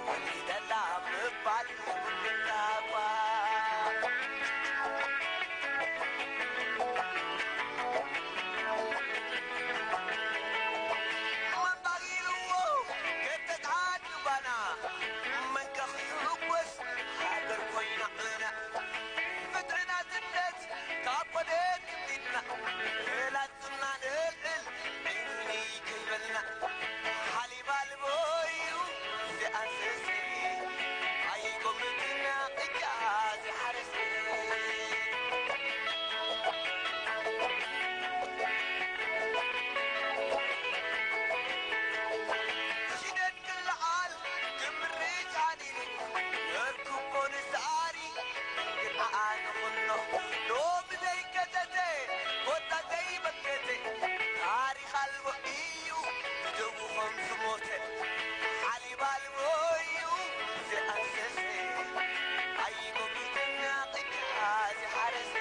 ወሊደላ ምባል የብሉን ዳባ። መን ባጊርዎ ከተትሓት ባና፣ መን ከኽርጎስ ሃገር ኮይና ዕና። ፍትሕና ትነት ካብ ኮደት ክቢድና፣ ላትና ንልዕል ዕንኒ ከይበልና። ሓሊብ ኣልቦ እዩ ዝኣንሰሰ፣ ኣይጎምትና እጃ ዝሓረሰ። ሽደድ ክለዓል ክምርጭ ኣዲሉ፣ ነርክቦ ንስኣሪ ግን ኣኣ ንኹኖ። ሎሚ ዘይከተተ፣ ኮታ ዘይበከተ፣ ታሪኽ ኣልቦ እዩ ብደሙ ከም ዝሞተ። ሓሊብ ኣልቦ እዩ ዝኣንሰሰ፣ ኣይጎምትና እጃ ዝሓረሰ።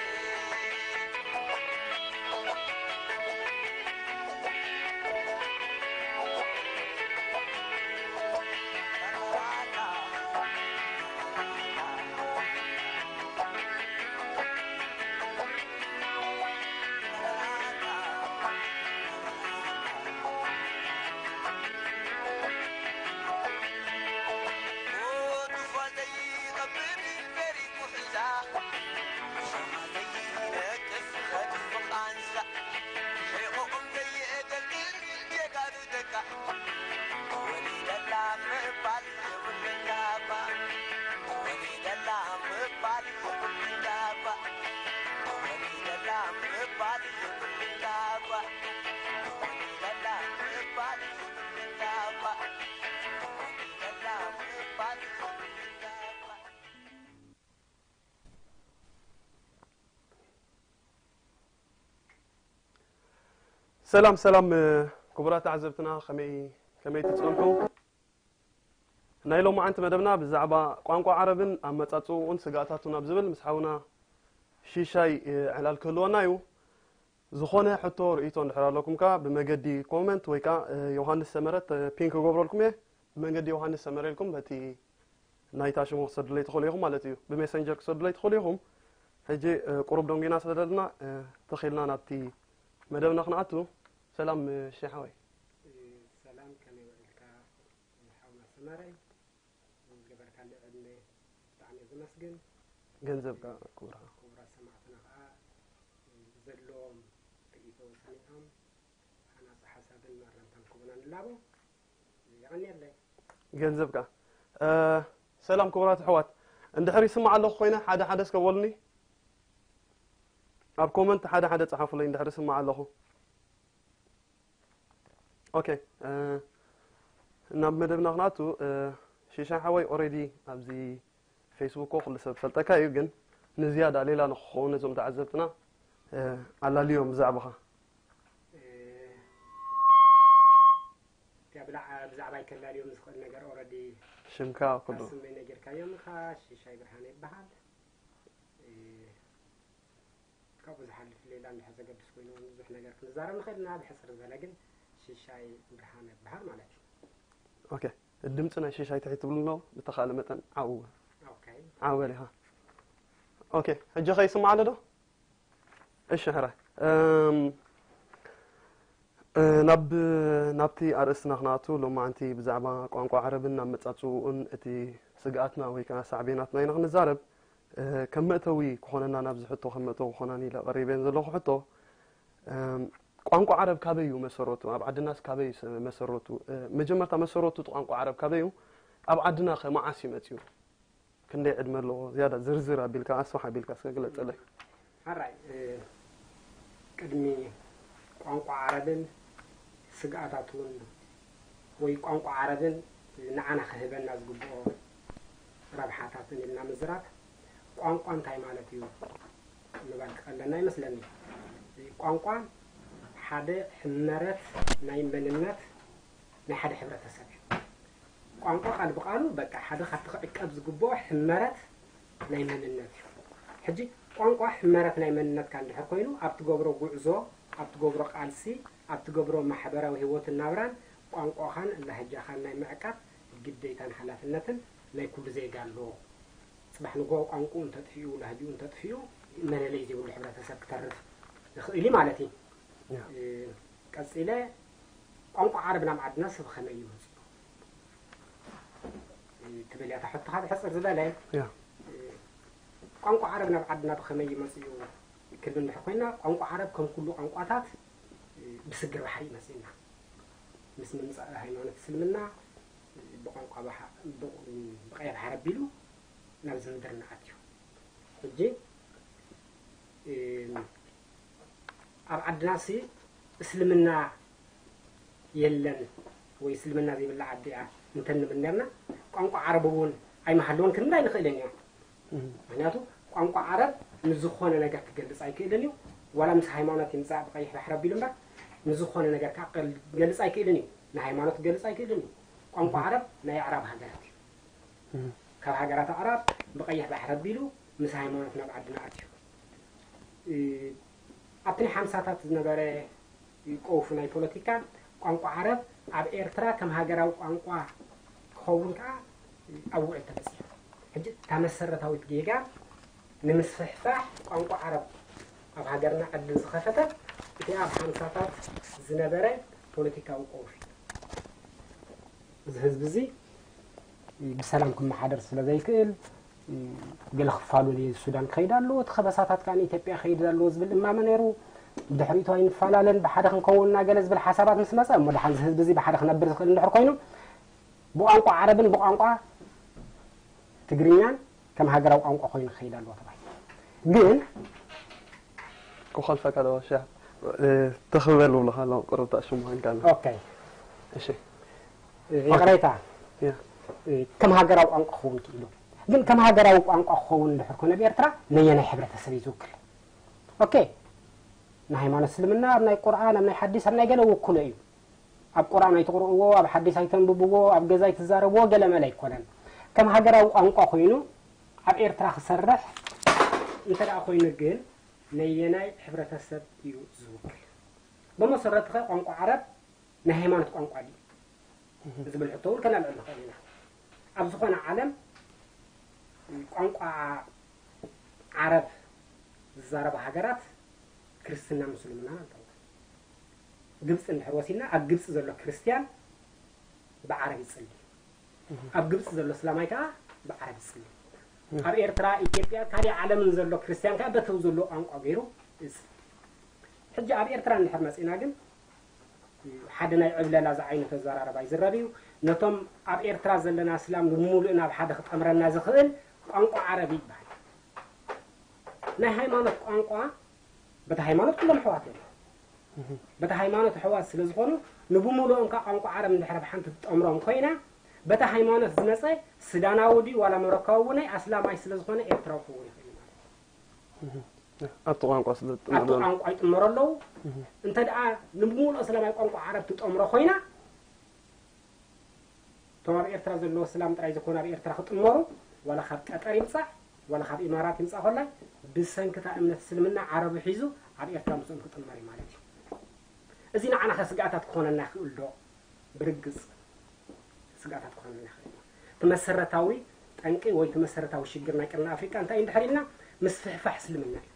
ሰላም ሰላም፣ ክቡራት ተዓዘብትና፣ ከመይ ከመይ ትጸንኩም? ናይ ሎማዓንቲ መደብና ብዛዕባ ቋንቋ ዓረብን ኣመጻጽኡን ስግኣታቱን ኣብ ዝብል ምስ ሓውና ሽሻይ ዕላል ክህልወና እዩ። ዝኾነ ሕቶ ርእይቶ እንድሕር ኣለኩም ከኣ ብመገዲ ኮመንት ወይ ከኣ ዮሃንስ ሰመረ ፒን ክገብረልኩም እየ። ብመንገዲ ዮሃንስ ሰመረ ኢልኩም በቲ ናይታ ሽሙ ክሰዱለይ ትኽእሉ ኢኹም ማለት እዩ። ብሜሰንጀር ክሰዱለይ ትኽእሉ ኢኹም። ሕጂ ቁሩብ ደንጒና ስለ ዘለና ተኺልና ናብቲ መደብና ክንኣቱ። ሰላም ሽሻይ ሓወይ። ሰላም፣ ከመይ ውዒልካ ሓውና ሰመረ? ዝገበርካለይ ዕድመ ብጣዕሚ እየ ዘመስግን። ገንዘብካ ክቡር። ክቡራት ሰማዕትና ከዓ ብዘለዎም ርእይቶ ሰሚዖም ሃናፂ ሓሳብን ማረምታን ክህቡና ንላቦ። የቐንየለይ። ገንዘብካ። ሰላም ክቡራት ኣሕዋት፣ እንድሕር ይስማዕ ኣለኹ ኮይነ ሓደ ሓደ እስከ በሉኒ። ኣብ ኮመንት ሓደ ሓደ ጸሓፉለይ እንድሕር ይስማዕ ኣለኹ። ኦኬ፣ ናብ መደብና ክንኣቱ። ሽሻይ ሓወይ፣ ኦሬዲ ኣብዚ ፌስቡክ ኩሉ ሰብ ፈልጠካ እዩ፣ ግን ንዝያዳ ሌላ ንክኸውን ነዞም ተዓዘብትና ኣላልዮም ብዛዕባኻ። እቲያ ብዛዕባይ ከላልዮም ዝኽእል ነገር ኦረዲ ሽምካ ኩሉ ስመይ ነጊርካዮም ኢኻ። ሽሻይ ብርሃነ ይበሃል። ካብኡ ዝሓልፍ ሌላ እንድሕር ዘገድስ ኮይኑ ብዙሕ ነገር ክንዛረብ ንኽእል ኢና። ብሕፅር ዝበለ ግን ሽሻይ ብርሃነ ይበሃል ማለት እዩ። ኦኬ፣ ድምፂ ናይ ሽሻይ ትሕት ትብሉ ኣሎ፣ ብተኻእለ መጠን ዓው ኦኬ። ዓው በል ኢኻ። ኦኬ፣ ሕጂ ኸ ይስማዕ ኣሎ ዶ? እሺ፣ ሕራይ። እም፣ እ፣ ናብ፣ ናብቲ ኣርእስትና ክንኣቱ፣ ሎማዓንቲ ብዛዕባ ቋንቋ ዓረብን ኣመጻጽኡን እቲ ስግኣትና ወይ ከኣ ሳዕቤናትና ኢና ክንዛረብ። እ፣ ከም መእተዊ ክኾነና፣ ናብዚ ሕቶ ከም መእተዊ ክኾነኒ ኢለ ቀሪበን ዘለኹ ሕቶ፣ እም፣ ቋንቋ ዓረብ ካበይ እዩ መሰረቱ? ኣብ ዓድናስ ካበይ እዩ መሰረቱ? እ፣ መጀመርታ መሰረቱ እቲ ቋንቋ ዓረብ ካበይ እዩ? ኣብ ዓድና ከ መዓስ እዩ መጺኡ? ክንደይ ዕድመ ኣለዎ? ዝያዳ ዝርዝር ኣቢልካ፣ ኣስፍሕ ኣቢልካ እስከ ግለጸለይ። ሕራይ፣ እ፣ ቅድሚ ቋንቋ ዓረብን ስግኣታቱን ወይ ቋንቋ ዓረብን ንዓና ክህበና ዝግብኦ ረብሓታትን ኢልና ምዝራብ፣ ቋንቋ እንታይ ማለት እዩ ምባል ክቐለና ይመስለኒ። ቋንቋ ሓደ ሕመረት ናይ መንነት ናይ ሓደ ሕብረተሰብ እዩ። ቋንቋ ቃል ብቃሉ በቃ ሓደ ካብቲ ክዕቀብ ዝግብኦ ሕመረት ናይ መንነት እዩ። ሕጂ ቋንቋ ሕመረት ናይ መንነትካ እንድሕር ኮይኑ፣ ኣብ ትገብሮ ጉዕዞ፣ ኣብ ትገብሮ ቃልሲ፣ ኣብ ትገብሮ ማሕበራዊ ህይወትን ናብራን ቋንቋኻን ላህጃኻን ናይ ምዕቃብ ግዴታን ሓላፍነትን ናይ ኩሉ ዜጋ ኣለዎ። ጽባሕ ንግሆ ቋንቋኡ እንተጥፊኡ፣ ላህጅኡ እንተጥፊኡ፣ መለለይ ዘይብሉ ሕብረተሰብ ክተርፍ ይኽእል እዩ ማለት እዩ። ያ። እ፣ ቀጺለ፣ ቋንቋ ዓረብ ናብ ዓድና ሰብ ከመይ እዩ መጺኡ? እ፣ ትብል እያ እታ ሕቶኻ ብሕጽር ዝበለ። ያ። እ፣ ቋንቋ ዓረብ ናብ ዓድና ብኸመይ እዩ መጺኡ ክብል እንድሕር ኮይና፣ ቋንቋ ዓረብ ከም ኩሉ ቋንቋታት፣ እ፣ ብስግር ባሕሪ እዩ መጺኡና። ምስ ምምጻእ ሃይማኖት እስልምና፣ እ፣ ብቋንቋ ባሕ-፣ ብ-፣ ብቐይሕ ባሕሪ ኣቢሉ ናብዚ ምድርና ኣትዩ። ሕጂ፣ እ፣ ኣብ ዓድናሲ እስልምና የለን ወይ እስልምና ዘይብላ ዓዲ እያ እንተንብል ነርና፣ ቋንቋ ዓረብ እውን ኣይምሃለወን ክንብል ኣይንኽእልን ኢና። እም። ምኽንያቱ ቋንቋ ዓረብ ንዝኾነ ነገር ክገልጽ ኣይክእልን እዩ። ዋላ ምስ ሃይማኖት ይምጻእ ብቐይሕ ባሕሪ ኣቢሉ እምበር፣ ንዝኾነ ነገር ከዓ ክገል-፣ ክገልጽ ኣይክእልን እዩ። ንሃይማኖት ክገልጽ ኣይክእልን እዩ። ቋንቋ እም። ዓረብ ናይ ኣዕራብ ሃገራት እዩ። እም። ካብ ሃገራት ኣዕራብ ብቐይሕ ባሕሪ ኣቢሉ ምስ ሃይማኖት ናብ ዓድና ኣትዩ። እ፣ ኣብቲ ናይ ሓምሳታት ዝነበረ ቀውፊ ናይ ፖለቲካ፣ ቋንቋ ዓረብ ኣብ ኤርትራ ከም ሃገራዊ ቋንቋ ክኸውን ከኣ ኣብ ውዕል ተበጺሑ። ሕጂ እታ መሰረታዊት ጌጋ ንምስፍሕፋሕ ቋንቋ ዓረብ ኣብ ሃገርና ዕድል ዝኸፈተ እቲ ኣብ ሓምሳታት ዝነበረ ፖለቲካዊ ቀውፊ። እዚ ህዝቢ እዚ ብሰላም ክመሓደር ስለ ዘይክእል፣ ገለ ክፋሉ ንሱዳን ክኸይድ ኣለዎ፣ እቲ ከበሳታት ከኣ ንኢትዮጵያ ክኸይድ ኣለዎ ዝብል እማመ ነይሩ። ብድሕሪቱ ኣይንፈላለን፣ ብሓደ ክንከውን ኢና ገለ ዝብል ሓሳባት ምስ መጸ፣ እሞ ደሓን እዚ ህዝቢ እዚ ብሓደ ክነብር ዝኽእል እንድሕር ኮይኑ፣ ብቋንቋ ዓረብን ብቋንቋ ትግርኛን ከም ሃገራዊ ቋንቋ ኮይኑ ክኸይድ ኣለዎ ተባሂሉ። ግን ክኸልፈካ ዶ ሻ-፣ እ፣ ተኽበል ብለኻ ኣለዉ ቅርብታ ሽሙ ሃንካና። ኦኬ። እሺ። ይቕሬታ። ያ። እ፣ ከም ሃገራዊ ቋንቋ ክኸውን ክኢሉ። ግን ከም ሃገራዊ ቋንቋ ክኸውን እንድሕር ኮነ ብኤርትራ ነየናይ ሕብረተሰብ እዩ ዝውክል? ኦኬ። ንሃይማኖት እስልምና ኣብ ናይ ቁርኣን፣ ኣብ ናይ ሓዲስ፣ ኣብ ናይ ገለ ውክሎ እዩ። ኣብ ቁርኣን ኣይትቕርእዎ፣ ኣብ ሓዲስ ኣይተንብብዎ፣ ኣብ ገዛ ኣይትዛረብዎ፣ ገለ መለ ኣይኮነን። ከም ሃገራዊ ቋንቋ ኮይኑ ኣብ ኤርትራ ክሰርሕ እንተ ደኣ ኮይኑ ግን ነየናይ ሕብረተሰብ እዩ ዝውክል? ብመሰረቱ ኸ ቋንቋ ዓረብ ናይ ሃይማኖት ቋንቋ ድዩ? እህ። ዝብል ሕቶ እውን ከነልዕል ንኽእል ኢና። ኣብ ዝኾነ ዓለም ቋንቋ ዓረብ ዝዛረባ ሃገራት ክርስትናን ምስልምናን ኣለዎ። ግብፂ እንድሕር ወሲድና፣ ኣብ ግብፂ ዘሎ ክርስትያን ብዓረብ ይፅሊ። እህ። ኣብ ግብፂ ዘሎ እስላማይ ከዓ ብዓረብ ይፅሊ። እህ። ኣብ ኤርትራ፣ ኢትዮጵያ፣ ካሊእ ዓለምን ዘሎ ክርስትያን ከዓ በተው ዘሎ ቋንቋ ገይሩ ይፅሊ። ሕጂ ኣብ ኤርትራ እንድሕር መፂና ግን ሓደ ናይ ዕብለላ ዝዓይነቱ ኣዘራርባ ይዝረብ እዩ። ነቶም ኣብ ኤርትራ ዘለና እስላም ንምሉእ ናብ ሓደ ክጠምረና ዝኽእል ቋንቋ ዓረብ ይበሃል። ናይ ሃይማኖት ቋንቋ፣ በቲ ሃይማኖት ኩሎም ኣሕዋት እዮም። እህ። በቲ ሃይማኖት ኣሕዋት ስለ ዝኾኑ፣ ንብምሉኦም ከኣ ቋንቋ ዓረብ እንድሕር ኣብ ሓንቲ ትጠምሮም ኮይና፣ በቲ ሃይማኖት ዝመጸ ሱዳናዊ ድዩ ዋላ ሞሮካዊ እውን ኣስላማይ ስለ ዝኾነ ኤርትራዊ ክኸውን ይኽእል እዩ ማለት እዩ። እህ። ኣብቲ ቋንቋ ስለ ኣብቲ ዝጥመር ቋንቋ ይጥመሩ ኣለዉ። እህ። እንተ ደኣ ንብምሉኡ ኣስላማይ ቋንቋ ዓረብ ትጠምሮ ኮይና፣ እቶም ኣብ ኤርትራ ዘለዉ ኣስላም ጥራይ ዘይኮነ ኣብ ኤርትራ ክጥመሩ፣ ዋላ ካብ ቀጠር ይምጻእ፣ ዋላ ካብ ኢማራት ይምጻእ ኮላይ፣ ብሰንኪ እታ እምነት እስልምና ዓረቡ ሒዙ ኣብ ኤርትራ ምስኦም ክጥመር እዩ ማለት እዩ። እዚ ንዓና ከ ስግኣታት ክኾነና ይኽእል ዶ? ብርግጽ ስግኣታት ክኾነና ይኽእል እዩ። እቲ መሰረታዊ ጠንቂ ወይ እቲ መሰረታዊ ሽግር ናይ ቀርኒ ኣፍሪቃ እንታይ እዩ እንድሕር ኢልና፣ ምስፍሕፋሕ እስልምና እዩ።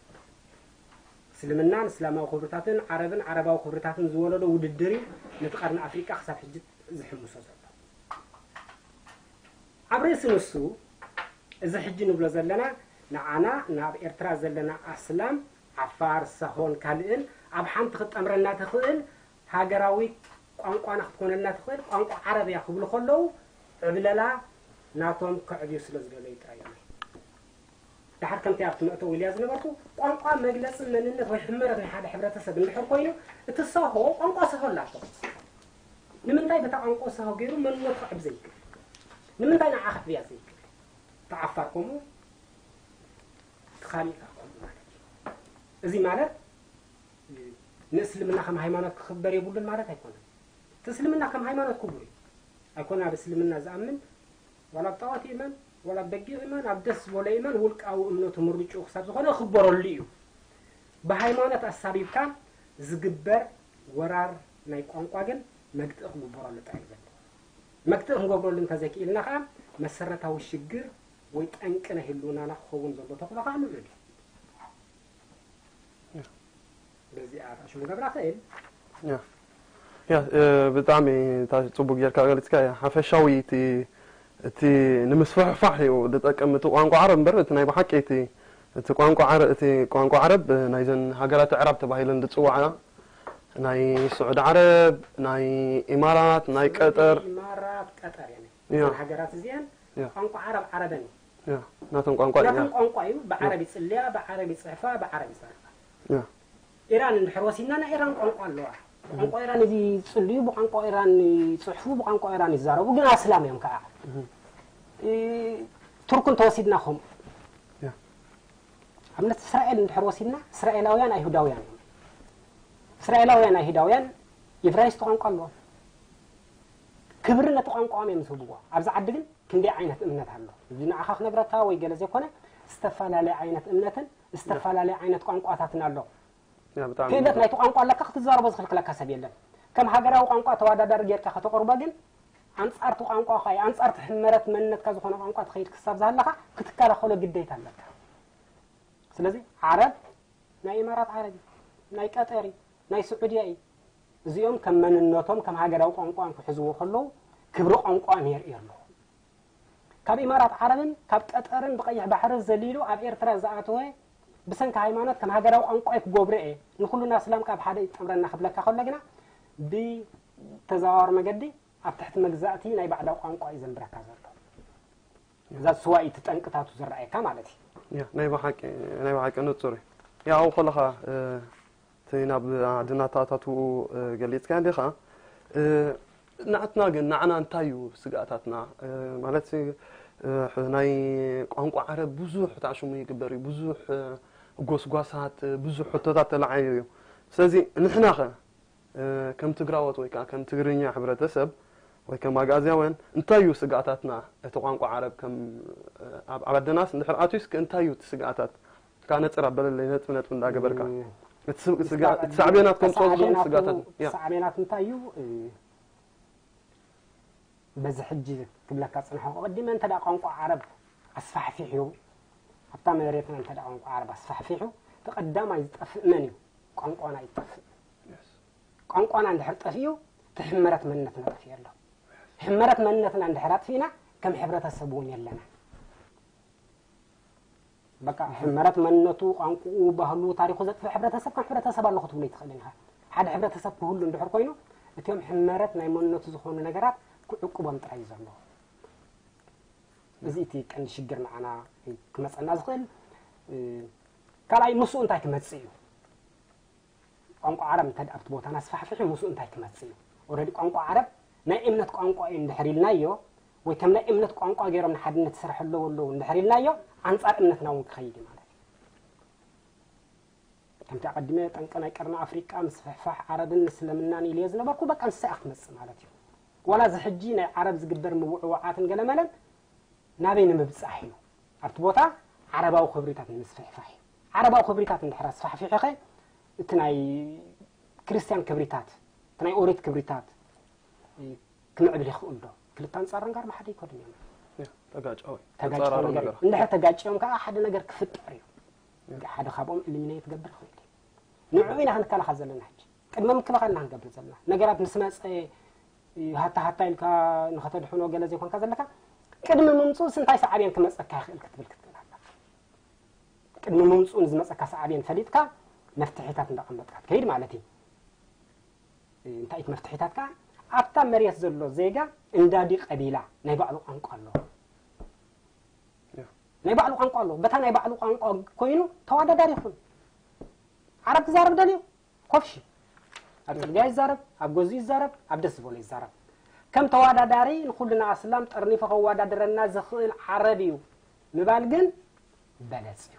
እስልምናን እስላማዊ ክብርታትን ዓረብን ዓረባዊ ክብርታትን ዝወለዶ ውድድር እዩ ነቲ ቀርኒ ኣፍሪቃ ክሳብ ሕጂ ዝሕምሶ ዘሎ። ኣብ ርእሲ ንሱ፣ እዚ ሕጂ ንብሎ ዘለና፣ ንዓና ናብ ኤርትራ ዘለና ኣስላም፣ ዓፋር፣ ሳሆን ካልእን ኣብ ሓንቲ ክትጠምረና ትኽእል ሃገራዊ ቋንቋና ክትኮነልና ትኽእል ቋንቋ ዓረብ እያ ክብሉ ከለዉ፣ ዕብለላ ናቶም ከዕብዩ ስለ ዝደለዩ ጥራይ እዮም። ደሓር ከምቲ ኣብቲ መእተዊ ኢልያ ዝነበርኩ፣ ቋንቋ መግለጺ መንነት ወይ ሕመረት ናይ ሓደ ሕብረተሰብ እንድሕር ኮይኑ፣ እቲ ሳሆ ቋንቋ ሳሆ ኣላቶ። ንምንታይ በታ ቋንቋ ሳሆ ገይሩ መንነቱ ከዕብ ዘይክእል? ንምንታይ ንዓ ከዕብያ ዘይክእል? እቲ ዓፋር ከምኡ፣ እቲ ካሊእ ከኣ ከምኡ ማለት እዩ። እዚ ማለት ንእስልምና ከም ሃይማኖት ክኽበር የብሉን ማለት ኣይኮነን። እቲ እስልምና ከም ሃይማኖት ክቡር እዩ። ኣይኮነ ኣብ እስልምና ዝኣምን፣ ዋላ ኣብ ጣዖት ይእመን፣ ዋላ ኣብ በጊዕ ይእመን፣ ኣብ ደስ ዝበሎ ይእመን፣ ውልቃዊ እምነቱ ምርጭኡ ክሳብ ዝኾነ ክኽበረሉ እዩ። ብሃይማኖት ኣሳቢብካ ዝግበር ወራር ናይ ቋንቋ ግን መግትኢ ክግበረሉ ጥራይ እዩ ዘለዎ። መክትእ ክንገብረሉ እንተዘይክኢልና ከዓ መሰረታዊ ሽግር ወይ ጠንቂ ናይ ህልውናና ክኸውን ዘሎ ተኽእሎ ከዓ ልዑል እዩ። በዚኣ ሽሙ ገብራ ክእል ያ ያ እ፣ ብጣዕሚ እታ ጽቡቅ ጌርካ ገሊጽካ እያ። ሓፈሻዊ እቲ እቲ ንምስፍሕፋሕ እዩ ዝጠቅም እቲ ቋንቋ ዓረብ እምበር እቲ ናይ ብሓቂ እቲ እቲ ቋንቋ ዓረ እቲ ቋንቋ ዓረብ ናይዘን ሃገራት ኣዕራብ ተባሂለን ዝጽዋዓ ናይ ስዑድ ዓረብ ናይ ኢማራት ናይ ቀጠር ኢማራት ቀጠር እየን ያ። እዘን ሃገራት እዚአን ያ። ቋንቋ ዓረብ ዓረበን እዩ ያ ናቶም ቋንቋ እያ ናቶም ቋንቋ እዩ ብዓረብ ይጽልያ ብዓረብ ይጽሕፋ ብዓረብ ይዛረባ ያ ኢራን እንድሕር ወሲድና ናይ ኢራን ቋንቋ ኣለዋ ቋንቋ ኢራን ይጽልዩ ብቋንቋ ኢራን ይጽሕፉ ብቋንቋ ኢራን ይዛረቡ ግን ኣስላም እዮም ከዓ እ፣ ቱርክ እንተወሲድና ከምኡ ያ ኣብነት እስራኤል እንድሕር ወሲድና እስራኤላውያን ኣይሁዳውያን እዮም እስራኤላውያን ኣይሁዳውያን ኢብራይስጥ ቋንቋ ኣለዎም ክብሪ ነቲ ቋንቋኦም እዮም ዝህብዎ ኣብዚ ዓዲ ግን ክንደይ ዓይነት እምነት ኣሎ እዚ ንዓኻ ክነግረካ ወይ ገለ ዘይኮነ ዝተፈላለየ ዓይነት እምነትን ዝተፈላለየ ዓይነት ቋንቋታትን ኣሎ ያ ብጣዕሚ ክእለት ናይቲ ቋንቋ ኣለካ ክትዛረቦ ዝኽልክለካ ሰብ የለን ከም ሃገራዊ ቋንቋ ተወዳዳሪ ጌርካ ከተቕርቦ ግን ኣንጻርቲ ቋንቋኻ እዩ ኣንጻርቲ ሕመረት መንነትካ ዝኾነ ቋንቋ ትኸይድ ክሳብ ዝሃለኻ ክትከላኸሎ ግዴታ ኣለካ ስለዚ ዓረብ ናይ ኢማራት ዓረብ እዩ ናይ ቀጠር እዩ ናይ ስዑድያ እዩ እዚኦም ከም መንነቶም ከም ሃገራዊ ቋንቋን ክሕዝዎ ከለዉ ክብሪ ቋንቋን የርእዩ ኣለዉ ካብ ኢማራት ዓረብን ካብ ቀጠርን ብቐይሕ ባሕሪ ዘሊሉ ኣብ ኤርትራ ዝኣተወ ብሰንኪ ሃይማኖት ከም ሃገራዊ ቋንቋይ ክገብሮ እየ ንኩሉና እስላም ካብ ሓደ ይጠምረና ክብለካ ከሎ ግና ብተዘዋዋሪ መገዲ ኣብ ትሕቲ መግዛእቲ ናይ ባዕዳዊ ቋንቋ እዩ ዘንብረካ ዘሎ እዛ ስዋ እዩ ትጠንቅታቱ ዝረኣየካ ማለት እዩ ያ ናይ ብሓቂ ናይ ብሓቂ ንጹር እዩ ያው ከለኻ እቲ ናብ ዓድና ተኣታትኡ ገሊጽካ እንዲኻ ንዓትና ግን ንዓና እንታይ እዩ ስግኣታትና ማለት ናይ ቋንቋ ዓረብ ብዙሕ ተኣሽሙ ይግበር እዩ ብዙሕ ጎስጓሳት ብዙሕ ሕቶታት ተለዓዩ እዩ ስለዚ ንሕናኸ ከም ትግራዎት ወይ ከዓ ከም ትግርኛ ሕብረተሰብ ወይ ከም ኣግኣዝያውያን እንታይ እዩ ስግኣታትና እቲ ቋንቋ ዓረብ ከም ኣብ ዓድናስ እንድሕር ኣትዩስ እንታይ እዩ እቲ ስግኣታት ካብ ነፅር ኣበለለይ ነጥቢ ነጥቢ እንዳገበርካ እቲ ሳዕቤናት ከምፅኦ ዝኽእል ስግኣታት ሳዕቤናት እንታይ እዩ በዚ ሕጂ ክብለካ ፅንሐ ቀዲመ እንተ ቋንቋ ዓረብ ኣስፋሕፊሑ ኣብታ መሬትና እንተ ቋንቋ ዓረብ ኣስፋሕፊሑ እቲ ቀዳማይ ዝጠፍእ መን እዩ ቋንቋና ይጠፍእ ቋንቋና እንድሕር ጠፊኡ እቲ ሕመረት መንነትና ጠፊኡ ኣሎ ሕመረት መንነትና እንድሕር ኣጥፊእና ከም ሕብረተሰብ እውን የለና በቃ ሕመረት መንነቱ ቋንቋኡ ባህሉ ታሪኹ ዘጥፍእ ሕብረተሰብ ከም ሕብረተሰብ ኣለኹ ትብሎ ይትኽእልን ኢኻ ሓደ ሕብረተሰብ ክህሉ እንድሕር ኮይኑ እቲኦም ሕመረት ናይ መንነቱ ዝኾኑ ነገራት ክዕቅቦም ጥራይ እዩ ዘለዎ እዚ እቲ ቀንዲ ሽግር ንዓና ክመፀና ዝኽእል ካልኣይ ምስኡ እንታይ ክመፅእ እዩ ቋንቋ ዓረብ እንተ ኣብቲ ቦታና ኣስፋሕፊሑ ምስኡ እንታይ ክመፅእ እዩ ኦረዲ ቋንቋ ዓረብ ናይ እምነት ቋንቋ እዩ እንድሕር ኢልናዮ ወይ ከም ናይ እምነት ቋንቋ ገይሮም ንሓድነት ይሰርሐ ኣለዉ ኣለዉ እንድሕር ኢልናዮ ኣንፃር እምነትና እውን ክኸይድ እዩ ማለት እዩ ከምቲ ኣቐዲመ ጠንቂ ናይ ቀርኒ ኣፍሪቃ ምስፍሕፋሕ ዓረብን ምስልምናን ኢልዮ ዝነበርኩ በቃ ንሳ እያ ክትመፅእ ማለት እዩ ዋላ እዚ ሕጂ ናይ ዓረብ ዝግበር ምውዕዋዓትን ገለመለን ናበይ ንምብፃሕ እዩ ኣብቲ ቦታ ዓረባዊ ክብሪታት ንምስፍሕፋሕ እዩ ዓረባዊ ክብሪታት እንድሕር ኣስፋሕፊሕኸ እቲ ናይ ክርስትያን ክብሪታት እቲ ናይ ኦሪት ክብሪታት ክምዕብል ይኽእል ዶ ክልተ ኣንፃር ጋር ብሓደ ይከዱን እዮም ተጋጫዊ ተጋጭ ነገር እንድሕር ተጋጭዮም ከዓ ሓደ ነገር ክፍጠር እዩ ሓደ ካብኦም እልሚነ ትገብር ይኽእል እዩ ንዕኡ ኢና ክንከላኸል ዘለና ሕጂ ቅድሚ ምክልኻል ኢና ክንገብር ዘለና ነገራት ምስ መፀ ሃታ ሃታ ኢልካ ንኸተድሕኖ ገለ ዘይኮንካ ዘለካ ቅድሚ ምምፅኡስ እንታይ ሰዓብየን ክመፀካ ይኽእል ክትብል ክትክእል ኣለካ ቅድሚ ምምፅኡ ንዝመፀካ ሰዓብየን ፈሊጥካ መፍትሒታት እንዳቐመጥካ ትከይድ ማለት እዩ እንታይ እቲ መፍትሒታት ከዓ ኣብታ መሬት ዘሎ ዜጋ እንዳዲ ቀቢላ ናይ ባዕሉ ቋንቋ ኣለዎ ናይ ባዕሉ ቋንቋ ኣለዎ በታ ናይ ባዕሉ ቋንቋ ኮይኑ ተወዳዳሪ ይኹን ዓረብ ክዛረብ ደልዩ ኮፍሺ ኣብ ፅርግያ ይዛረብ ኣብ ገዙ ይዛረብ ኣብ ደስ ዝበሎ ይዛረብ ከም ተወዳዳሪ ንኩልና ኣስላም ጠርኒፉ ከወዳድረና ዝኽእል ዓረብ እዩ ምባል ግን በለፅ እዩ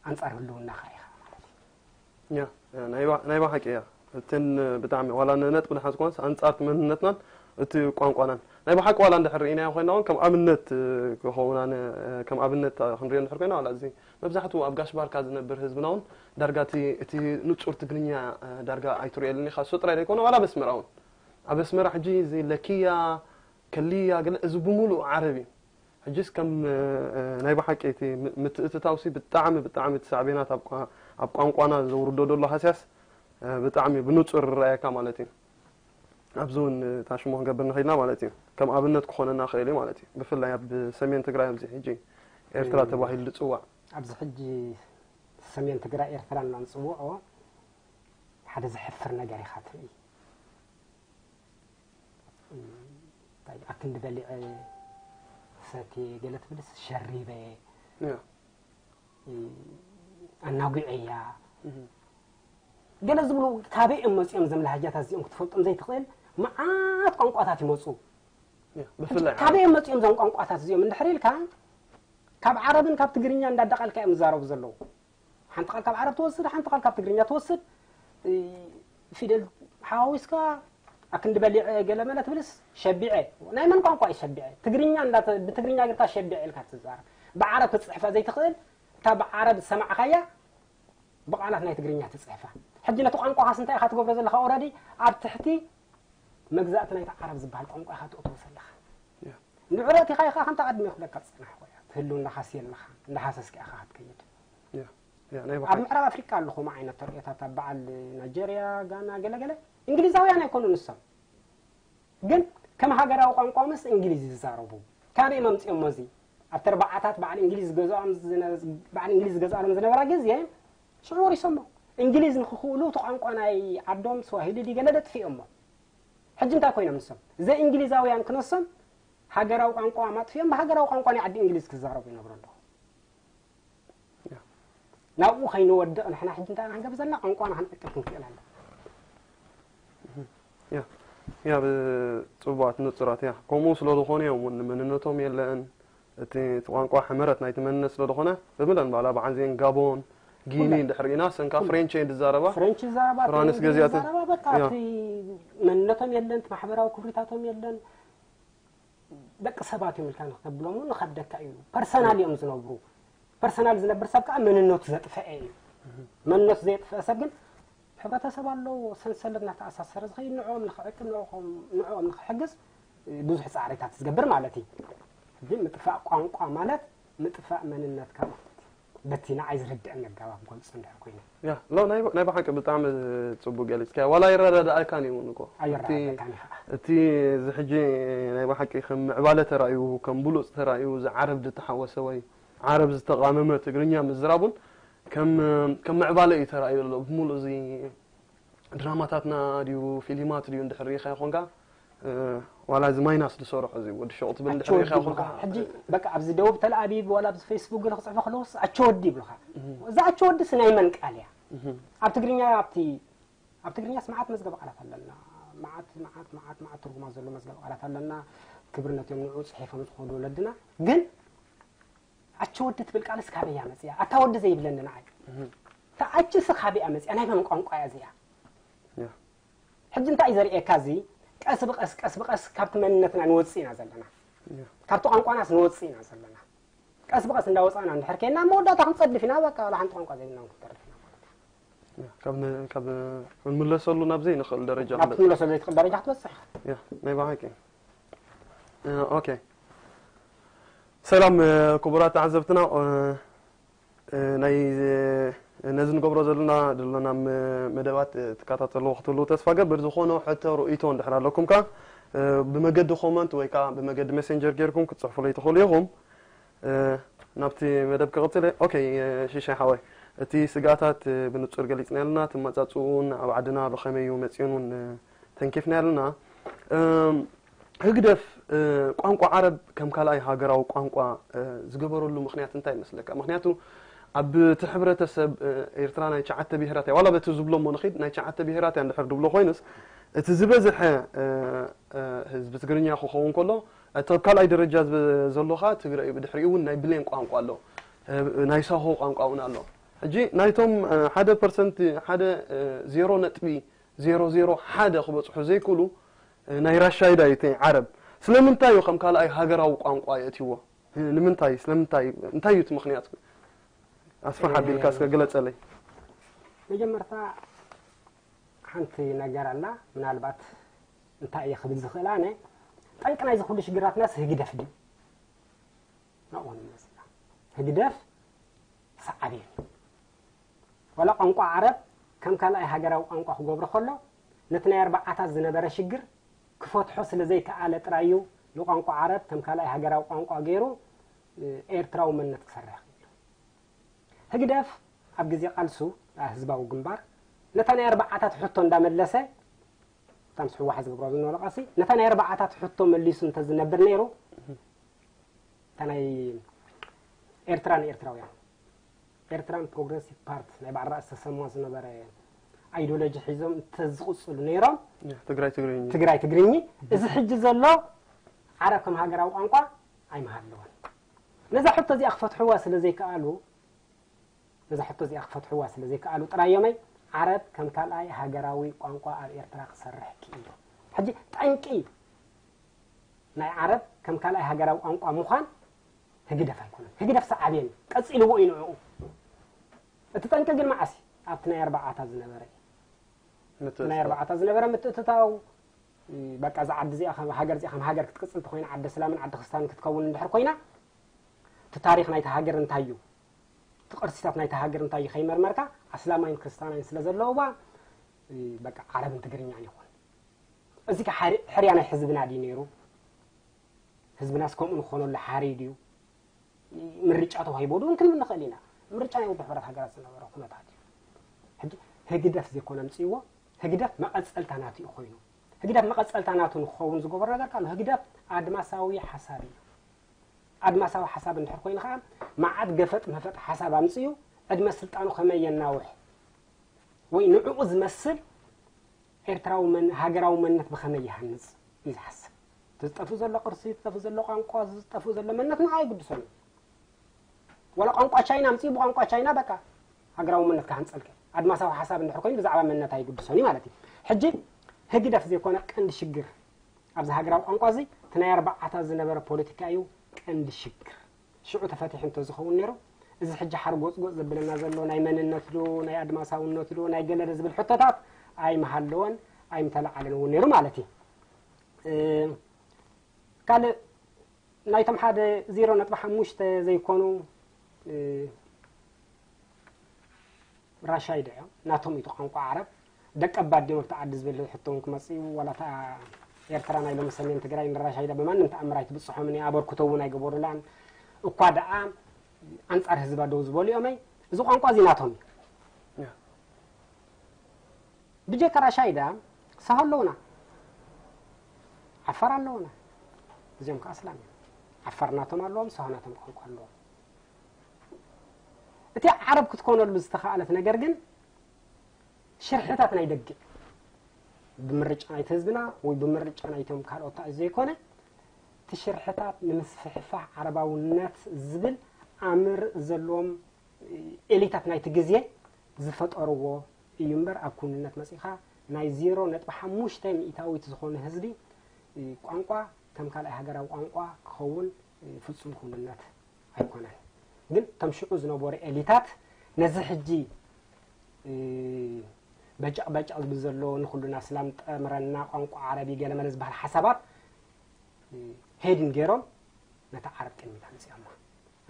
ኣንፃር ህልውና ከዓ ኢኻ ማለት እዩ ያ ናይ ብሓቂ እያ እትን ብጣዕሚ ዋላ ነጥቢ ንሓዝኮንስ ኣንፃርቲ መንነትናን እቲ ቋንቋናን ናይ ብሓቂ ዋላ እንድሕር ርኢናዮ ኮይና እውን ከም ኣብነት ክኸውና ከም ኣብነት ክንሪኦ እንድሕር ኮይና ዋላ እዚ መብዛሕትኡ ኣብ ጋሽ ባርካ ዝነብር ህዝብና እውን ዳርጋ እቲ ንፁር ትግርኛ ዳርጋ ኣይትሪኦልን ኢኻ እሱ ጥራይ ዘይኮነ ዋላ ኣብ ኣስመራ እውን ኣብ ኣስመራ ሕጂ እዚ ለኪያ ከልያ ገለ፣ እዚ ብምሉእ ዓረብ እዩ። ሕጅስ ከም፣ እ፣ እ፣ ናይ ብሓቂ እቲ ም-፣ ምትእትታውሲ ብጣዕሚ፣ ብጣዕሚ እቲ ሳዕቤናት ኣብ ቋ-፣ ኣብ ቋንቋና ዘውርዶ ዘሎ ሃስያስ፣ እ፣ ብጣዕሚ ብንጹር ይረኣየካ ማለት እዩ። ኣብዚ እውን፣ እ፣ ታሽሞ ክንገብር ንኽእል ኢና ማለት እዩ። ከም ኣብነት ክኾነና ክእል እዩ ማለት እዩ። ብፍላይ ኣብ ሰሜን ትግራይ፣ ኣብዚ ሕጂ ኤርትራ እ፣ ተባሂሉ ዝጽዋዕ። ኣብዚ ሕጂ ሰሜን ትግራይ ኤርትራ እናንጽውዖ ሓደ ዘሕፍር ነገር ኢኻ ትርኢ። እንታይ ኣክንዲ በሊዐ ሰትየ ገለ ትብልስ ሸሪበ ያ። ኣናጒዐያ እህ። ገለ ዝብሉ ካበይ እዮም መፂኦም እዞም ላሃጃታት እዚኦም ክትፈልጦም ዘይትኽእል መዓት ቋንቋታት ይመፁ። ያ፣ ብፍላይ ካበይ እዮም መፂኦም እዞም ቋንቋታት እዚኦም እንድሕር ኢልካ ካብ ዓረብን ካብ ትግርኛ እንዳዳቐልካ እዮም ዝዛረቡ ዘለዉ። ሓንቲ ቃል ካብ ዓረብ ትወስድ፣ ሓንቲ ቃል ካብ ትግርኛ ትወስድ። እ፣ ፊደል ሓዋዊስካ ኣክንዲ በሊዐ ገለ መለ ትብልስ ሸቢዐ። ናይ መን ቋንቋ እዩ ሸቢዐ? ትግርኛ እንዳተ-፣ ብትግርኛ ጌርካ ሸቢዐ ኢልካ ትዛረብ። ብዓረብ ክትፅሕፋ ዘይትኽእል፣ እታ ብዓረብ ዝሰማዕኻያ ብቓላት ናይ ትግርኛ ትፅሕፋ። ሕጂ ነቲ ቋንቋኻስ እንታይ ኢኻ ትገብሮ ዘለኻ? ኦረዲ ኣብ ትሕቲ መግዛእቲ ናይቲ ዓረብ ዝበሃል ቋንቋ ኢኻ ትእትዎ ዘለኻ። ያ። ንዕረቲ ኢኻ ኢኻ ከምታ ቀድሚ ክብለካ ዝጸናሕኩ እያ። ትህልው እንዳኻሲ ኣለኻ፣ እንዳሃሰስካ ኢኻ ክትከይድ። ያ። ያ፣ ናይ ኣብ ብሓቂ። ምዕራብ ኣፍሪቃ ኣለኹም ዓይነት ተርእዮታት ኣብ በዓል ናይጀርያ፣ ጋና፣ ገለ ገለ እንግሊዛውያን ኣይኮኑን ንሶም። ግን ከም ሃገራዊ ቋንቋ ምስ እንግሊዝ ይዛረቡ። ካበይ መምጽኦሞ እዚ? ኣብቲ ኣርባዓታት በዓል እንግሊዝ ዝገዝኦም ዝነ-፣ በዓል እንግሊዝ ዝገዝኣሎም ዝነበራ ግዜ ሽዑ ወሪሶሞ። እንግሊዝ ንክኽእሉ እቲ ቋንቋ ናይ ዓዶም ስዋሂሊ ድዩ ገለ ደጥፊኦሞ። ሕጂ እንታይ ኮይኖም ንሶም? ዘእንግሊዛውያን ክነሶም ሃገራዊ ቋንቋ ማጥፊኦም ብሃገራዊ ቋንቋ ናይ ዓዲ እንግሊዝ ክዛረቡ ይነብሩ ኣለዉ። ያ። ናብኡ ከይንወድቕ ንሕና ሕጂ እንታይ ኢና ክንገብር ዘለና? ቋንቋና ክንዕቅብ ክንክእል ኣለና። ያ፣ ያ፣ ብ-፣ ጽቡቓት ንጹራት፣ ያ። ከምኡ ስለ ዝኾነ እዮም እውን መንነቶም የለን። እቲ፣ እቲ ቋንቋ ሕመረት ናይቲ መንነት ስለ ዝኾነ፣ ብምለን ባላ ብዓንዚን ጋቦን፣ ጊኒ ኩለን። እንድሕር ኢና፣ ሰንካ ኩለን። ፍሬንች እየን ዝዛረባ። ፍሬንች ይዛረባ፣ ፍራንስ ትግርኛ ገዚኣተን። ይዛረባ፣ በቃ ያ። እቲ መንነቶም የለን፣ እቲ ማሕበራዊ ክብሪታቶም የለን። ደቂ ሰባት እዮም ኢልካ ንክተብሎም እውን ንኸብደካ እዩ። ፐርሰናል እዮም ዝነብሩ። ፐርሰናል ዝነብር ሰብ ከዓ መንነቱ ዘጥፈአ እዩ። መንነቱ ዘየጥፈአ ሰብ ግን ሕብረተሰብ ኣለዎ፣ ሰንሰለት እናተኣሳሰረ ዝኸይድ ንዕኦም ንኽዕቅብ፣ ንዕኦም፣ ንዕኦም ንኽሕግዝ ብዙሕ ፃዕሪታት ዝገብር ማለት እዩ። ግን ምጥፋእ ቋንቋ ማለት ምጥፋእ መንነትካ ማለት እዩ። በቲ ንዓይ ዝርድአኒ ኣገባብ ክገልጾ እንድሕር ኮይነ። ያ፣ ሎ፣ ናይ፣ ናይ ብሓቂ ብጣዕሚ ጽቡቅ ገሊጽካዮ። ዋላ ኣይረዳድኣካን እዩ እውን እኮ። ኣይረዳድኣካን እዩ ከዓ። እቲ፣ እቲ እዚ ሕጂ ናይ ብሓቂ ከም ምዕባለ ተራእዩ፣ ከም ብሉጽ ተራእዩ፣ እዚ ዓረብ ዝተሓወሰ ወይ ዓረብ ዝተቓመመ ትግርኛ ምዝራቡን ከም፣ ከም ምዕባለ እዩ ተራእዩ ዘሎ። ብምሉእ እዚ ድራማታትና ድዩ፣ ፊልማት ድዩ እንድሕር ርኢኻ ይኾንካ፣ እ፣ ዋላ እዚ ማይናስ ዝሰርሖ እዚ ወዲ ሾቕ ትብል እንድሕር ኣቸወዲ ርኢኻ ይኾንካ፣ ይብሉኻ። ሕጂ በቃ ኣብዚ ደቡብ ተልኣቢብ ዋላ ኣብዚ ፌስቡክ ገለ ክጽሕፉ ከለውስ ኣቸወዲ ይብሉኻ። እህ። እዛ ኣቸወዲ ስ ናይ መን ቃል እያ? እህ። ኣብ ትግርኛ ኣብቲ፣ ኣብ ትግርኛስ መዓት መዝገብ ቃላት ኣለና። መዓት፣ መዓት፣ መዓት፣ መዓት ትርጉማት ዘሎ መዝገብ ቃላት ኣለና። ክብርነት እዮም ንዕኡ ጽሒፎም ዝኾኑ ወለድና። ግን ኣቸወዲ ትብል ቃልስ ካበይ እያ መጽያ? ኣታ ወዲ ዘይብለኒ ንዓይ። እህ። እታ ኣችስ ካበይ እያ መጽያ? ናይ መን ቋንቋ እያ እዚኣ? ያ። ሕጂ እንታይ እዩ ዘርእየካ እዚ? ቀስ ብቐስ፣ ቀስ ብቐስ ካብቲ መንነትና ንወጽእ ኢና ዘለና። ያ። ካብቲ ቋንቋናስ ንወጽእ ኢና ዘለና። ቀስ ብቐስ እንዳወጻእና እንድሕር ኬድና፣ መወዳእታ ክንጸድፍ ኢና፣ በቃ፣ ዋላ ሓንቲ ቋንቋ ዘይብልና እውን ክንተርፍ ኢና ማለት እዩ። ያ፣ ካብ ነ-፣ ካብ፣ ክንምለሰሉ ናብ ዘይንኽእል ደረጃ ናብ ክንበጽሕ። ክትምለሰሉ ዘይትኽእል ደረጃ ክትበጽሕ ኢኻ። ያ፣ ናይ ብሓቂ። እ፣ ኦኬ። ሰላም፣ እ፣ ክቡራት ተዓዘብትና፣ እ፣ እ፣ ናይ፣ እ፣ ነዚ ንገብሮ ዘለና፣ ዘለና መ-፣ መደባት፣ እ፣ ትከታተልዎ ክትህልዉ ተስፋ ገብር። ዝኾነ ሕቶ ርእይቶ እንድሕር ኣለኩም ከኣ፣ እ፣ ብመገዲ ኮመንት ወይ ከኣ ብመገዲ ሜሴንጀር ጌርኩም ክትጽሕፉለይ ትኽእሉ ኢኹም። እ፣ ናብቲ መደብ ክቕጽል እየ። ኦኬ፣ እ፣ ሽሻይ ሓወይ፣ እቲ ስግኣታት፣ እ፣ ብንጹር ገሊጽና ኣለና። እቲ መጻጽኡን ኣብ ዓድና ብኸመይ እዩ መጺኡን እውን፣ እ፣ ተንኪፍና ኣለና። እም፣ ህግደፍ፣ እ፣ ቋንቋ ዓረብ ከም ካልኣይ ሃገራዊ ቋንቋ፣ እ፣ ዝገበረሉ ምኽንያት እንታይ ይመስለካ? ምኽንያቱ ኣብቲ ሕብረተሰብ፣ እ፣ ኤርትራ ናይ ትሽዓተ ብሄራት እያ። ዋላ በቲ ዝብሎ እሞ ንኺድ፣ ናይ ትሽዓተ ብሄራት እያ እንድሕር ድብሎ ኮይኑስ፣ እቲ ዝበዝሐ፣ እ፣ እ፣ ህዝቢ ትግርኛ ክኸውን ከሎ፣ እቲ ኣብ ካልኣይ ደረጃ ዝብ-፣ ዘሎ ኸኣ ትግረ እዩ። ብድሕሪኡ እውን ናይ ብሌን ቋንቋ ኣሎ። እ፣ ናይ ሳሆ ቋንቋ እውን ኣሎ። ሕጂ ናይቶም፣ እ፣ ሓደ ፐርሰንት፣ ሓደ፣ እ፣ ዜሮ ነጥቢ ዜሮ ዜሮ ሓደ ክበጽሑ ዘይክእሉ፣ እ፣ ናይ ራሻይዳ እዩ እቲ ዓረብ። ስለምንታይ እዩ ከም ካልኣይ ሃገራዊ ቋንቋ የእትይዎ? እ፣ ንምንታይ? ስለምንታይ? እንታይ እዩ እቲ ምኽንያት? ኣስፍሕ ኣቢልካ እስከ ግለጸለይ። መጀመርታ ሓንቲ ነገር ኣላ፣ ምናልባት እንታይ እየ ክብል ዝኽእል ኣነ፣ ጠንቂ ናይዚ ኩሉ ሽግራትናስ ህግደፍ ድዩ? ናብኡ ንመጽእ ኢና። ህግደፍ ሰዓቤን እዩ። ዋላ ቋንቋ ዓረብ ከም ካልኣይ ሃገራዊ ቋንቋ ክገብሮ ከሎ፣ ነቲ ናይ ኣርባዓታት ዝነበረ ሽግር ክፈትሖ ስለ ዘይከኣለ ጥራይ እዩ ንቋንቋ ዓረብ ከም ካልኣይ ሃገራዊ ቋንቋ ገይሩ፣ እ፣ ኤርትራዊ መንነት ክሰርሕ ክኢሉ። ህግደፍ ኣብ ግዜ ቃልሱ፣ ኣ፣ ህዝባዊ ግንባር፣ ነታ ናይ ኣርባዓታት ሕቶ እንዳመለሰ፣ እታ ምስ ህወሓት ዝገብሮ ዝነበረ ቃልሲ፣ ነታ ናይ ኣርባዓታት ሕቶ መሊሱ እንተዝነብር ነይሩ፣ እታ ናይ ኤርትራ ንኤርትራውያን፣ ኤርትራን ፕሮግረሲቭ ፓርት ናይ በዓል ራእሲ ተሰማ ዝነበረ ኣይዲዮሎጂ ሒዞም እንተዝቕጽሉ ነይሮም፣ ትግራይ ትግርኝ። ትግራይ ትግርኝ፣ እዚ ሕጂ ዘሎ ዓረብ ከም ሃገራዊ ቋንቋ ኣይምሃለወን። ነዛ ሕቶ እዚኣ ክፈትሕዋ ስለ ዘይከኣሉ፣ ነዛ ሕቶ እዚኣ ክፈትሕዋ ስለ ዘይከኣሉ ጥራይ እዮመይ ዓረብ ከም ካልኣይ ሃገራዊ ቋንቋ ኣብ ኤርትራ ክሰርሕ ክኢሉ። ሕጂ ጠንቂ ናይ ዓረብ ከም ካልኣይ ሃገራዊ ቋንቋ ምዃን ህግደፍ ኣይኮነን። ህግደፍ ሰዓቤን እዩ። ቀጺልዎ እዩ ንዕኡ። እቲ ጠንቂ ግን መዓስ እዩ? ኣብቲ ናይ ኣርባዓታት ዝነበረ እዩ። እቲ ናይ ኣርባዓታት ዝነበረ ምትእትታው፣ እ፣ በቃ እዛ ዓዲ እዚኣ ከም ሃገር እዚኣ ከም ሃገር ክትቅጽል እንተኾይና፣ ዓዲ እስላምን ዓዲ ክርስትያንን ክትከውን እንድሕር ኮይና፣ እቲ ታሪኽ ናይቲ ሃገር እንታይ እዩ? እቲ ቅርሲታት ናይቲ ሃገር እንታይ እዩ? ከይመርመርካ ኣስላማይን ክርስትያናይን ስለ ዘለውዋ፣ እ፣ በቃ ዓረብን ትግርኛን ይኹን። እዚ ከ ሓሪ-፣ ሕርያ ናይ ህዝብና ድዩ ነይሩ? ህዝብናስ ከምኡ ንኾነሉ ሓርዩ ድዩ? ምርጫ ተዋሂቦ ዶ እውን ክንብል ንኽእል ኢና። ምርጫ ናይ ውድብ ሕብረት ሃገራት ዝነበረ ኩነታት እዩ። ሕጂ ህግደፍ ዘይኮነ ኣምፅእዎ፣ ህግደፍ መቐፀልታ ናቱ እዩ ኮይኑ። ህግደፍ መቐፀልታ ናቱ ንክኸውን ዝገበሮ ነገር ካሎ ህግደፍ ኣድማሳዊ ሓሳብ እዩ። ኣድማሳዊ ሓሳብ እንድሕር ኮይኑ ከዓ መዓት ገፈጥ መፈጥ ሓሳብ ኣምፅኡ ዕድመ ስልጣኑ ከመይ የናውሕ ወይ ንዕኡ ዝመስል ኤርትራዊ መን-፣ ሃገራዊ መንነት ብኸመይ ይሃንጽ እዩ ዝሓስብ። እቲ ዝጠፍእ ዘሎ ቅርሲ፣ ዝጠፍእ ዘሎ ቋንቋ፣ ዝጠፍእ ዘሎ መንነት ንዓ ኣይግድሶን እዩ። ዋላ ቋንቋ ቻይና ኣምፅኡ ብቋንቋ ቻይና በቃ ሃገራዊ መንነት ክሃንጸልከ። ኣድማሳዊ ሓሳብ እንድሕር ኮይኑ ብዛዕባ መንነት ኣይግድሶን እዩ ማለት እዩ። ሕጂ ህግደፍ ዘይኮነ ቀንዲ ሽግር ኣብዚ ሃገራዊ ቋንቋ እዚ እቲ ናይ ኣርባዓታት ዝነበረ ፖለቲካ እዩ ቀንዲ ሽግር። ሽዑ ተፈቲሑ እንተዝኸውን ነይሩ፣ እዚ ሕጂ ሓርጎጽጎጽ ዘብለና ዘሎ ናይ መንነት ዶ፣ ናይ ኣድማሳውነት ዶ፣ ናይ ገለ ዶ ዝብል ሕቶታት ኣይምሃለወን፣ ኣይምተለዓለን እውን ነይሩ ማለት እዩ። እ፣ ካልእ ናይቶም ሓደ ዜሮ ነጥቢ ሓሙሽተ ዘይኮኑ፣ እ፣ ራሻይዳ እዮም። ናቶም እዩ እቲ ቋንቋ ዓረብ። ደቀባት ድዮም ኣብቲ ዓዲ ዝብል ሕቶ እውን ክመጽእ እዩ። ዋላ እታ ኤርትራ ናይ ሎሚ ሰሜን ትግራይ ንራሻይዳ ብማንም ተኣምር ኣይትብጽሖምን እያ፣ ኣበርክቶ እውን ኣይገበሩላን። እኳ ደኣ ኣንጻር ህዝባ ደው ዝበሉ እዮም። እዚ ቋንቋ እዚ ናቶም እዩ። ያ። ብጀካ ራሻይዳ ሳሆ ኣለውና፣ ዓፋር ኣለውና። እዚኦም ከኣ ኣስላም እዮም። ዓፋር ናቶም ኣለዎም፣ ሳሆ ናቶም ቋንቋ ኣለዎም። እቲ ዓረብ ክትኮነሉ ዝተኻእለት ነገር ግን ሽርሕታት ናይ ደገ፣ ብምርጫ ናይቲ ህዝብና ወይ ብምርጫ ናይቶም ካልኦት ዘይኮነ፣ እቲ ሽርሕታት ንምስፍሕፋሕ ዓረባውነት ዝብል ኣምር ዘለዎም ኤሊታት ናይቲ ግዜ ዝፈጠርዎ እዩ እምበር፣ ኣብ ክውንነት መጺኻ ናይ ዜሮ ነጥቢ ሓሙሽተ ሚእታዊት ዝኾነ ህዝቢ ቋንቋ ከም ካልኣይ ሃገራዊ ቋንቋ ክኸውን ፍጹም ክውንነት ኣይኮነን። ግን እቶም ሽዑ ዝነበሩ ኤሊታት ነዚ ሕጂ፣ እ፣ በጨቕ በጨቕ ዝብል ዘሎ ንኹልና ኣስላም ጠምረና ቋንቋ ዓረቢ ገለመለ ዝበሃል ሓሳባት፣ እ፣ ሄድን ገይሮም ነታ ዓረብ ቅድሚት ኣምፅኦማ።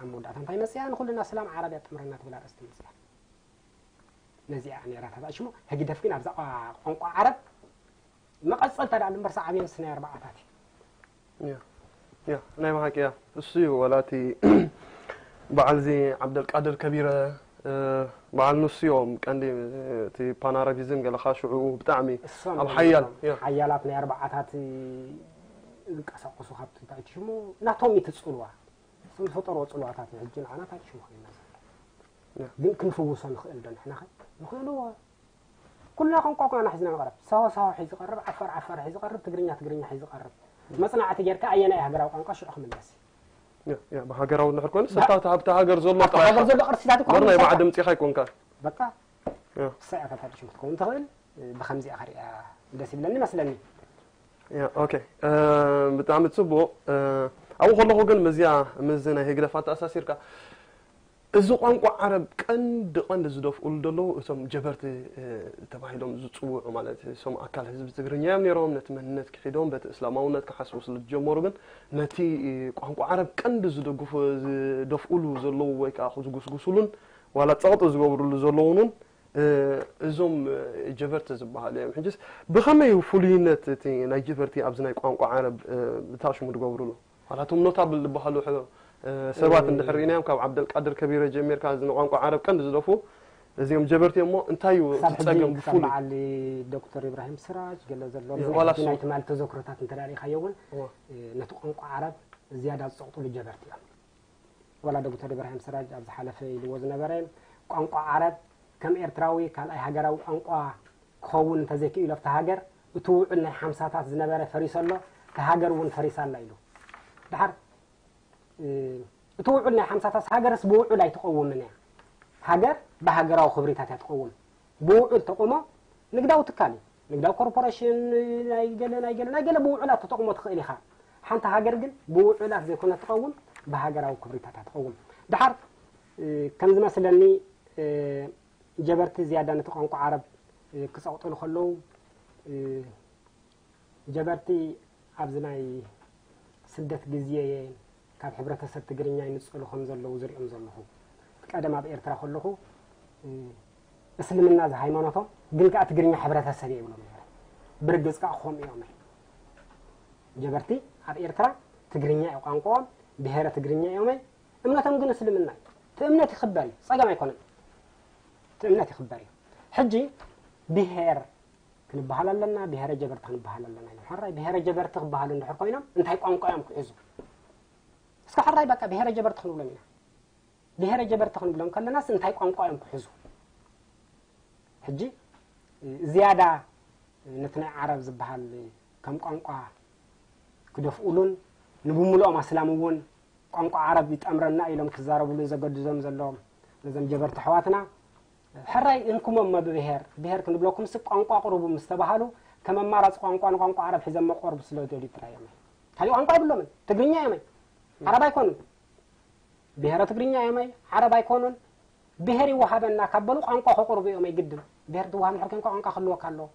ኣብ መወዳእታ እንታይ መፅኣ? ንኹልና ኣስላም ዓረብ እያ ጠምረና ትብል ኣርእስቲ መፅኣ። ነዚኣ ነይራ ተባእሽሞ ህግደፍ ግን ኣብዛ ቋ-፣ ቋንቋ ዓረብ መቐጸልታ ደኣ እምበር ሰዓብዮንስ ናይ ኣርባዓታት እዩ። ያ ያ ናይ ብሓቂ ያ እሱ እዩ ወላ እቲ በዓል እዚ ዓብደልቃድር ከቢረ እ፣ በዓል ንሱ እዮም ቀንዲ እቲ ፓናረቢዝም ገለኻ ሽዑ ብጣዕሚ እሶም ኣብ እዮም ሓያል ነቶም ያ ሓያላት ናይ ኣርባዓታት ዝንቀሳቀሱ ካብቲ እንታይ እቲ ሽሙ ናቶም እዩ እቲ ጽልዋ እሶም ዝፈጠርዎ ጽልዋታት እዩ ሕጂ ንዓና እንታይ ሽሙ ኮይና ዘሎ ያ። ግን ክንፍውሶ ንኽእል ዶ ንሕና ኸ ንኽእልዎ ኩልና ቋንቋ ኩናና ሒዝና ንቐርብ። ሳሆ ሳሆ ሒዙ ይቐርብ፣ ዓፋር ዓፋር ሒዙ ይቐርብ፣ ትግርኛ ትግርኛ ሒዙ ይቐርብ። መጽናዕቲ ጌርካ ኣየናይ ሃገራዊ ቋንቋ ሽዑ ክምለስ እዩ። ያ ያ ብሃገራዊ እንድሕር ኮይኑ ስታ ኣብቲ ሃገር ዘሎ ኣብቲ ጥራሕ ሃገር ዘሎ ቅርስታት እኮ ምር ናይ ምሳሌ። በዓል ድምጺኻ ኣይኮንካ። በቃ ያ እሳ እያ ካብታ ሽም ክትከውን ትኽእል ብከምዚኣ ክሪኣ ደስ ይብለኒ መስለኒ። ያ ኦኬ እ፣ ብጣዕሚ ጽቡቕ እ፣ ኣብኡ ከለኹ ግን ምስዚኣ ምስዚ ናይ ህግደፍ ኣተኣሳሲርካ እዚ ቋንቋ ዓረብ ቀንዲ ቀንዲ ዝደፍኡሉ ዘለዉ እቶም ጀበርቲ ተባሂሎም ዝፅውዑ ማለት እቶም ኣካል ህዝቢ ትግርኛ እዮም ነይሮም። ነቲ መንነት ክሒዶም በቲ እስላማውነት ክሓስቡ ስለ ዝጀመሩ ግን ነቲ ቋንቋ ዓረብ ቀንዲ ዝደግፉ ዝደፍኡሉ ዘለዉ ወይ ከዓ ዝጉስጉሱሉን ዋላ ፀቕጢ ዝገብሩሉ ዘለዉን እውን እዞም ጀበርቲ ዝበሃሉ እዮም። ሕጅስ ብኸመይ ፍሉይነት እቲ ናይ ጀበርቲ ኣብዚ ናይ ቋንቋ ዓረብ ብታሽሙ ትገብሩሉ? ዋላ እቶም ኖታብል ዝበሃሉ ሰባት እንድሕር ርኢናዮም ካብ ዓብደልቃድር ከቢረ ጀሚርካ እዚ ንቋንቋ ዓረብ ቀንዲ ዝደፉ እዚኦም ጀበርቲ እሞ እንታይ እዩ እቲ ጸገም ብፍሉይ? በዓል ዶክተር ኢብራሂም ስራጅ ገለ ዘሎ ናይ ትማሊ ተዘክሮታት እንተ ርኢኻዮ እውን ነቲ ቋንቋ ዓረብ ዝያዳ ዝጸቕጥሉ ጀበርቲ እዮም። ዋላ ዶክተር ኢብራሂም ስራጅ ኣብ ዝሓለፈ ኢልዎ ዝነበረ ቋንቋ ዓረብ ከም ኤርትራዊ ካልኣይ ሃገራዊ ቋንቋ ክኸውን እንተዘይክኢሉ ኣብቲ ሃገር እቲ ውዑል ናይ ሓምሳታት ዝነበረ ፈሪሱ ኣሎ፣ እቲ ሃገር እውን ፈሪሳ ኣላ ኢሉ። ድሓር እቲ ውዑል ናይ ሓምሳታት ሃገርስ ብውዑል ኣይትቐውምን እያ። ሃገር ብሃገራዊ ክብሪታት እያ ትቐውም። ብውዑል ተቑሞ ንግዳዊ ትካል እዩ። ንግዳዊ ኮርፖሬሽን ናይ ገለ ናይ ገለ ናይ ገለ ብውዑላት ተጠቕሞ ትኽእል ኢኻ። ሓንቲ ሃገር ግን ብውዑላት ዘይኮነ ትቐውም ብሃገራዊ ክብሪታት እያ ትቐውም። ድሓር ከም ዝመስለኒ ጀበርቲ ዝያዳ ነቲ ቋንቋ ዓረብ ክጸቕጥሉ ከለዉ ጀበርቲ ኣብዚ ናይ ስደት ግዜ ካብ ሕብረተሰብ ትግርኛ ይንጸሉ ከም ዘለዉ ዝሪኦም ዘለኹ። ቀደም ኣብ ኤርትራ ከለኹ እስልምና እዚ ሃይማኖቶም ግን ከኣ ትግርኛ ሕብረተሰብ እየ ይብሎም ነይረ። ብርግጽ ከኣ ክኾኑ እዮም። ጀበርቲ ኣብ ኤርትራ ትግርኛ እዩ ቋንቋኦም፣ ብሄረ ትግርኛ እዮም። እምነቶም ግን እስልምና እዩ። እቲ እምነት ይኽበር እዩ፣ ጸገም ኣይኮነን። እቲ እምነት ይኽበር እዩ። ሕጂ ብሄር ክንበሃል ኣለና፣ ብሄረ ጀበርቲ ክንበሃል ኣለና ኢሎም። ሕራይ ብሄረ ጀበርቲ ክበሃሉ እንድሕር ኮይኖም እንታይ ቋንቋ እዮም ክሕዙ? እስከ ሕራይ በቃ ብሄረ ጀበርቲ ክንብሎም ኢና። ብሄረ ጀበርቲ ክንብሎም ከለናስ እንታይ ቋንቋ እዮም ክሕዙ? ሕጂ ዝያዳ ነቲ ናይ ዓረብ ዝበሃል ከም ቋንቋ ክደፍኡሉን ንብምልኦም ኣስላም እውን ቋንቋ ዓረብ ይጠምረና ኢሎም ክዛረብሉን ዘገድዞም ዘለዎም ነዞም ጀበርቲ ኣሕዋትና ሕራይ እንኩሞ እሞ ብብሄር ብሄር ክንብለኩም ስ ቋንቋ ቅርቡ ምስ ተባሃሉ ከም ኣማራፂ ቋንቋ ንቋንቋ ዓረብ ሒዘሞ ክቐርቡ ስለ ዝደልዩ ጥራይ እዮም። ካሊእ ቋንቋ የብሎምን። ትግርኛ እዮም። ዓረብ ኣይኮኑን። ብሄረ ትግርኛ እዮም። ዓረብ ኣይኮኑን። ብሄር ይወሃበና ካብ በሉ ቋንቋ ከቕርቡ እዮም። ኣይግድን ብሄር ትወሃብ እንድሕር ኮንካ ቋንቋ ክህልወካ ኣለዎ።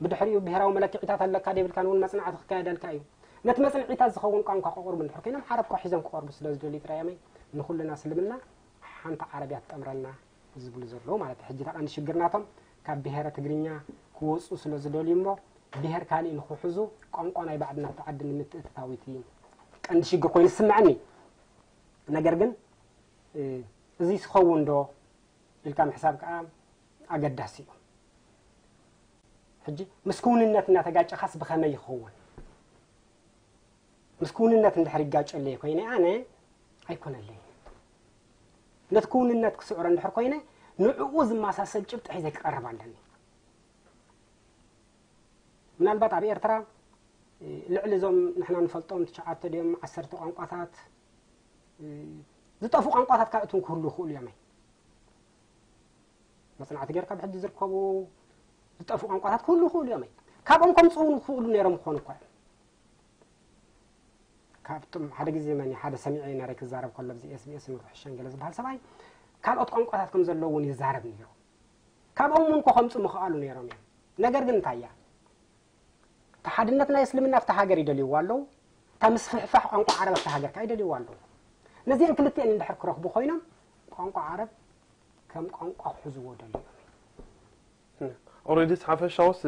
ብድሕሪኡ ብሄራዊ መለክዒታት ኣለካ ዶ የብልካን እውን መፅናዕቲ ክካየደልካ እዩ። ነቲ መፅንዒታት ዝኸውን ቋንቋ ከቕርቡ እንድሕር ኮይኖም ዓረብ ኮ ሒዞም ክቐርቡ ስለ ዝደልዩ ጥራይ እዮም። ንኹልና እስልምና ሓንቲ ዓረብ እያ ትጠምረና ዝብሉ ዘለዉ ማለት እዩ። ሕጂ እታ ቀንዲ ሽግር ናቶም ካብ ብሄረ ትግርኛ ክወፁ ስለ ዝደልዩ እሞ ብሄር ካሊእ ንኽሕዙ ቋንቋ ናይ ባዕድና ኣብቲ ዓዲ ንምትእትታው እቲ ቀንዲ ሽግር ኮይኑ ዝስምዐኒ። ነገር ግን እዚ ዝኸውን ዶ ኢልካ ምሕሳብ ከዓ ኣገዳሲ እዩ። ሕጂ ምስ ክውንነት እናተጋጨኻስ ብኸመይ ይኸውን? ምስ ክውንነት እንድሕር ይጋጨለይ ኮይነ ኣነ ኣይኮነለይ። ነቲ ክውንነት ክስዕሮ እንድሕር ኮይነ ንዕኡ ዝመሳሰል ጭብጢ ሒዘ ክቐርብ ኣለኒ። ምናልባት ኣብ ኤርትራ ልዕሊ እዞም ንሕና ንፈልጦም ትሽዓተ ድዮም ዓሰርተ ቋንቋታት ዝጠፍኡ ቋንቋታት ካልኦት እውን ክህሉ ይኽእሉ እዮም። መፅናዕቲ ጌርካ ብሕጂ ዝርከቡ ዝጠፍኡ ቋንቋታት ክህሉ ይኽእሉ እዮም። ካብኦም ከምፅኡ እውን ክኽእሉ ነይሮም ክኾኑ እኳ እዮም። ካብቶም ሓደ ግዜ መን ሓደ ሰሚዐ ነረ ክዛረብ ከሎ ብዚ ኤስቢኤስ ንርሕሸን ገለ ዝበሃል ሰብኣይ ካልኦት ቋንቋታት ከም ዘለዉ እውን ይዛረብ ነይሩ። ካብኦም እውን ኮ ከምፁ ምኽኣሉ ነይሮም እዮም። ነገር ግን እንታይ እያ እታ ሓድነት ናይ እስልምና ኣብቲ ሃገር ይደልይዋ ኣለዉ። እታ ምስፍሕፋሕ ቋንቋ ዓረብ ኣብቲ ሃገር ከዓ ይደልይዋ ኣለዉ። ነዚአን ክልቲአን እንድሕር ክረኽቡ ኮይኖም ቋንቋ ዓረብ ከም ቋንቋ ክሕዝዎ ደልዮም እዮም። ኦረዲ ሓፈሻውስ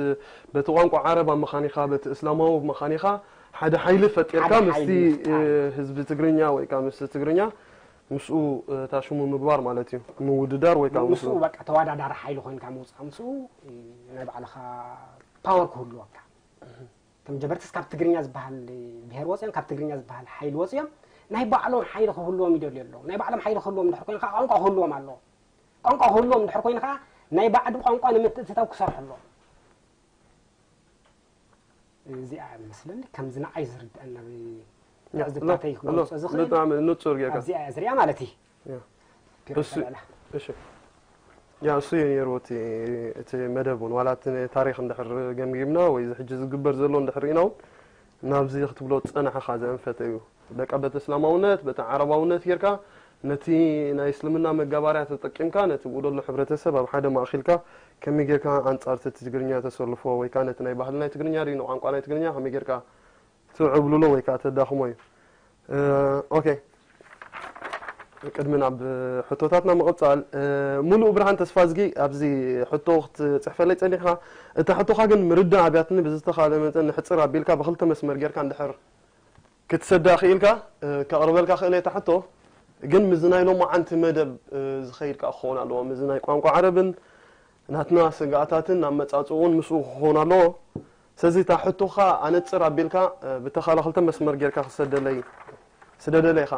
በቲ ቋንቋ ዓረብ ኣብ ምኻኒኻ በቲ እስላማዊ ኣብ ምኻኒኻ ሓደ ሓይሊ ፈጢርካ ምስቲ ህዝቢ ትግርኛ ወይ ከዓ ምስቲ ትግርኛ ምስኡ ታሽሙ ምግባር ማለት እዩ። ምውድዳር ወይ ከዓ ምስኡ በቃ ተወዳዳሪ ሓይሊ ኮይንካ ምውፃእ ምስኡ ናይ ባዕልኻ ፓወር ክህልወካ። እቶም ጀበርትስ ካብ ትግርኛ ዝበሃል ብሄር ወፂኦም ካብ ትግርኛ ዝበሃል ሓይሊ ወፂኦም ናይ ባዕሎም ሓይሊ ክህልዎም ይደልዩ ኣለዉ። ናይ ባዕሎም ሓይሊ ክህልዎም እንድሕር ኮይኑ ከዓ ቋንቋ ክህልዎም ኣለዎ። ቋንቋ ክህልዎም እንድሕር ኮይኑ ከዓ ናይ ባዕዲ ቋንቋ ንምትእትታው ክሰርሑ ኣለዎም። እዚኣ እያ ዝመስለኒ ከምዚ ንዓይ ዝርድአኒ ናብ ትዕዝብታተይ ክገልፆ ዝኽእል ብጣዕሚ ንፁር ጌርካ። ኣብዚኣ እያ ዝሪኣ ማለት እዩ። ያ። ፒሮ እሱ ተበላ። እሺ። ያ እሱ እዩ ነይሩ እቲ እቲ መደብ እውን ዋላ እቲ ታሪኽ እንድሕር ገምጊምና ወይ እዚ ሕጂ ዝግበር ዘሎ እንድሕር ርኢና እውን ናብዚ ክትብሎ ዝፀናሕኻ ዘንፈተ እዩ። በቃ በቲ እስላማውነት በቲ ዓረባውነት ጌርካ ነቲ ናይ እስልምና መጋባርያ ተጠቂምካ ነቲ ብኡ ዘሎ ሕብረተሰብ ኣብ ሓደ ማእኺልካ ከመይ ጌርካ ኣንጻር እቲ ትግርኛ ተሰልፎ ወይ ከዓ ነቲ ናይ ባህሊ ናይ ትግርኛ ድዩ ንቋንቋ ናይ ትግርኛ ከመይ ጌርካ ትዕብልሎ ወይ ከዓ ተዳኽሞ እዩ። ኦኬ፣ ቅድሚ ናብ ሕቶታትና ምቕጻል፣ ሙሉእ ብርሃን ተስፋዝጊ ኣብዚ ሕቶ ክትጽሕፈለይ ጸኒሕካ፣ እታ ሕቶኻ ግን ምርዳእ ኣብያትኒ ብዝተኻለ መጠን ንሕጽር ኣቢልካ ብክልተ መስመር ጌርካ እንድሕር ክትሰዳ ክኢልካ ከቕርበልካ ክእል እየ ሕቶ። ግን ምዚ ናይ ሎማዓንቲ መደብ ዝኸይድ ከዓ ክኸውን ኣለዎ፣ ምዚ ናይ ቋንቋ ዓረብን ናትና ስጋኣታትን ኣመጻጽኡን ምስኡ ክኸውን ኣለዎ። ስለዚ እታ ሕቶኻ ኣነጽር ኣቢልካ ብተኻለ ክልተ መስመር ጌርካ ክሰደለይ ስደደለይ ኢኻ።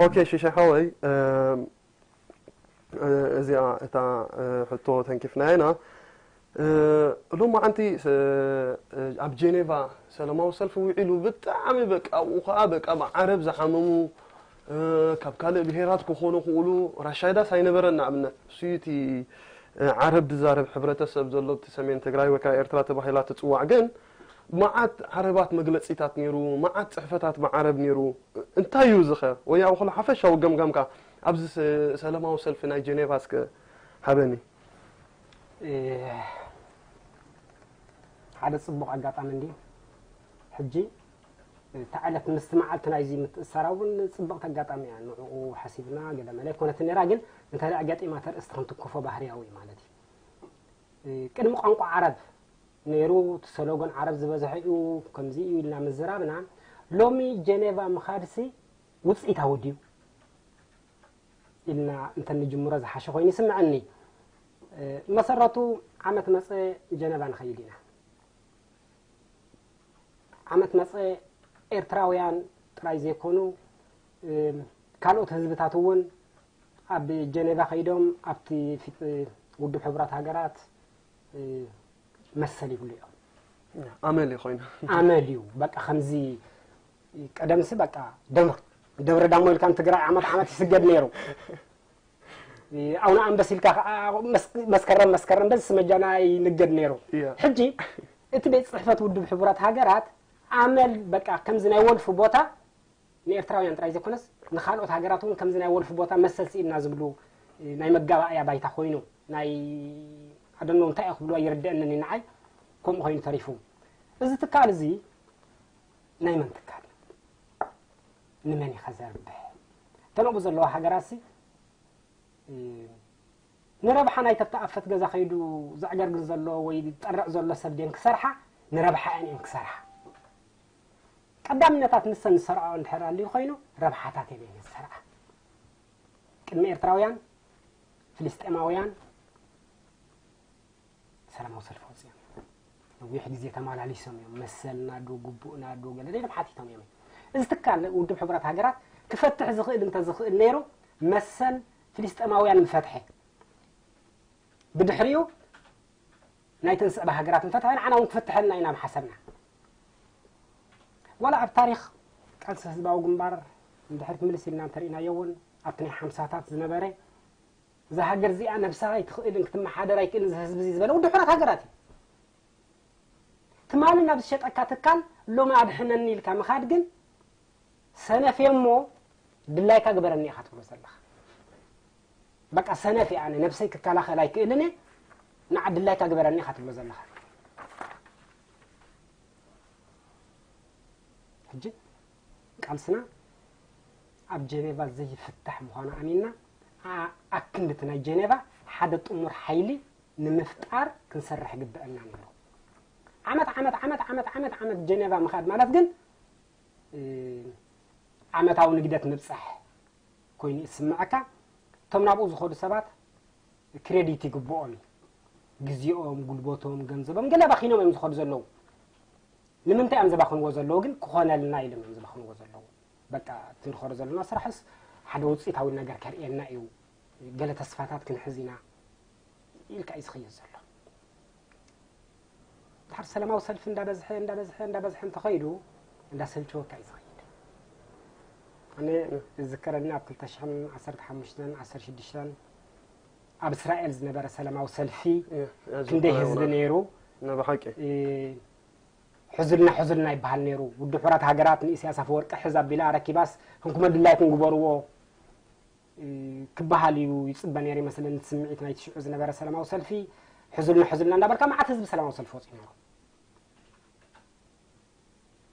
ኦኬ ሽሻይ ሓወይ፣ እዚኣ እታ ሕቶ ተንኪፍናያ ኢና። ሎማዓንቲ ኣብ ጀኔቫ ሰላማዊ ሰልፊ ውዒሉ ብጣዕሚ በቃ ኣብኡ ከዓ በቃ ብዓረብ ዝሓመሙ ካብ ካልእ ብሄራት ክኾኑ ክእሉ ራሻይዳስ ኣይነበረን። ንኣብነት እሱዩ እቲ ዓረብ ዝዛረብ ሕብረተሰብ ዘሎ እቲ ሰሜን ትግራይ ወይ ከዓ ኤርትራ ተባሂላ ትፅዋዕ ግን መዓት ዓረባት መግለፂታት ነይሩ፣ መዓት ፅሕፈታት ብዓረብ ነይሩ። እንታይ እዩ ዝኸ ወይ ኣብ ክሉ ሓፈሻዊ ገምጋምካ ኣብዚ ሰላማዊ ሰልፊ ናይ ጀኔቫ እስከ ሃበኒ። ሓደ ፅቡቕ ኣጋጣሚ እንዲ ሕጂ እታ ዕለት ምስቲ መዓልቲ ናይዚ ምትእሳራ እውን ፅብቕቲ ኣጋጣሚ እያ። ንዕኡ ሓሲብና ገለ መለ ኣይኮነትን ነራ፣ ግን እንተ ደኣ ገጢማ ተርእስቲ ክንትክፎ ባህርያዊ እዩ ማለት እዩ። ቅድሚ ቋንቋ ዓረብ ነይሩ፣ እቲ ሰሎጎን ዓረብ ዝበዝሐ እዩ፣ ከምዚ እዩ ኢልና ምዝራብና፣ ሎሚ ጀኔቫ ምኻድሲ ውፅኢታዊ ድዩ ኢልና እንተ ንጅምሮ ዝሓሸ ኮይኑ ይስምዐኒ። መሰረቱ ዓመት መፀ ጀነቫ ንኸይድ ኢና። ዓመት መፀ ኤርትራውያን ጥራይ ዘይኮኑ ካልኦት ህዝብታት እውን ኣብ ጀኔቫ ከይዶም ኣብቲ ፊት ውድብ ሕቡራት ሃገራት መሰል ይብሉ እዮም። ኣመል ኮይኑ ኣመል እዩ። በቃ ከምዚ ቀደምሲ በቃ ደብረ ደብረ ዳሞ ኢልካ ንትግራይ ዓመት ዓመት ይስገድ ነይሩ። ኣውነ ኣንበስ ኢልካ ከዓ መስከረም መስከረም በዚ ስመጃና ይንገድ ነይሩ። ሕጂ እቲ ቤት ፅሕፈት ውድብ ሕቡራት ሃገራት ኣመል በቃ ከምዚ ናይ ወልፊ ቦታ ንኤርትራውያን ጥራይ ዘይኮነስ ንካልኦት ሃገራት እውን ከምዚ ናይ ወልፊ ቦታ መሰል ስኢንና ዝብሉ ናይ መጋባእያ ባይታ ኮይኑ ናይ ኣደኖ እንታይ እዩ ክብልዋ ይርድአንን እዩ ንዓይ ከምኡ ኮይኑ ተሪፉ። እዚ ትካል እዚ ናይ መን ትካል እዩ? ንመን እዩ ከዘርብሕ? እተን ኣብኡ ዘለዋ ሃገራት ሲ ንረብሓ ናይ ተተኣፈት ገዛ ከይዱ ዘዕገርግር ዘሎ ወይ ዝጠርዕ ዘሎ ሰብ ድየን ክሰርሓ? ንረብሓ እየን እየን ክሰርሓ። ቀዳምነታት ንሰን ዝሰርዓኦ እንድሕር ኣልዩ ኮይኑ ረብሓታት እየን እየን ዝሰርዓ። ቅድሚ ኤርትራውያን ፍልስጤማውያን ሰላማዊ ሰልፊ ወፂኦም ነዊሕ ግዜ ተመላሊሶም እዮም። መሰልና ዶ ግቡእና ዶ ገለ ኢሎም ሓቲቶም እዮም። እዚ ትካል ውድብ ሕቡራት ሃገራት ክፈትሕ ዝኽእል እንተዝኽእል ነይሩ መሰል ፍልስጤማውያን ምፈትሐ። ብድሕሪኡ ናይተን ዝስዕባ ሃገራት ምፈትሐ ንዓና እውን ክፍትሐልና ኢና ምሓሰብና። ዋላ ኣብ ታሪኽ ቃልሲ ህዝባዊ ግንባር ንድሕሪት ምልስ ኢልና እንተርኢናዮ እውን ኣብቲ ናይ ሓምሳታት ዝነበረ እዛ ሃገር እዚኣ ነብሳ ኣይትኽእልን ክትመሓደር ኣይክእልን እዚ ህዝቢ እዚ ዝበለ ውድብ ሕቡራት ሃገራት እዩ። ትማሊ ናብ ዝሸጠካ ትካል ሎሚ ኣድሕነኒ ኢልካ ምኻድ ግን ሰነፍ እየ እሞ ድላይካ ግበረኒ ኢኻ ትብሎ ዘለኻ። በቃ ሰነፍ እየ ኣነ ነብሰይ ክከላኸል ኣይክእልን እየ ንዓ ድላይካ ግበረኒ ኢኻ ትብሎ ዘለኻ። ሕጂ ቃልስና ኣብ ጀኔቫ ዘይፍታሕ ምዃኑ ኣሚንና ኣክንድቲ ናይ ጀኔቫ ሓደ ጥሙር ሓይሊ ንምፍጣር ክንሰርሕ ግበአና ነይሩ። ዓመት ዓመት ዓመት ዓመት ዓመት ዓመት ጀኔቫ ምኻድ ማለት ግን ዓመታዊ ንግደት ምብፃሕ ኮይኑ ይስምዐካ። እቶም ናብኡ ዝኸዱ ሰባት ክሬዲት ይግብኦም እዩ። ግዜኦም፣ ጉልበቶም፣ ገንዘቦም ገለ ባኺኖም እዮም ዝኸዱ ዘለዉ። ንምንታይ እዮም ዘባኽንዎ ዘለዉ ግን ክኾነልና ኢሎም እዮም ዘባኽንዎ ዘለዉ። በቃ እቲ ንኸዶ ዘለና ስራሕስ ሓደ ውፅኢታዊ ነገር ከርእየና እዩ፣ ገለ ተስፋታት ክንሕዝ ኢና ኢልካ እዩ ዝኽየድ ዘሎ። ድሓር ሰላማዊ ሰልፊ እንዳበዝሐ እንዳበዝሐ እንዳበዝሐ እንተኸይዱ እንዳሰልቸወካ እዩ ዝኸይድ። ኣነ ዝዝከረኒ ኣብ ክልተ ሽሕን ዓሰርተ ሓሙሽተን ዓሰርተ ሽዱሽተን ኣብ እስራኤል ዝነበረ ሰላማዊ ሰልፊ ክንደይ ህዝቢ ነይሩ። ብሓቂ ሕዙልና ሕዙልና ይበሃል ነይሩ። ውድብ ሕቡራት ሃገራት ንኢሳያስ ኣፈወርቂ ሕዝ ኣቢላ ኣረኪባስ ህንኩመ ድላይኩም ግበርዎ ክበሃል እዩ ይፅበ ነይሩ ይመስለኒ። እቲ ስምዒት ናይቲ ሽዑ ዝነበረ ሰላማዊ ሰልፊ፣ ሕዙልና ሕዙልና እንዳበልካ መዓት ህዝቢ ሰላማዊ ሰልፊ ወፂኡ ነይሩ።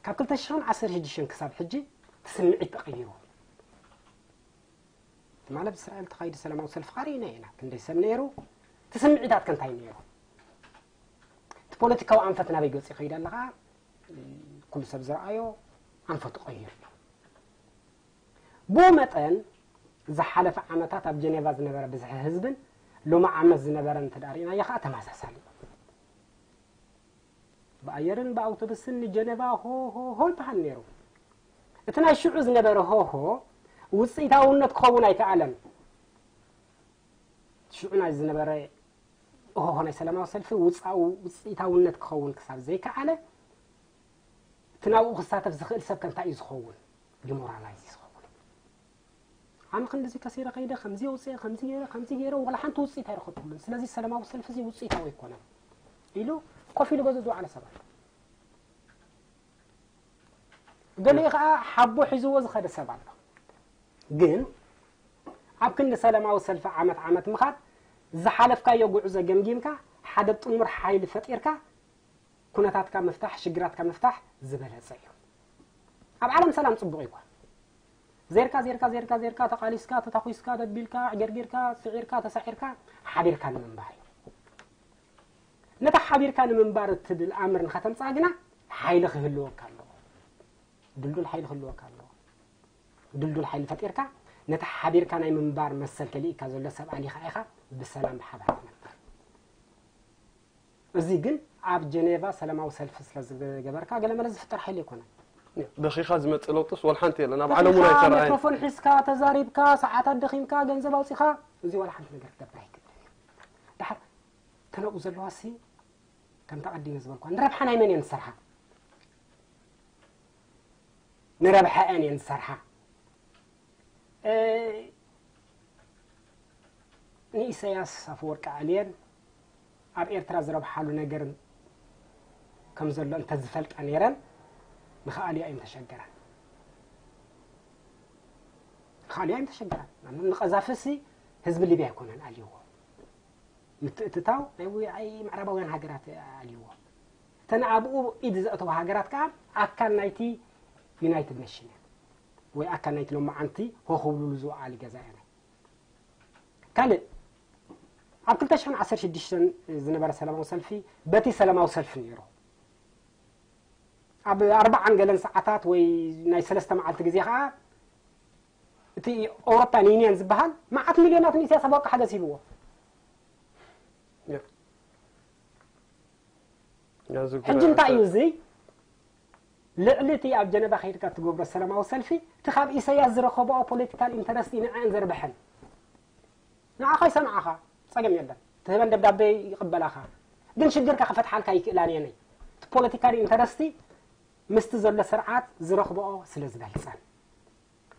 ካብ ክልተ ሽሕን ዓሰርተ ሽዱሽተን ክሳብ ሕጂ እቲ ስምዒት ተቐይሩ። ትማሊ ኣብ እስራኤል ተኻይዱ ሰላማዊ ሰልፊ ኸሪእና ኢና። ክንደይ ሰብ ነይሩ? እቲ ስምዒታት ከ እንታይ ነይሩ? እቲ ፖለቲካዊ ኣንፈት ናበይ ገፂ ይኸይድ ኣለኻ? ኩሉ ሰብ ዝረኣዮ ኣንፈቱ ቀይሩ እዩ። ብኡ መጠን ዝሓለፈ ዓመታት ኣብ ጀኔቫ ዝነበረ ብዝሒ ህዝብን ሎሚ ዓመት ዝነበረ እንተ ደኣ ርኢናዮ ኸዓ ተመሳሳሊ እዩ። ብኣየርን ብኣውቶቡስን ንጀነቫ ሆ ሆ ሆ ይበሃል ነይሩ። እቲ ናይ ሽዑ ዝነበረ ሆ ሆ ውፅኢታውነት ክኸውን ኣይከኣለን። ሽዑ ናይ ዝነበረ ሆ ሆ ናይ ሰላማዊ ሰልፊ ውፃኡ ውፅኢታውነት ክኸውን ክሳብ ዘይከኣለ እቲ ናብኡ ክሳተፍ ዝኽእል ሰብ ከ እንታይ እዩ ዝኸውን? ዲሞራላይዝ እዩ ዝኸውን። ኣነ ክንድዚ ከሲረ ከይደ ከምዚ ኣውፅኤ ከምዚ ገይረ ከምዚ ገይረ ዋላ ሓንቲ ውፅኢት ኣይረኸብኩሉን። ስለዚ ሰላማዊ ሰልፊ እዚ ውፅኢታዊ ኣይኮነን ኢሉ ኮፍ ኢሉ ገዝኡ ዝወዓለ ሰብ ኣሎ። ገሊኡ ከዓ ሓቦ ሒዝዎ ዝኸደ ሰብ ኣሎ። ግን ኣብ ክንዲ ሰላማዊ ሰልፊ ዓመት ዓመት ምኻድ ዝሓለፍካዮ ጉዕዞ ገምጊምካ ሓደ ጥሙር ሓይሊ ፈጢርካ ኩነታትካ ምፍታሕ ሽግራትካ ምፍታሕ ዝበለፀ እዩ። ኣብ ዓለም ሰላም ፅቡቕ እዩ እኳ። ዜርካ ዜርካ ዜርካ ዜርካ ተቓሊስካ ተታኺስካ ደቢልካ ዕገርጊርካ ስዒርካ ተሳዒርካ ሓቢርካ ንምንባር እዩ። ነታ ሓቢርካ ንምንባር እትብል ኣምር ንኸተምፅኣ ግና ሓይሊ ክህልወካ ኣለዎ። ድልዱል ሓይሊ ክህልወካ ኣለዎ። ድልዱል ሓይሊ ፈጢርካ ነቲ ሓቢርካ ናይ ምንባር መሰል ተልኢካ ዘሎ ሰብ ኣሊኻ ኢኻ ብሰላም ብሓባር ትነብር። እዚ ግን ኣብ ጀኔቫ ሰላማዊ ሰልፊ ስለ ዝገበርካ ገለመለ ዝፍጠር ሓይሊ ኣይኮነን። በኺኻ ዝመፅእ ለውጥስ ወላ ሓንቲ የለን ኣብ ዓለም እውን ተፊኻ ኣይተረኣየን። ማይክሮፎን ሒዝካ ተዛሪብካ ሰዓታት ደኺምካ ገንዘብ ኣውፂኻ እዚ ዋላ ሓንቲ ነገር ክገብር ኣይክእልን እዩ። ድሓር ተነኡ ዘለዋ ሲ ከምቲ ኣቐዲመ ዝበልኳ ንረብሓ ናይ መን እየን ዝሰርሓ? ንረብሓ እየን እየን ዝሰርሓ። ንኢሰያስ ኣፈወርቂ ኣልየን ኣብ ኤርትራ ዝረብሓሉ ነገር ከም ዘሎ እንተዝፈልጣ ነይረን ንኽኣልያ እዮም ተሸገራን። ንኽኣልያ እዮም ተሸገራን። ንቐዛፊ ሲ ህዝቢ ሊብያ ኣይኮነን ኣልይዎ። ምትእትታው ናይ ውዓይ ምዕራባውያን ሃገራት ኣልይዎ። እተን ኣብኡ ኢድ ዘእተዋ ሃገራት ከዓ ኣካል ናይቲ ዩናይትድ ኔሽን እየን ወይ ኣካል ናይቲ ሎማዓንቲ ሆ ክብሉሉ ዝወዓሉ ገዛ እየን። ካልእ ኣብ ክልተ ሽሕን ዓሰርተ ሽዱሽተን ዝነበረ ሰላማዊ ሰልፊ በቲ ሰላማዊ ሰልፊ ነይሩ። ኣብ ኣርባዓን ገለን ሰዓታት ወይ ናይ ሰለስተ መዓልቲ ግዜ ከዓ እቲ ኤውሮፓን ዩኒየን ዝበሃል መዓት ሚልዮናት ንኢሳያስ ኣፈወርቂ ሓገዝ ሂብዎ። ሕጂ እንታይ እዩ እዚ? ልዕሊ እቲ ኣብ ጀነቫ ከይድካ እትገብሮ ሰላማዊ ሰልፊ እቲ ካብ ኢሳያስ ዝረኸብኦ ፖለቲካል ኢንተረስት እዩ ንዐን ዘርብሐን። ንዓኻ ይሰምዓኻ፣ ጸገም የለን። ትህበን ደብዳቤ ይቕበላኻ። ግን ሽግርካ ክፈትሓልካ ኣይክእላን እየን። እቲ ፖለቲካል ኢንተረስቲ ምስቲ ዘሎ ስርዓት ዝረኽብኦ ስለ ዝበልጸን።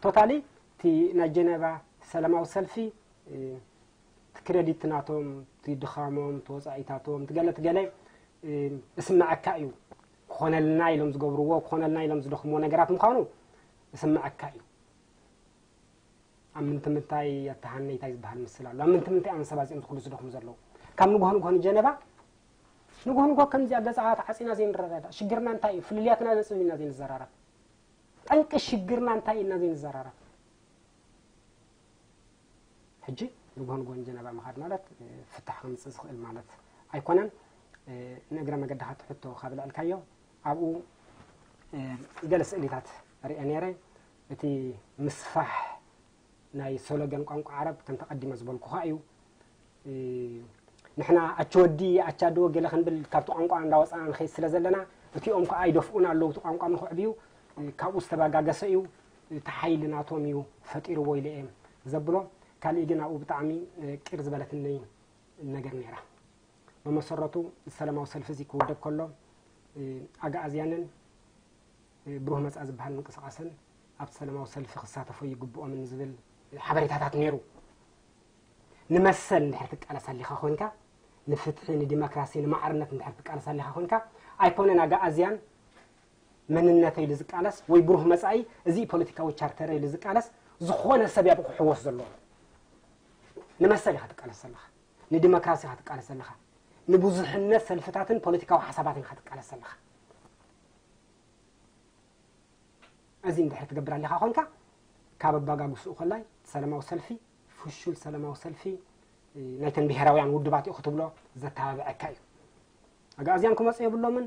ቶታሊ እቲ ናይ ጀነቫ ሰላማዊ ሰልፊ እቲ ክረዲት ናቶም፣ እቲ ድኻሞም፣ እቲ ወፃኢታቶም፣ እቲ ገለ እቲ ገለ እስመዐካ እዩ። ክኾነልና ኢሎም ዝገብርዎ፣ ክኾነልና ኢሎም ዝደኽምዎ ነገራት ምዃኑ እስመዐካ እዩ። ኣብ ምንትምንታይ ኣተሃነይታይ ዝበሃል ምስል ኣሎ። ኣብ ምንትምንታይ እዮም ሰባት እዚኦም ዝኩሉ ዝደኽሙ ዘለዉ? ካብ ንግሆ ንግሆ ንጀነቫ ንግሆ ንግሆ ከምዚኣ ገፃ ተዓፂና ዘይንረዳዳእ ሽግርና እንታይ እዩ? ፍልልያትና ነፅብ ኢና ዘይንዘራረብ። ጠንቂ ሽግርና እንታይ ኢና ዘይንዘራረብ? ሕጂ ንግሆ ንግሆ ንጀነቫ ምኻድ ማለት ፍታሕ ከምፅእ ዝኽእል ማለት ኣይኮነን። ንእግረ መገድኻ እቲ ሕቶ ካብ ልዕልካዮ ኣብኡ ገለ ስእሊታት ርአ ነይረ። እቲ ምስፋሕ ናይ ሶሎገን ቋንቋ ዓረብ ከምቲ ቀዲመ ዝበልኩኻ እዩ። ንሕና ኣቸወዲ ኣቻዶ ገለ ክንብል ካብቲ ቋንቋ እንዳወፃና ንኸይድ ስለ ዘለና እቲኦም ከዓ ይደፍኡና ኣለዉ እቲ ቋንቋ ንኽዕብዩ ካብኡ ዝተባጋገሰ እዩ። እቲ ሓይሊ ናቶም እዩ ፈጢርዎ ኢለ እየ ዘብሎ። ካልእ ግን ኣብኡ ብጣዕሚ ቅር ዝበለትኒ ነገር ነይራ። ብመሰረቱ ሰላማዊ ሰልፊ እዚ ክውደብ ከሎ ኣግኣዝያንን ብሩህ መጻኢ ዝበሃል ምንቅስቓስን ኣብቲ ሰላማዊ ሰልፊ ክሳተፉ ይግብኦምን ዝብል ሓበሬታታት ነይሩ። ንመሰል እንድሕር ትቃለስ ኣሊኻ ኮንካ፣ ንፍትሒ፣ ንዲሞክራሲ፣ ንማዕርነት እንድሕር ትቃለስ ኣሊኻ ኮንካ፣ ኣይኮነን ኣግኣዝያን መንነተይ ኢሉ ዝቃለስ ወይ ብሩህ መጻኢ እዚ ፖለቲካዊ ቻርተረይ ኢሉ ዝቃለስ ዝኾነ ሰብ እያ ብኡ ክሕወስ ዘለዎ። ንመሰል ኢኻ ትቃለስ ዘለኻ፣ ንዲሞክራሲ ኢኻ ትቃለስ ዘለኻ፣ ንብዙሕነት ሰልፍታትን ፖለቲካዊ ሓሳባትን ኢኻ ትቃለስ ዘለኻ። እዚ እንድሕር ትገብር ኣሊኻ ኮንካ፣ ካብ ኣባጋግስኡ ከላይ ሰላማዊ ሰልፊ፣ ፍሹል ሰላማዊ ሰልፊ፣ እ፣ ናይተን ብሄራውያን ውድባት እዩ ክትብሎ ዘተባብዐካ እዩ። ኣግኣዝያን ክመፁ የብሎምን፣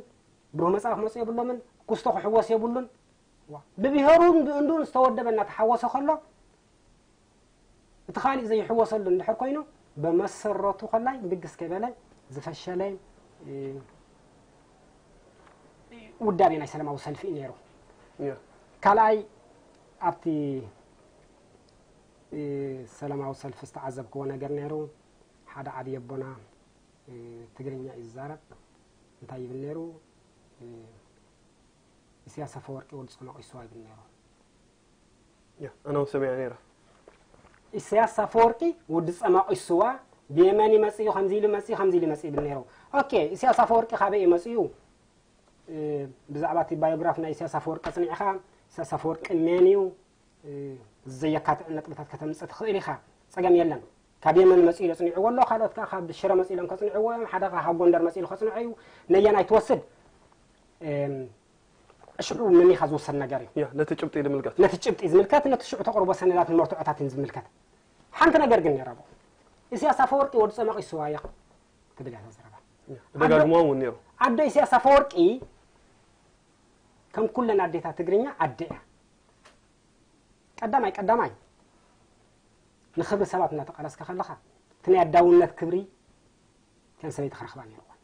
ብሩህ መጻኢ ክመፁ የብሎምን፣ ኩስቶ ክሕወስ የብሉን። ዋ፣ ብብሄሩን ብእንዱን ዝተወደበ እናተሓወሰ ከሎ፣ እቲ ካሊእ ዘይሕወሰሉ እንድሕር ኮይኑ፣ ብመሰረቱ ከላይ ብግስ ከይበለ ዝፈሸለ፣ እ፣ ውዳቤ ናይ ሰላማዊ ሰልፊ እዩ ነይሩ። ያ ካልኣይ ኣብቲ፣ እ፣ ሰላማዊ ሰልፊ ዝተዓዘብክዎ ነገር ነይሩ። ሓደ ዓብዪ ኣቦና፣ እ፣ ትግርኛ እዩ ዝዛረብ። እንታይ ይብል ነይሩ? እ፣ ኢሳያስ ኣፈወርቂ ወዲ ጸማቕ ይስዋ ይብል ነይሩ። ያ ኣነ እውን ሰሚዐ ነይረ። ኢሳያስ ኣፈወርቂ ወዲ ጸማቕ ይስዋ ብየመን ይመጽእ እዩ፣ ከምዚ ኢሉ መጽእ እዩ፣ ከምዚ ኢሉ መጽእ እዩ ይብል ነይሩ። ኦኬ፣ ኢሳያስ ኣፈወርቂ ካበይ እዩ መጽኡ? እ፣ ብዛዕባ እቲ ባዮግራፍ ናይ ኢሳያስ ኣፈወርቂ ኣጽኒዕኻ፣ ኢሳያስ ኣፈወርቂ መን እዩ? እ፣ ዘየካትዕ ነጥብታት ከተምጽእ ትኽእል ኢኻ። ጸገም የለን። ካብ የመን መጽኡ ኢሉ ኣጽኒዕዎ ኣሎ፣ ካልኦት ከኣ ካብ ሽረ መጽኡ ኢሎም ከጽንዕዎ እዮም፣ ሓደ ከኣ ካብ ጎንደር መጽኡ ኢሉ ከጽንዖ እዩ። ነየናይ ትወስድ? እም፣ ሽዑ መሚኻ ዝውሰድ ነገር እዩ። ያ ነቲ ጭብጢ ዝምልከት ነቲ ጭብጢ ዝምልከት፣ ነቲ ሽዑ ተቕርቦ ሰነዳትን መርትዖታትን ዝምልከት። ሓንቲ ነገር ግን ነይራ ብኡ። ኢሳያስ ኣፈወርቂ ወዲ ጸማቕ ይስዋ እያ ትብል እያ እዛ ዘረባ። ያ ብደጋግሞ እውን ነይሩ። ኣዶ ኢሳያስ ኣፈወርቂ ከም ኩለን ኣዴታት ትግርኛ ኣደ እያ። ቀዳማይ ቀዳማይ ንኽብሪ ሰባት እናተቓለስካ ከለኻ እቲ ናይ ኣዳውነት ክብሪ ከም ሰበይቲ ክረኽባ ነይርወን።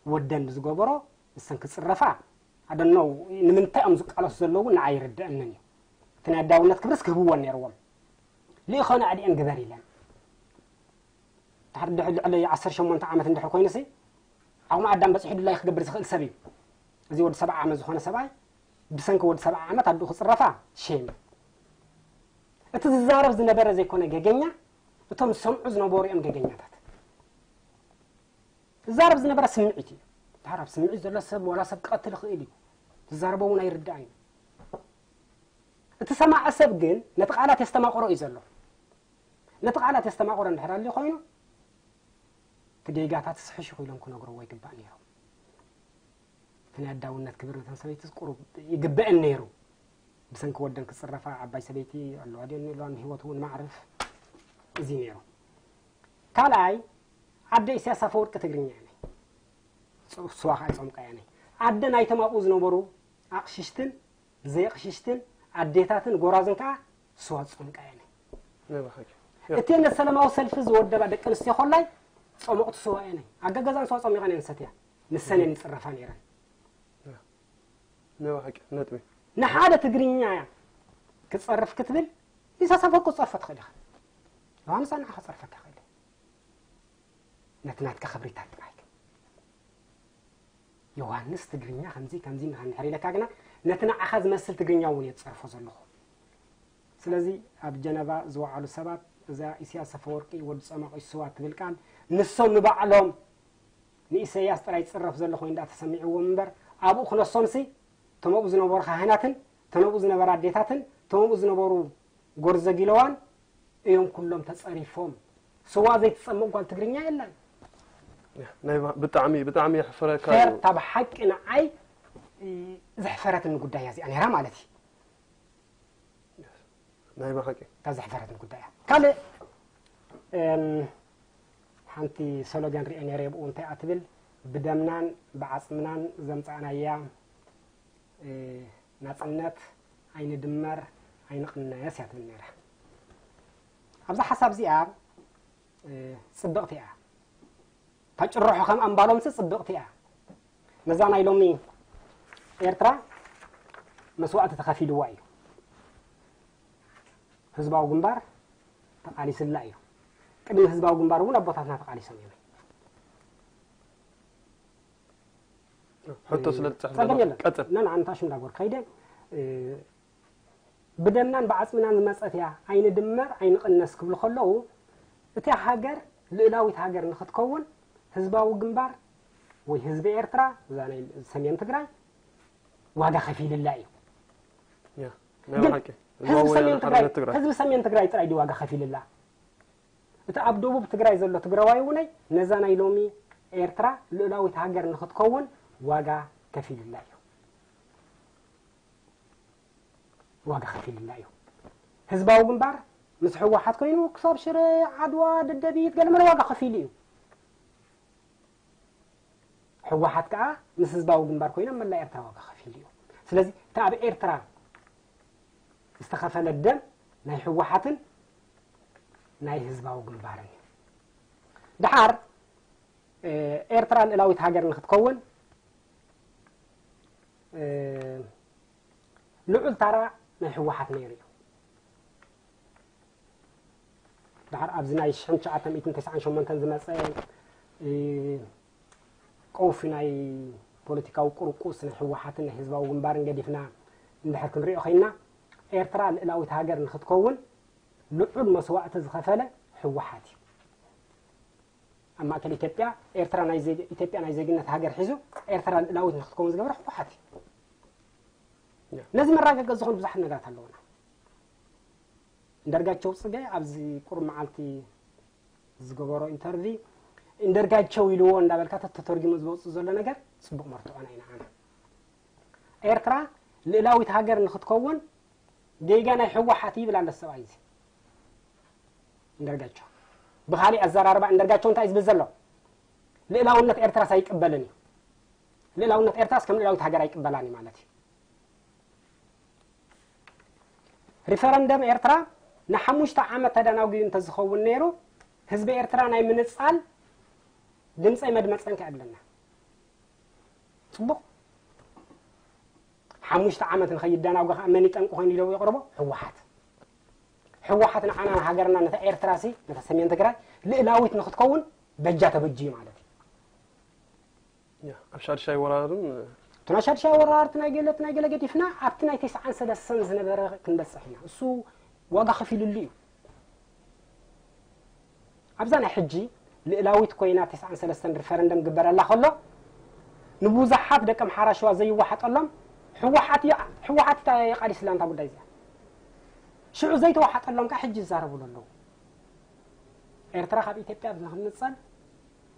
ወደን ብዝገበሮ ንሰን ክጽረፋ ኣደነው ንምንታይ እዮም ዝቃለሱ ዘለዉ ንዓይ ይርድአንን እዩ። እቲ ናይ ኣዳውነት ክብርስ ክህብወን ነይርዎም። ልኢኾነ ኣድኤን ግበር ኢለን ድሕሪ ድሕሪ ልዕሊ ዓሰርተ ሸሞንተ ዓመት እንድሕር ኮይኑሲ ዓቕሚ ኣዳም በፂሑ ድላይ ክገብር ዝኽእል ሰብ እዩ። እዚ ወዲ ሰብዓ ዓመት ዝኾነ ሰብኣይ ብሰንኪ ወዲ ሰብዓ ዓመት ኣድኡ ክፅረፋ ሼም። እቲ ዝዛረብ ዝነበረ ዘይኮነ ገገኛ እቶም ዝሰምዑ ዝነበሩ እዮም ገገኛታት። ዝዛረብ ዝነበረ ስምዒት እዩ። ድሓር ኣብ ስምዒት ዘሎ ሰብ ዋላ ሰብ ክቐትል ይኽእል እዩ። ዝዛረቦ እውን ኣይርዳእን እዩ። እቲ ሰማዒ ሰብ ግን ነቲ ቃላት የስተማቕሮ እዩ ዘሎ። ነቲ ቃላት የስተማቕሮ እንድሕር ኣልዩ ኮይኑ እቲ ጌጋታት ስሕሽ ኢሎም ክነግርዎ ይግባእ ነይሮም። እቲ ናይ ኣዳውነት ክብሪ ነተን ሰበይትስ ቁሩብ ይግበአን ነይሩ። ብሰንኪ ወደን ክፅረፋ ዓባይ ሰበይቲ ኣለዋ ድዮን የለዋን ህይወት እውን ማዕርፍ እዚ ነይሩ። ካልኣይ ኣደ ኢሳያስ ኣፈወርቂ ትግርኛ እያ ናይ ስዋ ከዓ ይፀምቃ እያ ናይ ኣደ ናይቶም ኣብኡ ዝነበሩ ኣቕሽሽትን ዘየቕሽሽትን ኣዴታትን ጎራዝን ከዓ ስዋ ዝፀምቃ እያ ናይ ናይ ብሓቂ እቲ ነቲ ሰላማዊ ሰልፊ ዝወደባ ደቂ ኣንስትዮ ኮላይ ፀሞቕቲ ስዋ እየን። ኣገገዛን ስዋ ፀሚቐን እየን ዝሰትያ። ንሰን እየን ይፅረፋ ነይረን። ናይ ብሓቂ ነጥቢ ንሓደ ትግርኛ እያ ክፀርፍ ክትብል ኢሳያስ ኣፈወርቂ ክፀርፎ ትኽእል ኢኻ። ዮሃንስ ኣንዓ ክፀርፈካ ይኽእል እዩ። ነቲ ናትካ ክብሪታት ጥራይ ግን ዮሃንስ ትግርኛ ከምዚ ከምዚ እንድሕር ኢለካ ግና ነቲ ንዓኻ ዝመስል ትግርኛ እውን እየ ዝፀርፎ ዘለኹ። ስለዚ ኣብ ጀነቫ ዝወዓሉ ሰባት እዛ ኢሳያስ ኣፈወርቂ ወዲ ጸማቒ ስዋ ትብል ቃል ንሶም ንባዕሎም ንኢሳያስ ጥራይ ዝጽረፍ ዘሎ ኮይኑ ደኣ ተሰሚዕዎም እምበር ኣብኡ ክነሶምሲ እቶም ኣብኡ ዝነበሩ ካህናትን እቶም ኣብኡ ዝነበራ ኣዴታትን እቶም ኣብኡ ዝነበሩ ጎርዘ ጊለዋን እዮም ኩሎም ተጸሪፎም። ስዋ ዘይትጸምእ ጓል ትግርኛ የላን። ናይ ብጣዕሚ ብጣዕሚ የሕፍረካ እዩ። ፌርታ ብሓቂ ንዓይ ዘሕፈረትኒ ጉዳይ እያ እዚኣ ነይራ ማለት እዩ። ናይ ብሓቂ ካብ ዘሕፈረትኒ ጉዳይ እያ። ካልእ ሓንቲ ሰሎገን ሪኤ ነይረ ብኡ እንታይ እያ ትብል ብደምናን ብዓፅምናን ዘምፃእናያ ናፅነት ኣይንድመር ኣይንቕነስ እያ ትብል ነይራ። ኣብዛ ሓሳብ እዚኣ ፅብቕቲ እያ። ታጭርሖ ከም ኣምባሎምሲ ፅብቕቲ እያ። ነዛ ናይ ሎሚ ኤርትራ መስዋእቲ ተኸፊልዋ እዩ። ህዝባዊ ግንባር ተቓሊስላ እዩ። ቅድሚ ህዝባዊ ግንባር እውን ኣቦታትና ተቓሊሶም እዮም። ሕቶ ስለ ትፅሕፍ ጸገም ዘለኹ የለን። ቀፅል። ነን ኣንታሽ እንዳጎር ከይደ ብደምናን ብዓፅምናን ዝመፀት እያ ኣይንድመር ኣይንቕነስ ክብሉ ከለዉ እታ ሃገር ልእላዊት ሃገር ንክትከውን ህዝባዊ ግንባር ወይ ህዝቢ ኤርትራ እዛ ናይ ሰሜን ትግራይ ዋጋ ከፊልላ እዩ። ያ ናይ ግን ብሓቂ ህዝቢ ህዝባዊ ሰሜን ወያነ ትግራይ ሓርነት ትግራይ ህዝቢ ሰሜን ትግራይ ጥራይ ድዩ ዋጋ ከፊልላ? እቲ ኣብ ደቡብ ትግራይ ዘሎ ትግራዋይ እውነይ ነዛ ናይ ሎሚ ኤርትራ ልኡላዊት ሃገር ንኽትከውን ዋጋ ከፊሉላ እዩ። ዋጋ ከፊሉላ እዩ። ህዝባዊ ግንባር ምስ ህወሓት ኮይኑ ክሳብ ሽረ፣ ዓድዋ፣ ደደቢት ገለመለ ዋጋ ከፊሉ እዩ። ህወሓት ከዓ ምስ ህዝባዊ ግንባር ኮይኖም መላእ ኤርትራ ዋጋ ከፊሉ እዩ። ስለዚ እቲ ኣብ ኤርትራ ዝተኸፈለ ደም ናይ ህወሓትን ናይ ህዝባዊ ግንባርን እዩ። ደሓር ኤርትራ ልእላዊት ሃገር ንክትከውን ልዑል ታራ ናይ ህወሓት ነይሩ እዩ። ድሓር ኣብዚ ናይ ሽሕን ትሽዓተ ሚእትን ተስዓን ሸሞንተን ዝመፀ ቀውፊ ናይ ፖለቲካዊ ቁርቁስ ናይ ህወሓትን ናይ ህዝባዊ ግንባርን ገዲፍና እንድሕር ክንሪኦ ኮይና ኤርትራ ልእላዊት ሃገር ንክትከውን ልዑል መስዋእቲ ዝኸፈለ ህወሓት እዩ። ኣብ ማእከል ኢትዮጵያ ኤርትራ ናይ ዜግ- ኢትዮጵያ ናይ ዜግነት ሃገር ሒዙ ኤርትራ ልእላዊት ንክትከውን ዝገበረ ህወሓት እዩ። ነዚ መራገገ ዝኾኑ ብዙሓት ነገራት ኣለውና። እንደርጋቸው ጽገ ኣብዚ ቁሩብ መዓልቲ ዝገበሮ ኢንተርቪ እንደርጋቸው ኢልዎ እንዳበልካ ተተርጊሙ ዝወፅእ ዘሎ ነገር ፅቡቕ መርትዖና ኢና ኣነ ኤርትራ ልእላዊት ሃገር ንክትከውን ጌጋ ናይ ህወሓት ይብል ኣሎ ሰብኣይ እዚ እንደርጋቸው። ብካሊእ ኣዘራርባ እንደርጋቸው እንታይ እዩ ዝብል ዘሎ? ልእላውነት ኤርትራስ ኣይቅበልን እዩ። ልእላውነት ኤርትራስ ከም ልእላዊት ሃገር ኣይቅበላን እዩ ማለት እዩ። ሪፈረንደም ኤርትራ ንሓሙሽተ ዓመት ተደናጉዩ እንተዝኸውን ነይሩ ህዝቢ ኤርትራ ናይ ምንፃል ድምፀይ መድመፀን ከ ኣለና። ፅቡቕ ሓሙሽተ ዓመት ንኸይደናጎ ከዓ መን ይጠንቂ ኮይኑ ኢለው የቕርቦ? ህወሓት። ህወሓት ንዓና ንሃገርና ነታ ኤርትራ ሲ ነታ ሰሜን ትግራይ ልእላዊት ንክትከውን በጃ ተበጅዩ ማለት እዩ። ኣብ ሻድሻይ ወራርን እቲ ናይ ሻድሻይ ወራር እቲ ናይ ገለ እቲ ናይ ገለ ገዲፍና ኣብቲ ናይ ተስዓን ሰለስተን ዝነበረ ክንበፅሕ ኢና። እሱ ዋጋ ከፊልሉ እዩ። ኣብዛ ናይ ሕጂ ልእላዊት ኮይና ተስዓን ሰለስተን ሪፈረንደም ግበረላ ከሎ ንብዙሓት ደቂ ኣምሓራ ሸዋ ዘይወሓጠሎም ህወሓት እያ- ህወሓት እያ የቃሊስላ እንታ ጉዳይ እዚኣ ሽዑ ዘይተወሓጠሎም ከዓ ሕጂ ይዛረቡሉ ኣለዉ። ኤርትራ ካብ ኢትዮጵያ ንክንፀል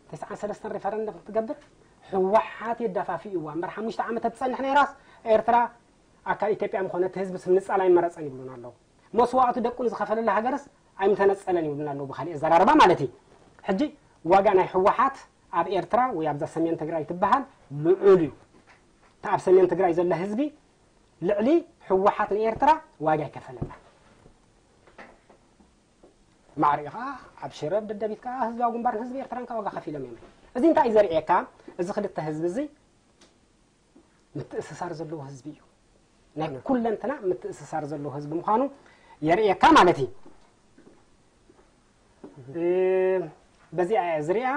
ተስዓን ሰለስተን ሪፈረንደም ክትገብር ህወሓት የዳፋፊእዋ እምበር ሓሙሽተ ዓመት ትፀንሕ ነይራስ ኤርትራ ኣካል ኢትዮጵያ ምኾነ እቲ ህዝቢ ስም ንፃል ኣይመረፀን ይብሉና ኣለዉ። መስዋእቱ ደቁ ንዝኸፈለላ ሃገርስ ኣይምተነፀለን ይብሉና ኣለዉ ብካሊእ ኣዘራርባ ማለት እዩ። ሕጂ ዋጋ ናይ ህወሓት ኣብ ኤርትራ ወይ ኣብዛ ሰሜን ትግራይ ትበሃል ልዑል እዩ። እቲ ኣብ ሰሜን ትግራይ ዘሎ ህዝቢ ልዕሊ ህወሓት ንኤርትራ ዋጋ ይከፈለላ። ማዕሪኡ ከዓ ኣብ ሽረ ደደቢት ከዓ ህዝባዊ ግንባርን ህዝቢ ኤርትራን ከዓ ዋጋ ከፊሎም እዮም። እዚ እንታይ እዩ ዘርእየካ? እዚ ክልተ ህዝቢ እዚ ምትእስሳር ዘለዎ ህዝቢ እዩ። ናይ ኩለንትና ምትእስሳር ዘለዎ ህዝቢ ምዃኑ የርእየካ ማለት እዩ። በዚኣ እያ ዝሪኣ።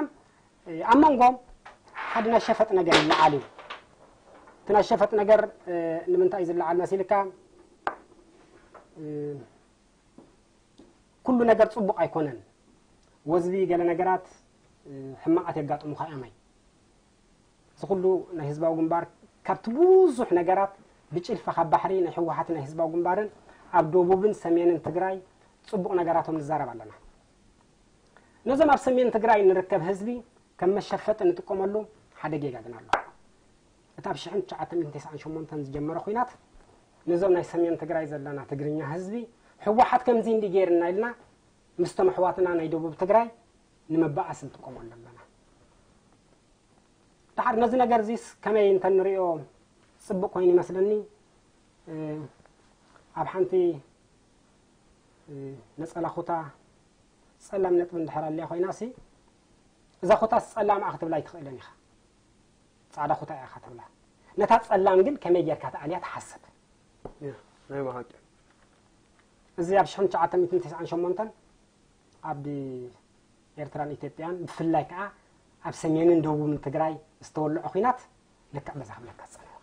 ኣብ መንጎ ሓደ ናይ ሸፈጥ ነገር ይለዓል እዩ። እቲ ናይ ሸፈጥ ነገር ንምንታይ እዩ ዝለዓል መሲልካ? ኩሉ ነገር ፅቡቕ ኣይኮነን። ወዝቢ ገለ ነገራት ሕማቓት የጋጥሙኻ እዮም። እዚ ኩሉ ናይ ህዝባዊ ግንባር ካብቲ ብዙሕ ነገራት ብጭልፋ ካብ ባሕሪ ናይ ህወሓት ናይ ህዝባዊ ግንባርን ኣብ ደቡብን ሰሜንን ትግራይ ፅቡቕ ነገራቶም ንዛረብ ኣለና። ነዞም ኣብ ሰሜን ትግራይ ንርከብ ህዝቢ ከም መሸፈጢ ንጥቀመሉ ሓደ ጌጋ ግን ኣሎ። እቲ ኣብ ሽሕን ትሽዓተ ሚእትን ተስዓን ሸሞንተን ዝጀመረ ኲናት ነዞም ናይ ሰሜን ትግራይ ዘለና ትግርኛ ህዝቢ ህወሓት ከምዚ እንዲ ገይርና ኢልና ምስቶም ኣሕዋትና ናይ ደቡብ ትግራይ ንምባኣስ ንጥቀመሉ ኣለና። ድሓር ነዚ ነገር እዚስ ከመይ እንተንሪኦ ፅቡቕ ኮይኑ ይመስለኒ። ኣብ ሓንቲ ነፀላ ኩታ ፀላም ነጥቢ እንድሕር ኣልያ ኮይና ሲ እዛ ኩታስ ፀላም እያ ክትብላ ኣይትኽእልን ኢኻ። ፃዕዳ ኩታ እያ ኢኻ ትብላ። ነታ ፀላም ግን ከመይ ጌርካ ትኣልያ ትሓስብ። ናይ ብሓቂ እዚ ኣብ ሽሕን ትሽዓተ ሚእትን ተስዓን ሸሞንተን ኣብ ኤርትራን ኢትዮጵያን ብፍላይ ከዓ ኣብ ሰሜንን ደቡብን ትግራይ ዝተወልዖ ኲናት ልክዕ በዛ ክብለካ ዝፀንሐ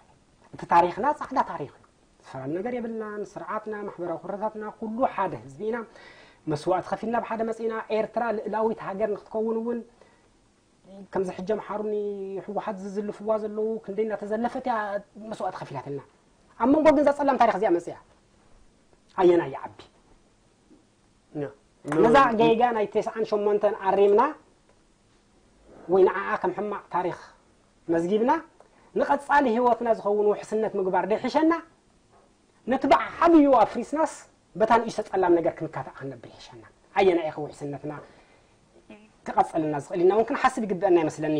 እቲ ታሪኽና ፃዕዳ ታሪኽ እዩ። ዝፈራን ነገር የብልናን። ስርዓትና፣ ማሕበራዊ ኩነታትና ኩሉ ሓደ ህዝቢ ኢና። መስዋእቲ ከፊልና ብሓደ መፂና። ኤርትራ ልእላዊት ሃገር ንክትከውን እውን ከምዚ ሕጂ ኣምሓሩኒ ህወሓት ዝዝልፍዋ ዘለዉ ክንደይ እናተዘለፈት እያ መስዋእቲ ከፊላትና። ኣብ መንጎ ግን እዛ ፀላም ታሪኽ እዚኣ መፅያ ኣየናይ ይዓቢ? ነዛ ጌጋ ናይ ተስዓን ሸሞንተን ኣሪምና ወይ ንዓኣ ከም ሕማቕ ታሪኽ መዝጊብና ንቐጻሊ ህይወትና ዝኸውን ውሕስነት ምግባር ደይሕሸና፣ ነቲ ብዓብዩ ኣፍሪስናስ በታ ንእሽቶ ጸላም ነገር ክንካታእ ክንነብር ይሕሸና። ኣየናይ ኢኸ ውሕስነትና ክቐጸልና ዝኽእል ኢልና እውን ክንሓስብ ይግብአና ይመስለኒ።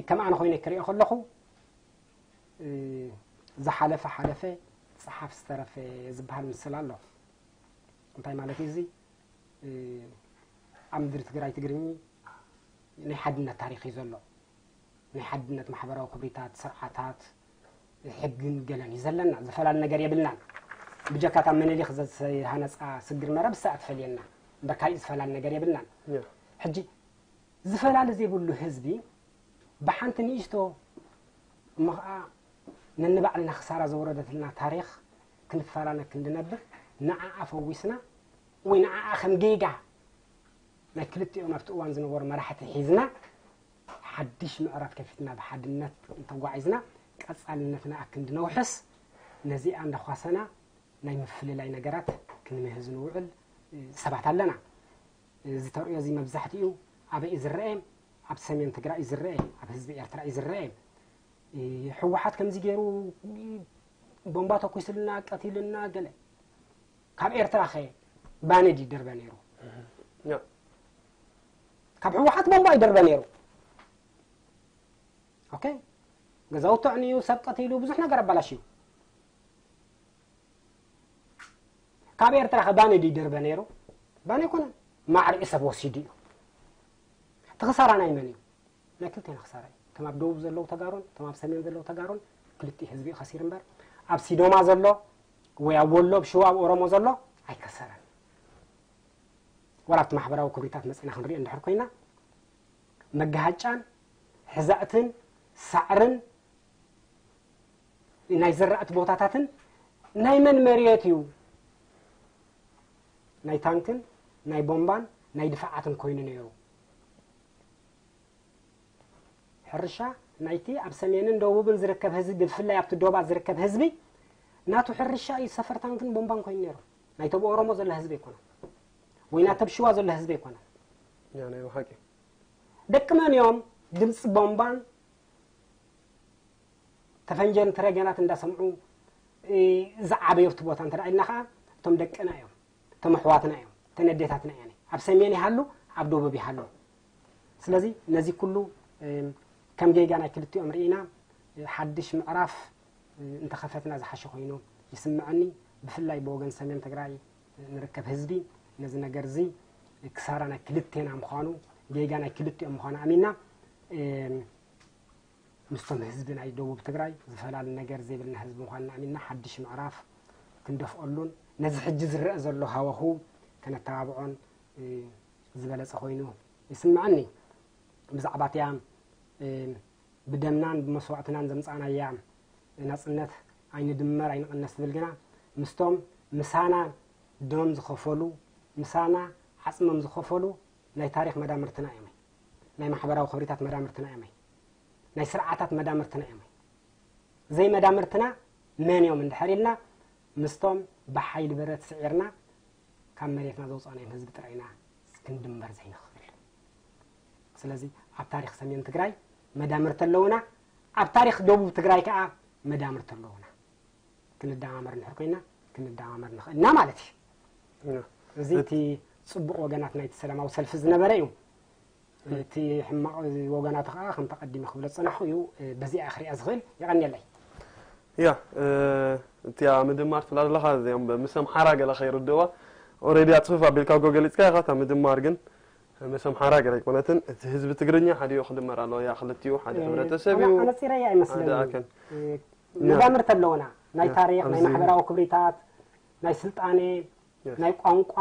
ከም ኣነ ኮይነ ክሪኦ ከለኹ ዝሓለፈ ሓለፈ፣ ጸሓፍ ዝተረፈ ዝበሃል ምስል ኣሎ። እንታይ ማለት እዩ እዚ? ኣብ ምድሪ ትግራይ ትግርኝ ናይ ሓድነት ታሪኽ እዩ ዘሎ። ናይ ሓድነት ማሕበራዊ ክብሪታት፣ ስርዓታት፣ ሕግን ገለን እዩ ዘለና። ዝፈላል ነገር የብልናን። ብጀካታ ምኒልክ ዝተሃነፃ ስግር መረብ እሳ ትፈልየና እምበር ካሊእ ዝፈላል ነገር የብልናን። ሕጂ ዝፈላል ዘይብሉ ህዝቢ ብሓንቲ ንእሽቶ እሞ ኸዓ ነንባዕልና ክሳራ ዘወረደትልና ታሪኽ ክንፈላለ ክንድነብር ንዓኣ ፈዊስና ወይ ንዓኣ ከም ጌጋ ናይ ክልቲኦም ኣብቲ እዋን ዝነበሩ መራሕቲ ሒዝና ሓድሽ ምዕራፍ ከፊትና ብሓድነት እንተጓዒዝና ቀፃልነትና ኣክንዲ ነውሕስ። ነዚኣ እንዳኳሰና ናይ ምፍልላይ ነገራት ክንምህዝ ንውዕል ሰባት ኣለና። እዚ ተርእዮ እዚ መብዛሕትኡ ኣበይ እዩ ዝረአ? ኣብ ሰሜን ትግራይ እዩ ዝረአ፣ ኣብ ህዝቢ ኤርትራ እዩ ዝረአ። ህወሓት ከምዚ ገይሩ ቦምባ ተኩስልና ቀቲልና ገለ። ካብ ኤርትራ ኸ ባነድ ይደርበ ነይሩ። ካብ ህወሓት ቦምባ ይደርበ ነይሩ። ኦኬ፣ ገዛውቲ ኣዕንዩ፣ ሰብ ቀቲሉ፣ ብዙሕ ነገር ኣባላሽዩ። ካብ ኤርትራ ኸ ባነድ ይደርበ ነይሩ? ባነ ኣይኮነን፣ ማዕሪኡ ሰብ ወሲዱ እዩ። እቲ ክሳራ ናይ መን እዩ? ናይ ክልቴና ክሳራ እዩ። እቶም ኣብ ደቡብ ዘለዉ ተጋሩን እቶም ኣብ ሰሜን ዘለዉ ተጋሩን ክልቲኡ ህዝቢ እዩ ከሲሩ እምበር ኣብ ሲዶማ ዘሎ ወይ ኣብ ወሎ ኣብ ሽዋ ኣብ ኦሮሞ ዘሎ ኣይከሰረን። ዋላ ኣብቲ ማሕበራዊ ክብሪታት መፂና ክንሪኦ እንድሕር ኮይና መጋሃጫን ሕዛእትን ሳዕርን ናይ ዘራእቲ ቦታታትን ናይ መን መሬት እዩ? ናይ ታንክን ናይ ቦምባን ናይ ድፋዓትን ኮይኑ ነይሩ። ሕርሻ ናይቲ ኣብ ሰሜንን ደቡብን ዝርከብ ህዝቢ ብፍላይ ኣብቲ ዶባት ዝርከብ ህዝቢ ናቱ ሕርሻ እዩ ሰፈር ታንክን ቦምባን ኮይኑ ነይሩ። ናይቶም ኦሮሞ ዘሎ ህዝቢ ኣይኮነን ወይ ናተብ ሽዋ ዘሎ ህዝቢ ኣይኮነን። ያ ናይ ብሓቂ ደቂ መን እዮም ድምፂ ቦምባን ተፈንጀን ትረገናት እንዳሰምዑ ዝዓበዩ ኣብቲ ቦታ እንተ ኢልና ከዓ እቶም ደቅና እዮም፣ እቶም ኣሕዋትና እዮም፣ እተን ኣዴታትና እየን። ኣብ ሰሜን ይሃሉ ኣብ ደቡብ ይሃሉ። ስለዚ ነዚ ኩሉ ከም ጌጋ ናይ ክልቲኦም ርኢና ሓድሽ ምዕራፍ እንተኸፈትና ዝሓሸ ኮይኑ ይስምዐኒ። ብፍላይ ብወገን ሰሜን ትግራይ ንርከብ ህዝቢ ነዚ ነገር እዚ ክሳራ ናይ ክልቴና ምዃኑ ጌጋ ናይ ክልቲኦም ምዃኑ ኣሚና ምስቶም ህዝቢ ናይ ደቡብ ትግራይ ዝፈላሊ ነገር ዘይብልና ህዝቢ ምዃንና ኣሚንና ሓድሽ ምዕራፍ ክንደፍኦሉን ነዚ ሕጂ ዝረአ ዘሎ ሃወኹ ከነተባብዖን ዝበለፀ ኮይኑ ይስምዐኒ። ብዛዕባ እቲኣ ብደምናን ብመስዋእትናን ዘምፃእናያ ናፅነት ኣይንድመር ኣይንቐነስ ትብል ግና ምስቶም ምሳና ደም ዝኸፈሉ ምሳና ዓፅሞም ዝኸፈሉ ናይ ታሪኽ መዳምርትና እዮም። ናይ ማሕበራዊ ክብሪታት መዳምርትና እዮም። ናይ ስርዓታት መዳምርትና እዮም። ዘይመዳምርትና መን እዮም እንድሕር ኢልና ምስቶም ብሓይሊ ብረት ስዒርና ካብ መሬትና ዘውፃእናዮም ህዝቢ ጥራይ ኢና ክንድምበር ዘይንኽእል። ስለዚ ኣብ ታሪኽ ሰሜን ትግራይ መዳምርቲ ኣለውና፣ ኣብ ታሪኽ ደቡብ ትግራይ ከዓ መዳምርቲ ኣለውና። ክንደማመር እንድሕር ኮይና ክንደማመር ንኽእል ኢና ማለት እዩ። እዚ እቲ ፅቡቕ ወገናት ናይቲ ሰላማዊ ሰልፊ ዝነበረ እዩ። እቲ ሕማቕ ወገናቱ ከዓ ከምቲ ኣቐዲመ ክብሎ ዝፀናሕኹ እዩ። በዚኣ ክሪኣ ዝኽእል። የቐንየለይ። ያ እቲኣ ምድማር ትብላ ዘለኻ እዚኦም ምስ ኣምሓራ ገለ ከይርድእዋ ኦሬዲ ኣፅፍፍ ኣቢልካ ጎ ገሊፅካ ኢኻ። እታ ምድማር ግን ምስ ኣምሓራ ገለ ኣይኮነትን። እቲ ህዝቢ ትግርኛ ሓዲኡ ክድመር ኣለዎ። ያ ክልቲኡ ሓደ ሕብረተሰብ እዩ። ኣነፂረያ ኣይመስለኒ። መዳምርቲ ኣለውና። ናይ ታሪክ፣ ናይ ማሕበራዊ ክብሪታት፣ ናይ ስልጣኔ፣ ናይ ቋንቋ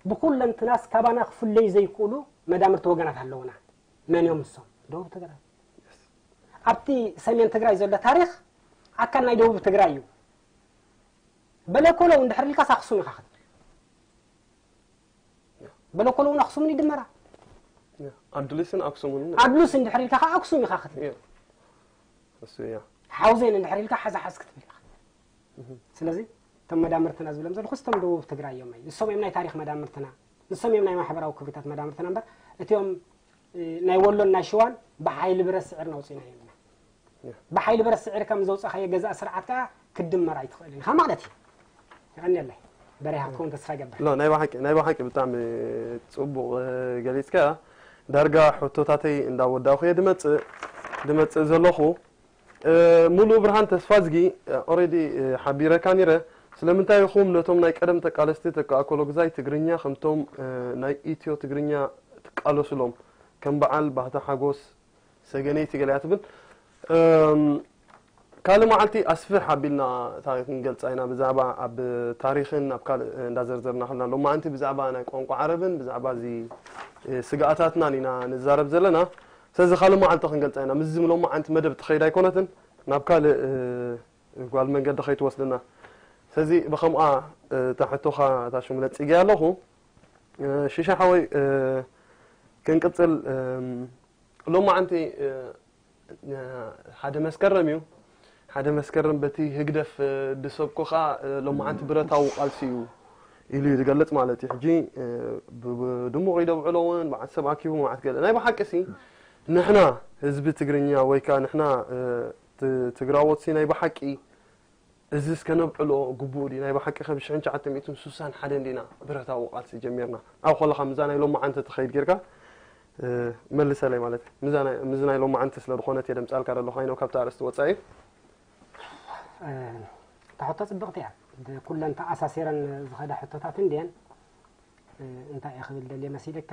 ብኩለንትናስ ካባና ክፍለዩ ዘይክእሉ መዳምርቲ ወገናት ኣለውና። መን እዮም ንሶም? ደቡብ ትግራይ። ኣብቲ ሰሜን ትግራይ ዘሎ ታሪክ ኣካል ናይ ደቡብ ትግራይ እዩ። በለኮሎ እንድሕር ኢልካስ ኣክሱም ኢኻ ክትብል። በለኮሎ እውን ኣክሱምን ይድመራ። ኣዱሊስን ኣክሱምን ኣዱሊስ እንድሕር ኢልካ ከዓ ኣክሱም ኢኻ ክትብል። እሱ እያ። ሓውዜን እንድሕር ኢልካ ሓዛ ሓዝ ክትብል ኢኻ። ስለዚ እቶም መዳምርትና ዝብሎም ዘለኹ እቶም ደቡብ ትግራይ እዮም። ንሶም እዮም ናይ ታሪኽ መዳምርትና፣ ንሶም እዮም ናይ ማሕበራዊ ክብሪታት መዳምርትና እምበር እቲኦም ናይ ወሎን ናይ ሽዋን ብሓይሊ ብረት ስዒርና ኣውፂእናዮም ኢና። ብሓይሊ ብረት ስዒርካ ምስ ዘውፃእካዮ ገዛእ ስርዓት ከዓ ክትድመር ኣይትኽእልን ኢኻ ማለት እዩ። የቐንየለይ በሬሃ ክኸውን ተስፋ ይገብር። ሎ ናይ ብሓቂ ናይ ብሓቂ ብጣዕሚ ፅቡቕ ገሊፅካ። ዳርጋ ሕቶታተይ እንዳወዳእኹ እየ ድመፅእ ድመፅእ ዘለኹ። ሙሉ ብርሃን ተስፋዝጊ ኦሬዲ ሓቢረካ ኒረ። ስለምንታይ ኢኹም ነቶም ናይ ቀደም ተቃለስቲ ተካኣኮሎግዛይ ትግርኛ ከምቶም ናይ ኢትዮ ትግርኛ ትቃለሱሎም ከም በዓል ባህታ ሓጎስ ሰገነይቲ ገለ እያ ትብል። ካልእ መዓልቲ ኣስፍሕ ኣቢልና እታ ክንገልፃ ኢና ብዛዕባ ኣብ ታሪኽን ኣብ ካልእ እንዳዘርዘርና ከለና ሎማዓንቲ ብዛዕባ ናይ ቋንቋ ዓረብን ብዛዕባ እዚ ስግኣታትናን ኢና ንዛረብ ዘለና። ስለዚ ካልእ መዓልቲ ክንገልፃ ኢና። ምስዚ ሎማዓንቲ መደብ ትኸይድ ኣይኮነትን ናብ ካልእ ጓል መንገዲ ከይትወስድና። ስለዚ ብኸምኣ እታ ሕቶኻ እታ ሽሙ ለፂገያ ኣለኹ። ሽሻ ሓወይ ክንቅፅል ሎማዓንቲ ሓደ መስከረም እዩ። ሓደ መስከረም በቲ ህግደፍ ድሰብኮ ከዓ ሎማዓንቲ ብረታዊ ቃልሲ እዩ ኢሉ እዩ ዝገልፅ ማለት እዩ። ሕጂ ብድሙቕ ይደብዕሎ እውን መዓት ሰብ ኣኪቡ መዓት ገለ ናይ ብሓቂ ሲ ንሕና ህዝቢ ትግርኛ ወይ ከዓ ንሕና ትግራዎት ሲ ናይ ብሓቂ እዚስ ከነብዕሎ ግቡእ ድዩ? ናይ ብሓቂ ከ ብ ሽሕን ትሽዓተ ሚእትን ስሳን ሓደን ዲና ብረታዊ ቃልሲ ጀሚርና? ኣብ ከለኻ ምዛ ናይ ሎማዓንቲ ትኸይድ ጌርካ መልሰለይ ማለት እዩ። ምዚ ናይ ሎማዓንቲ ስለ ዝኾነት እየ ደምጻልካ ዘለኹ ኣይነው ካብቲ ኣርእስቲ ወጻኢ። እታ ሕቶ ጽብቕቲ እያ። ኩለን ተኣሳሲረን ዝኸዳ ሕቶታት እንድየን። እንታይ እየ ክብል ደልየ መሲልካ?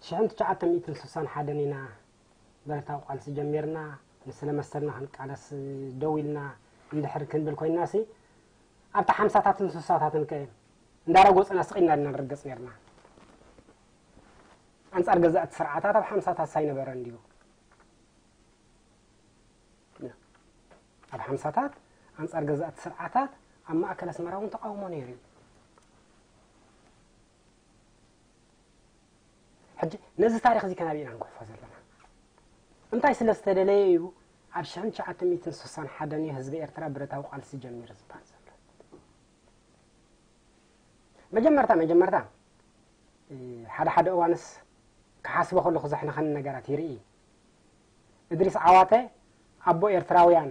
ሽሕን ትሽዓተ ሚእትን ስሳን ሓደን ኢና ብረታዊ ቃልሲ ጀሚርና፣ ንስለ መሰልና ክንቃለስ ደው ኢልና እንድሕር ክንብል ኮይንና ሲ፣ ኣብቲ ሓምሳታትን ስሳታትን ከ እንዳረጎጽና ስቕ ኢልና ድና ንርገጽ ኔርና። ኣንጻር ገዛእቲ ስርዓታት ኣብ ሓምሳታት ሳይነበረ እንድዩ። ኣብ ሓምሳታት ኣንጻር ገዛእቲ ስርዓታት ኣብ ማእከል ኣስመራ እውን ተቃውሞ ነይሩ እዩ። ሕጂ ነዚ ታሪኽ እዚ ከናበይ ኢና ንጉሕፎ ዘለና? እንታይ ስለ ዝተደለየ እዩ ኣብ ሽሕን ትሽዓተ ሚእትን ስሳን ሓደን እዩ ህዝቢ ኤርትራ ብረታዊ ቃልሲ ጀሚሩ ዝበሃል ዘሎ? መጀመርታ መጀመርታ ሓደ ሓደ እዋንስ ክሓስቦ ከለኹ ዘሕንኸኒ ነገራት ይርኢ። እድሪስ ዓዋተ ኣቦ ኤርትራውያን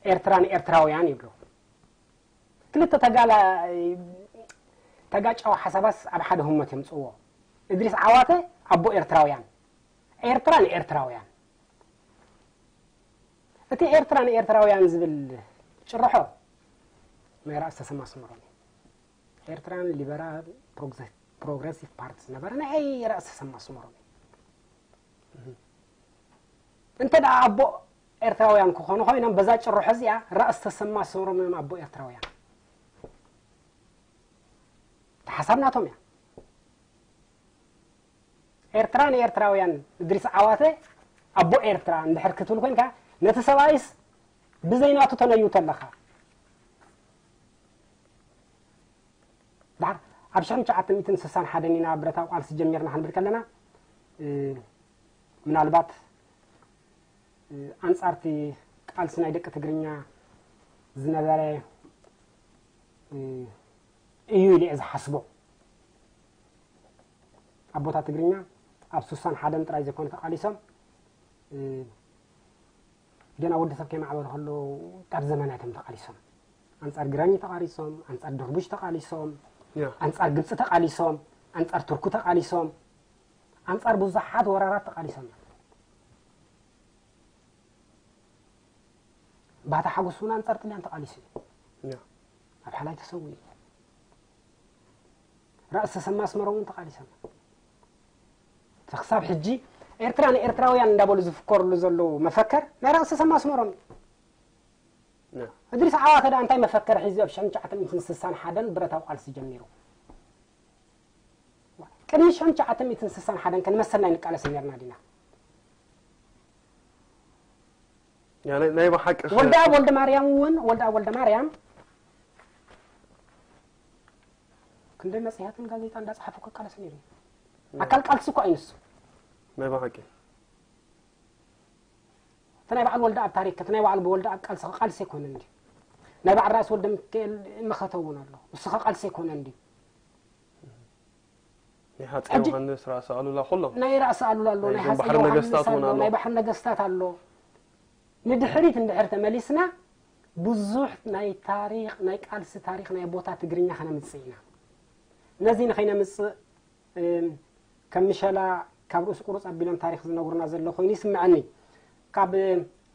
ኤርትራ ንኤርትራውያን ይብሉ። ክልተ ተጋላ ተጋጫዊ ሓሳባስ ኣብ ሓደ ህሞት የምፅዎ። እድሪስ ዓዋተ ኣቦ ኤርትራውያን ኤርትራ ንኤርትራውያን። እቲ ኤርትራ ንኤርትራውያን ዝብል ጭርሖ ናይ ራእሲ ተሰማ ኣስመሮም እዩ። ኤርትራን ሊበራል ፕሮግረሲቭ ፓርቲ ዝነበረ ናይ ራእሲ ተሰማ ኣስመሮም እዩ። እንተ ደኣ ኣቦ ኤርትራውያን ክኾኑ ኮይኖም በዛ ጭርሖ እዚኣ ራእሲ ተሰማ ኣስመሮም እዮም ኣቦ ኤርትራውያን። እቲ ሓሳብ ናቶም እያ። ኤርትራ ንኤርትራውያን እድሪስ ዓዋተ ኣቦ ኤርትራ እንድሕር ክትብል ኮንካ ነቲ ሰብኣይስ ብዘይናቱ ተነይውቶ ኣለኻ። ድሓር ኣብ ሽሕን ትሽዓተ ሚእትን ስሳን ሓደን ኢና ብረታዊ ቃልሲ ጀሚርና ክንብል ከለና ምናልባት ኣንጻርቲ ቃልሲ ናይ ደቂ ትግርኛ ዝነበረ እዩ ኢለ እየ ዝሓስቦ። ኣቦታት ትግርኛ ኣብ ስሳን ሓደን ጥራይ ዘይኮኑ ተቃሊሶም ገና ወዲ ሰብ ከይማዕበሉ ከለዉ ካብ ዘመናት እዮም ተቃሊሶም። ኣንጻር ግራኝ ተቃሊሶም፣ ኣንጻር ድርቡሽ ተቃሊሶም፣ ኣንጻር ግብጺ ተቃሊሶም፣ ኣንጻር ቱርኩ ተቃሊሶም፣ ኣንጻር ብዙሓት ወራራት ተቃሊሶም እዮም። ባህታ ሓጎስ እውን ኣንጻር ጥልያን ተቃሊሱ እዩ። ኣብ ሓላይ ተሰዊኡ እዩ። ራእሲ ተሰማ ኣስመሮም እውን ተቃሊሶም እዮም። ክሳብ ሕጂ ኤርትራ ንኤርትራውያን እንዳበሉ ዝፍከርሉ ዘለዉ መፈከር ናይ ራእሲ ተሰማ ኣስመሮም እዩ። እድሪስ ዓዋተ ደኣ እንታይ መፈከር ሒዙ ኣብ ሽሕን ትሽዓተ ሚእትን ስሳን ሓደን ብረታዊ ቃልሲ ጀሚሩ? ቅድሚ ሽሕን ትሽዓተ ሚእትን ስሳን ሓደን ከ ንመሰልና ኣይንቃለስ ነርና ዲና? ናይ ብሓቂ ወልደኣብ ወልደ ማርያም እውን ወልደኣብ ወልደ ማርያም ክንደይ መፅሄትን ጋዜጣ እንዳፀሓፉ ክቃለስ ነይሩ እዩ። ኣካል ቃልሲ እኮ እዩ ንሱ። ናይ ብሓቂ እቲ ናይ በዓል ወልደኣብ ታሪክ እቲ ናይ በዓል ወልደኣብ ቃልሲ ቃልሲ ኣይኮነን እንዲ ናይ በዓል ራእሲ ወልደ ሚካኤል መኸተ እውን ኣሎ። ንሱ ኸ ቃልሲ ኣይኮነን ድዩ? ናይ ሃፀይ ዮሃንስ፣ ራእሲ ኣሉላ፣ ኩሎም ናይ ራእሲ ኣሉላ ኣሎ፣ ናይ ሃፀይ ዮሃንስ ኣሎ፣ ናይ ባሕሪ ነገስታት ኣሎ። ንድሕሪት እንድሕር ተመሊስና ብዙሕ ናይ ታሪኽ፣ ናይ ቃልሲ ታሪኽ ናይ ቦታ ትግርኛ ከነምፅእ ኢና። ነዚ ንኸይነምፅእ ከም ምሸላ ካብ ርእሲ ቁርፅ ኣቢሎም ታሪኽ ዝነግሩና ዘሎ ኮይኑ ይስምዐኒ። ካብ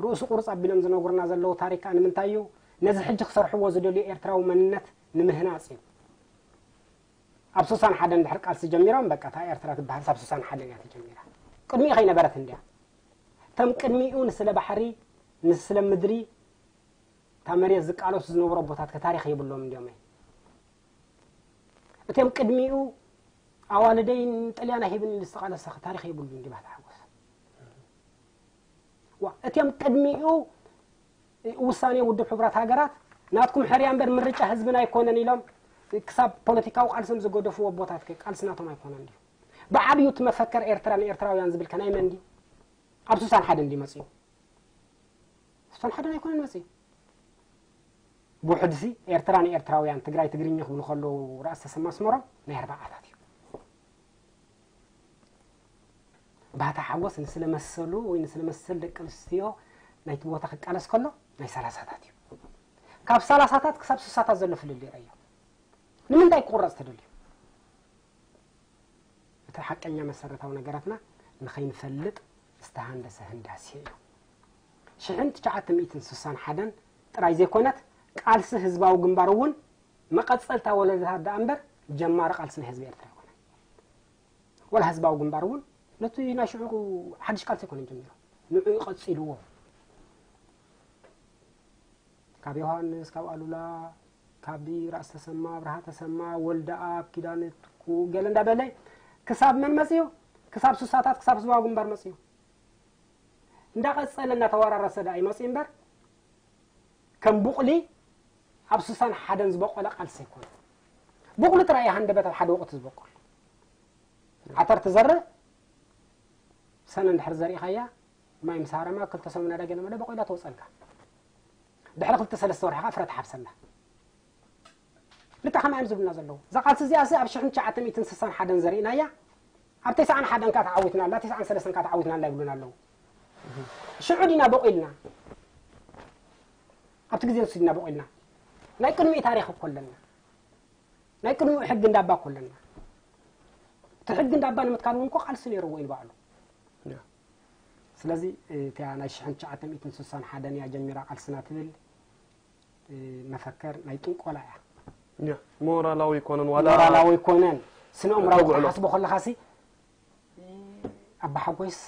ርእሲ ቁርፅ ኣቢሎም ዝነግሩና ዘለዉ ታሪክ ከኣ ንምንታይ እዩ? ነዚ ሕጂ ክሰርሕዎ ዝደልዩ ኤርትራዊ መንነት ንምህናፅ እዩ። ኣብ ስሳን ሓደን ድሕሪ ቃልሲ ጀሚሮም በቃ እታ ኤርትራ ትበሃል ኣብ ስሳን ሓደን እያ ተጀሚራ። ቅድሚኡ ከይነበረት እንድያ። እቶም ቅድሚኡ ንስለ ባሕሪ ንስለ ምድሪ እታ መሬት ዝቃለሱ ዝነበሩ ኣቦታት ከ ታሪኽ የብሎም እንድዮም። እቶም ቅድሚኡ ኣዋልደይ ንጥልያን ኣይህብን ኢሉ ዝተቃለሰ ከ ታሪኽ የብሉ እንዲ ባህታ ሓጎስ። ዋ እቶም ቅድሚኡ ውሳኔ ውድብ ሕቡራት ሃገራት ናትኩም ሕርያ እምበር ምርጫ ህዝብና ኣይኮነን ኢሎም ክሳብ ፖለቲካዊ ቃልሶም ዝገደፍዎ ኣቦታት ከ ቃልሲ ናቶም ኣይኮነን ድዩ? ብዓብዩ እቲ መፈከር ኤርትራ ንኤርትራውያን ዝብል ከ ናይ መን ድዩ? ኣብ ስሳን ሓደን ድዩ መፅዩ? ስሳን ሓደን ኣይኮነን መፅዩ። ብውሕድሲ ኤርትራ ንኤርትራውያን ትግራይ ትግርኛ ክብሉ ከለዉ ራእሲ ተሰማ ኣስመሮም ናይ ኣርባዓታት እዩ። ባህታ ሓጎስ ንስለ መሰሉ ወይ ንስለ መሰል ደቂ ኣንስትዮ ናይቲ ቦታ ክቃለስ ከሎ ናይ ሰላሳታት እዩ። ካብ ሰላሳታት ክሳብ ስሳታት ዘሎ ፍልልይ ረእዮ። ንምንታይ ክቁረፅ ተደልዩ? እቲ ሓቀኛ መሰረታዊ ነገራትና ንኸይንፈልጥ ዝተሃንደሰ ህንዳሴ እዩ። ሽሕን ትሽዓተ ሚእትን ስሳን ሓደን ጥራይ ዘይኮነት ቃልሲ ህዝባዊ ግንባር እውን መቐፀልታ ወለዶታት ደኣ እምበር ጀማሪ ቃልሲ ናይ ህዝቢ ኤርትራ ኣይኮነን። ወላ ህዝባዊ ግንባር እውን ነቲ ናይ ሽዑ ሓድሽ ቃልሲ ኣይኮነን ጀሚሩ። ንዑ ይቐፂልዎ። ካብ ዮሃንስ፣ ካብ ኣሉላ፣ ካብ ራእሲ ተሰማ፣ ኣብርሃ ተሰማ፣ ወልደኣብ፣ ኪዳነ ትኩ ገለ እንዳበለ ክሳብ መን መፅዩ? ክሳብ ስሳታት ክሳብ ህዝባዊ ግንባር መፅዩ። እንዳቐፀለ እናተወራረሰ ደኣ ይመፅእ እምበር ከም ቡቕሊ ኣብ ስሳን ሓደን ዝበቆለ ቃልሲ ኣይኮነ። ቡቕሊ ጥራይ እዩ ሃንደበት ኣብ ሓደ ወቕቲ ዝበቁል። ዓተር ትዘርእ ሰነ እንድሕር ዘሪእኻያ ማይ ምስ ሃረማ ክልተ ሰሙን ኣዳገለ መለ በቆላ ተወፀልካ። ድሕሪ ክልተ ሰለስተ ወርሒ ከዓ ፍረ ትሓፍሰላ። ልካ ከማይ እዮም ዝብሉና ዘለዉ። እዛ ቃልሲ እዚኣ ሲ ኣብ ሽሕን ትሽዓተ ሚእትን ስሳን ሓደን ዘሪእናያ ኣብ ተስዓን ሓደን ከዓ ተዓዊትና ኣላ፣ ተስዓን ሰለስተን ከዓ ተዓዊትና ኣላ ይብሉና ኣለዉ። ሽዑ ዲና በቂልና ኣብቲ ግዜ ንሱ ዲና በቂልና ናይ ቅድሚኡ ታሪኽ እኮ ኣለና። ናይ ቅድሚኡ ሕጊ እንዳባ እኮ ኣለና። እቲ ሕጊ እንዳባ ንምትካል እውን እኮ ቃልሲ ነይርዎ ኢሉ ባዕሉ። ስለዚ እቲያ ናይ ሽሕን ትሽዓተ ሚእትን ስሳን ሓደን እያ ጀሚራ ቃልስና ትብል መፈከር ናይ ጥንቆላ እያ። ሞራላዊ ይኮነን ዋላ ሞራላዊ ይኮነን ስነ ኣእምራዊ ክትሓስቦ ከለኻሲ ኣባ ሓጎይስ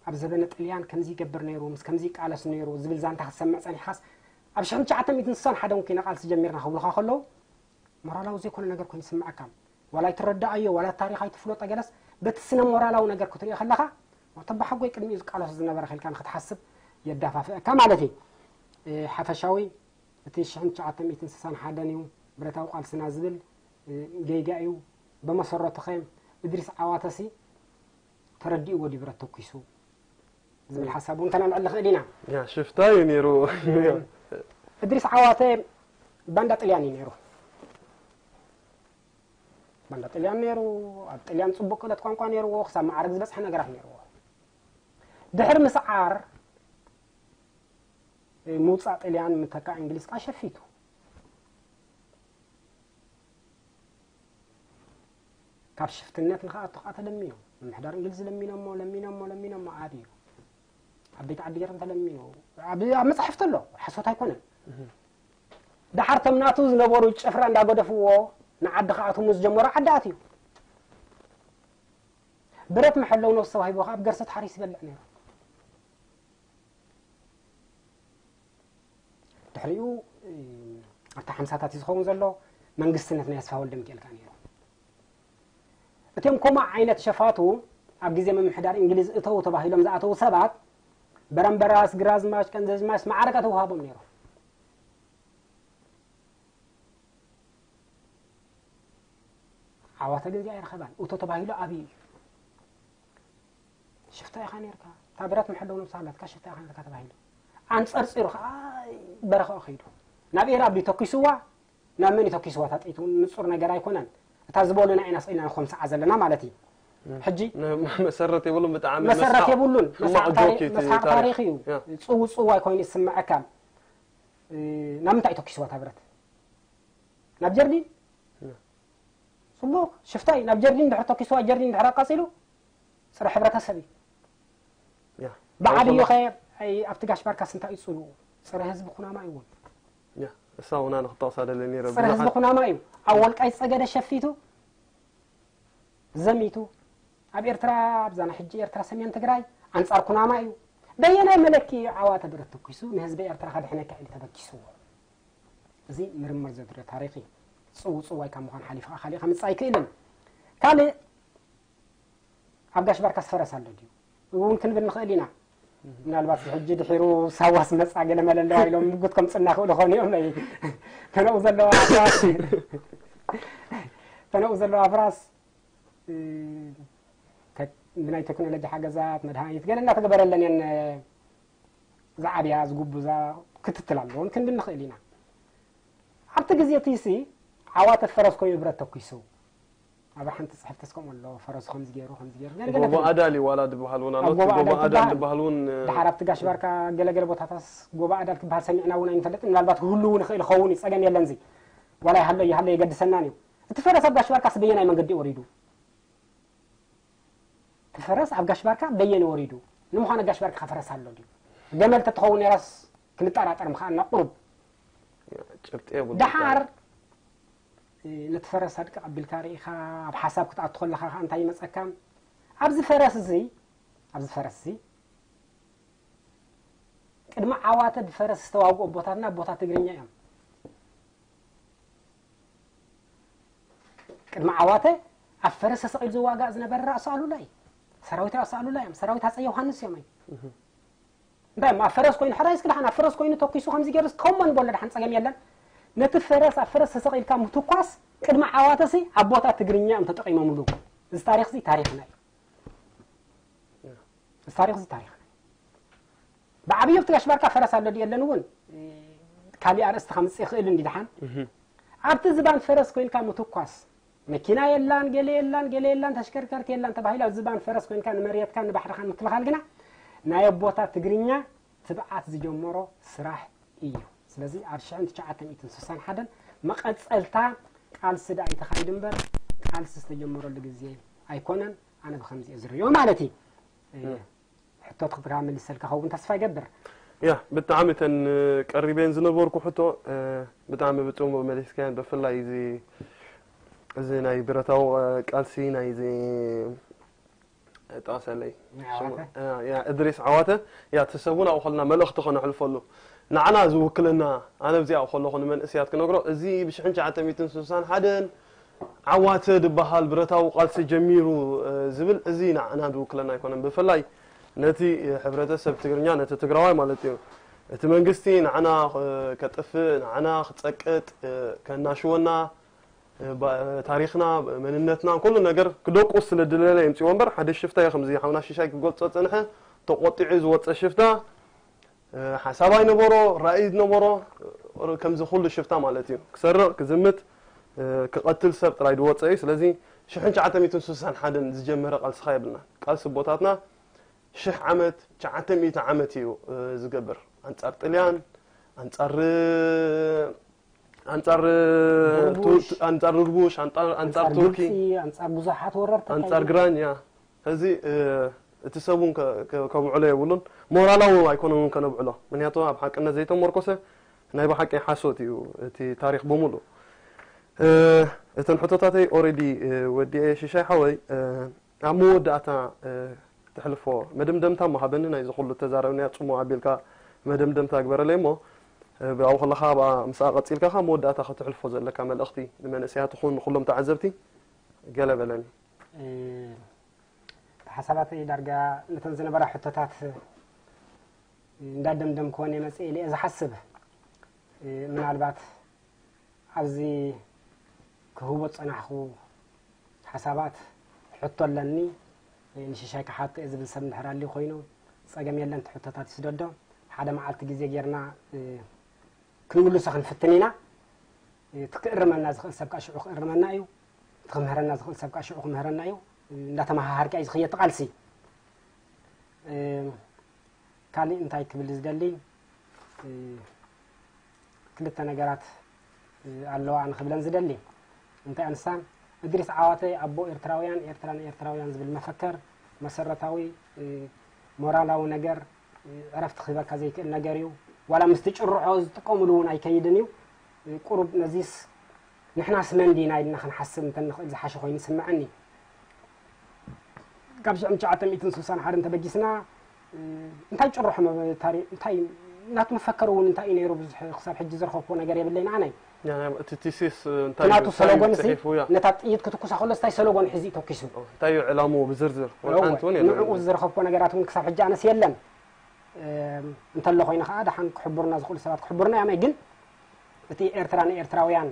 ኣብ ዘበነ ጥልያን ከምዚ ይገብር ነይሩ ምስ ከምዚ ይቃለስ ነይሩ ዝብል ዛንታ ክትሰምዕ ጸኒሕካስ ኣብ ሽሕን ትሽዓተ ሚእትን ስሳን ሓደን ኮይና ቃልሲ ጀሚርና ክብሉኻ ከለዉ ሞራላዊ ዘይኮነ ነገር ኮይኑ ይስምዓካ። ዋላ ኣይትረዳኣዮ ዋላ ታሪኽ ኣይትፍለጦ ገለስ በቲ ስነ ሞራላዊ ነገር ክትሪኦ ከለኻ ተባሓጎይ ቅድሚኡ ዝቃለሶ ዝነበረ ከልካ ንክትሓስብ የዳፋፍአካ ማለት እዩ። ሓፈሻዊ እቲ ሽሕን ትሽዓተ ሚእትን ስሳን ሓደን እዩ ብረታዊ ቃልስና ዝብል ጌጋ እዩ። ብመሰረቱ ከ እድሪስ ዓዋተሲ ተረዲእዎ ድዩ ብረት ተኩሱ ዝብል ሓሳብ እውን ከነልዕል ንኽእል ኢና። ሽፍታ እዩ ነይሩ። እድሪስ ዓዋተ ባንዳ ጥልያን እዩ ነይሩ። ባንዳ ጥልያን ነይሩ። ኣብ ጥልያን ፅቡቅ ክእለት ቋንቋ ነይርዎ። ክሳብ መዓርግ ዝበፅሐ ነገራት ነይርዎ። ድሕሪ ምስዓር ምውፃእ ጥልያን ምተካእ እንግሊዝ ከዓ ሸፊቱ። ካብ ሽፍትነት ንክኣቱ ከዓ ተለሚኖም ምምሕዳር እንግሊዝ ለሚኖሞ ለሚኖሞ ለሚኖሞ ኣብዩ ኣብ ቤት ዓዲ ገይሮም ተለሚኑ ኣብ ኣብ መፅሓፍቲ ኣሎ ሓሶት ኣይኮነን። ደሓር ቶም ናቱ ዝነበሩ ጭፍራ እንዳገደፍዎ ንዓዲ ክኣትሙ ዝጀመሩ ዓዲ ኣትዩ። ብረት መሐለዊ ነብሱ ተዋሂቡ ከዓ ኣብ ገርሰት ሓሪስ ይበልዕ ነይሩ። ድሕሪኡ ኣብቲ ሓምሳታት እዩ ዝኸውን ዘሎ መንግስትነት ናይ ኣስፋ ወልደ ሚካኤል ከዓ ነይሩ። እቶም ከምኡ ዓይነት ሸፋቱ ኣብ ግዜ ምምሕዳር እንግሊዝ እተው ተባሂሎም ዝኣተዉ ሰባት በረምበራስ፣ ግራዝማች፣ ቀንዘዝማች ማዕረጋ ተውሃቦም ነይሩ። ዓዋተ ግን እዚኣ ኣይረኸባን። እቶ ተባሂሉ ኣብዩ እዩ። ሽፍታ ኢኻ ነርካ፣ እታ ብረት መሐለዊ ነብሳ ኣላትካ ሽፍታ ኢኻ ነርካ ተባሂሉ። ኣንጸርጺሩ ከኣ በረኻኡ ከይዱ። ናብ ኤራብ ድዩ ተኪስዋ? ናብ መን እዩ ተኪስዋ? እታ ጥይት እውን ንጹር ነገር ኣይኮነን። እታ ዝበሉና ኢና ስኢልና ንኾምስዓ ዘለና ማለት እዩ። ሕጂ መሰረት የብሉን። ብጣዕሚ መሰረት መስሓቕ የብሉን። ሕማቕ መስሓቕ ታሪኽ ጆክ እዩ እቲ መስሓቕ ታሪኽ። ታሪኽ እዩ። ያ። ጽውጽው ኣይኮይኑ ይስምዐካ። እ፣ ናብ ምንታይ ተኪስዋ እታ ብረት? ናብ ጀርዲን? ያ። ጽቡቕ ሽፍታ እዩ። ናብ ጀርዲን ድሕሪ ተኪስዋ፣ ጀርዲን ድሕሪ ኣቃጺሉ ጽረ ሕብረተሰብ እዩ። ያ። ብዓብዩ ኣውቶማ- ኸ ኣይ፣ ኣብቲ ጋሽ ባርካስ እንታይ እዩ ጽልኡ? ጽረ ህዝቢ ኩናማ እዩ እውን። ያ። እሳ ውና ንክጠቕሳ ደለ ነይረ ጽረ ህዝቢ ብዙሓት ኩናማ እዩ። ኣብ ወልቃይት ጸገደ ሸፊቱ ዘሚቱ ኣብ ኤርትራ ኣብዛ ናይ ሕጂ ኤርትራ ሰሜን ትግራይ ኣንጻር ኩናማ እዩ። በየናይ መለኪ ዓዋተ ብረት ተኩሱ ንህዝቢ ኤርትራ ከድሕነካ ኢሉ ተበኪስዎ? እዚ ምርምር ዘድልዮ ታሪኽ እዩ። ጽውጽዋይ ካብ ምዃን ሓሊፉ ካሊእ ከምጽእ ኣይክእልን። ካልእ ኣብ ጋሽ ባርካስ ፈረስ ኣሎ ድዩ እውን ክንብል ንኽእል ኢና። ምናልባት ሕጂ ድሒሩ ሳዋስ መጻ ገለ መለ ኣለዋ ኢሎም ምጉት ከምጽና ክእሉ ኾኑ እዮም። ናይ ተነኡ ዘለዋ ኣፍራስ ተነኡ ዘለዋ ኣፍራስ እ፣ ተ- ብናይ ቴክኖሎጂ ሓገዛት መድሃኒት ገለ እናተገበረለን እየን ዝዓብያ ዝጉብዛ ክትትል ኣለዎን ክንብል ንኽእል ኢና። ኣብቲ ግዜ እቲ ሲ ዓዋተ ፈረስ ኮይኑ ብረት ተኩሱ ኣብ ሓንቲ ጽሕፍቲ እስከምኡ ኣሎ ፈረሱ ከምዚ ገይሩ ከምዚ ገይሩ ገለ ገለ ጎቦ ኣዳል እዩ ዋላ ዝበሃል እውን ኣሎ። ኣብ ጎቦ እቲ ጎቦ ኣዳል ኣዳል ትበሃል። ዝበሃል እውን ድሓር ኣብቲ ጋሽ ባርካ ገለገለ ቦታታስ ጎቦ ኣዳል ክበሃል ሰሚዕና እውን ኣይንፈልጥን። ምናልባት ክህሉ እውን ይኽእል ይኸውን እዩ፣ ጸገም የለን። እዚ ዋላ ይሃሎ ይሃሎ የገድሰናን እዩ። እቲ ፈረስ ኣብ ጋሽ ባርካስ በየናይ መንገዲ ወሪዱ? እቲ ፈረስ ኣብ ጋሽ ባርካ በየን ወሪዱ? ንምዃኑ ጋሽ ባርካ ፈረስ ኣሎ ድዩ? ገመል ተትኸውን ነራስ ክንጠራጠር ምኽኣልና ቁሩብ። ጭብጢ የብሉ። ደሓር እ፣ ነቲ ፈረስ ኣድቅቕ ኣቢልካ ርኢኻ ኣብ ሓሳብ ክትኣቱ ከለኻ ከኣ እንታይ ይመጸካ? ኣብዚ ፈረስ እዚ ኣብዚ ፈረስ እዚ ቅድሚ ዓዋተ ብፈረስ ዝተዋግኡ ኣቦታትና ኣቦታት ትግርኛ እዮም። ቅድሚ ዓዋተ ኣብ ፈረስ ተሰቒሉ ዝዋጋእ ዝነበረ ራእሲ ኣሉላ እዩ። ሰራዊት ራእሲ ኣሉላ እዮም። ሰራዊት ሃፀይ ዮሃንስ እዮም። እንታይ እሞ ኣብ ፈረስ ኮይኑ ሕራይ እስኪ ደሓን ኣብ ፈረስ ኮይኑ ተኩሱ ከምዚ ገይሩ እስኪ ከመን በሎ ደሓን ጸገም የለን። ነቲ ፈረስ ኣብ ፈረስ ተሰቒልካ ምትኳስ ቅድሚ ዓዋተሲ ኣቦታት ትግርኛ እዮም ተጠቒሞምሉ። እዚ ታሪኽዚ ታሪኽና እዩ። እዚ ታሪኽዚ ታሪኽና እዩ። ብዓብዩ ኣብቲ ጋሽ ባርካ ፈረስ ኣሎ ድዩ የለን እውን ካሊእ ኣርእስቲ ከምፅእ ይኽእል እንዲ ደሓን ኣብቲ ዝባን ፈረስ ኮይንካ ምትኳስ መኪና የላን ገለ የላን ገለ የላን ተሽከርከርቲ የላን ተባሂሉ ኣብ ዝባን ፈረስ ኮይንካ ንመሬትካ ንባሕርኻን ምክልኻል ግና ናይ ኣቦታት ትግርኛ ትብዓት ዝጀመሮ ስራሕ እዩ። ስለዚ ኣብ ሽሕን ትሽዓተ ሚእትን ስሳን ሓደን መቐፀልታ ቃልሲ ደኣ እዩ ተኻይዱ እምበር ቃልሲ ዝተጀመረሉ ግዜ ኣይኮነን። ኣነ ብኸምዚ እየ ዝርእዮ ማለት እዩ። ሕቶ ትኽትካ መሊሰልካ ኸውን ተስፋ ይገብር። ያ ብጣዕሚ እተን ቀሪበን ዝነበርኩ ሕቶ ብጣዕሚ ብፅሙቕ መሊስካየን። ብፍላይ እዚ እዚ ናይ ብረታዊ ቃልሲ ናይ እዚ ጠቐሰለይ ዓዋተ? ያ እድሪስ ዓዋተ ያ እቲ ሰብ እውን ኣብኡ ከለና መልእኽቲ ከነሕልፈሉ ንዓና ዝውክለና ኣነ ኣብዚኣ ከለኹ ንመንእስያት ክነግሮ እዚ ብሽሕን ትሽዓተ ሚእትን ስሳን ሓደን ዓዋተ ዝበሃል ብረታዊ ቃልሲ ጀሚሩ ዝብል እዚ ንዓና ዝውክለና ኣይኮነን። ብፍላይ ነቲ ሕብረተሰብ ትግርኛ ነቲ ትግራዋይ ማለት እዩ እቲ መንግስቲ ንዓና ከጥፍእ ንዓና ክፀቅጥ ከናሽወና ታሪኽና መንነትና ኩሉ ነገር ክደቁስ ስለ ዝደለየ የምፅዎ እምበር ሓደ ሽፍታ እዩ ከምዚ ሓውና ሽሻይ ክገልፆ ዝፀንሐ ተቆጢዑ ዝወፀ ሽፍታ ሓሳብ ኣይነበሮ ራእይ ዝነበሮ ከምዚ ኩሉ ሽፍታ ማለት እዩ ክሰርቕ ክዝምት ክቐትል ሰብ ጥራይ ዝወፀ እዩ። ስለዚ ሽሕን ትሽዓተ ሚእትን ስሳን ሓደን ዝጀመረ ቃልስኻ የብልና ቃልሲ ኣቦታትና ሽሕ ዓመት ትሽዓተ ሚእቲ ዓመት እዩ ዝገብር ኣንፃር ጥልያን ኣንፃር ኣንፃር ድርቡሽ። ኣንፃር ድርቡሽ ኣንፃር ኣንፃር ኣንፃር ቱርኪ ግብፂ ኣንፃር ብዙሓት ወረርቲ ኣንፃር ግራኝ ያ እዚ እቲ ሰብ እውን ከብዕሎ የብሉን ሞራላዊ እውን ኣይኮነን እውን ከነብዕሎ ምክንያቱ ኣብ ሓቅነት ዘይተመርኮሰ ናይ ብሓቂ ሓሶት እዩ እቲ ታሪክ ብምሉእ እተን ሕቶታተይ already ወዲኤ ሽሻይ ሓወይ ኣብ መወዳእታ ተሕልፎ መደምደምታ መሃበኒ ናይዚ ኩሉ ተዛረብናያ ፅሙቕ ኣቢልካ መደምደምታ ግበረለይ እሞ ብኣው ከለኻ ኣብኣ ምስኣ ቀፂልካ ካብ መወዳእታ ከተሕልፎ ዘለካ መልእኽቲ ንመንእሰያት ኹን ንኩሎም ተዓዘብቲ ገለ በለኒ። ሓሳባተይ ዳርጋ ነተን ዝነበራ ሕቶታት እንዳደምደምክወን እየ መፅእ ኢለ እየ ዝሓስብ። ምናልባት ኣብዚ ክህቦ ዝፀናሕኹ ሓሳባት ሕቶ ኣለኒ ንሽሻይ ክሓቶ እየ ዝብል ሰብ እንድሕር ኣልዩ ኮይኑ ፀገም የለን እቲ ሕቶታት ይስደዶ። ሓደ መዓልቲ ግዜ ጌርና ክንምልሶ ክንፍትን ኢና። እቲ ክእርመና ዝኽእል ሰብ ከዓ ሽዑ ክእርመና እዩ። እቲ ክምህረና ዝኽእል ሰብ ከዓ ሽዑ ክምህረና እዩ። እንዳተመሃሃርካ እዩ ዝኽየድ ቃልሲ። ካልእ እንታይ ክብል ዝደሊ፣ ክልተ ነገራት ኣለዋ ኣነ ክብለን ዝደሊ። እንታይ ኣንሳ፣ እድሪስ ዓዋተ ኣቦ ኤርትራውያን፣ ኤርትራ ንኤርትራውያን ዝብል መፈከር መሰረታዊ ሞራላዊ ነገር፣ ዕረፍቲ ክህበካ ዘይክእል ነገር እዩ። ዋላ ምስቲ ጭርሖ ዝጥቀምሉ እውን ኣይከይድን እዩ። ቁሩብ ነዚስ ንሕናስ መን ዲና ኢልና ክንሓስብ እንተንኽእል ዝሓሸ ኮይኑ ይስምዐኒ። ካብ ሽሕን ትሽዓተ ሚእትን ስልሳን ሓደ እንተበጊስና እንታይ ጭርሖ እንታይ ናቱ መፈከር እውን እንታይ እዩ ነይሩ? ብዙሕ ክሳብ ሕጂ ዝረኸብኩዎ ነገር የብለይን ኣነ። እቲ ቲሲስ እንታይ ናቱ ሰሎጎን ሲ ነታ ጥይት ክትኩሳ ከሎ እንታይ ሰሎጎን ሒዚ ተኩሱ እንታይ እዩ ዕላምኡ ብዝርዝር ንዕኡ ዝረኸብኩዎ ነገራት እውን ክሳብ ሕጂ ኣነስ የለን። እንተሎ ኮይኑ ከዓ ደሓን ክሕብሩና ዝኽእሉ ሰባት ክሕብሩና እዮም። ግን እቲ ኤርትራ ንኤርትራውያን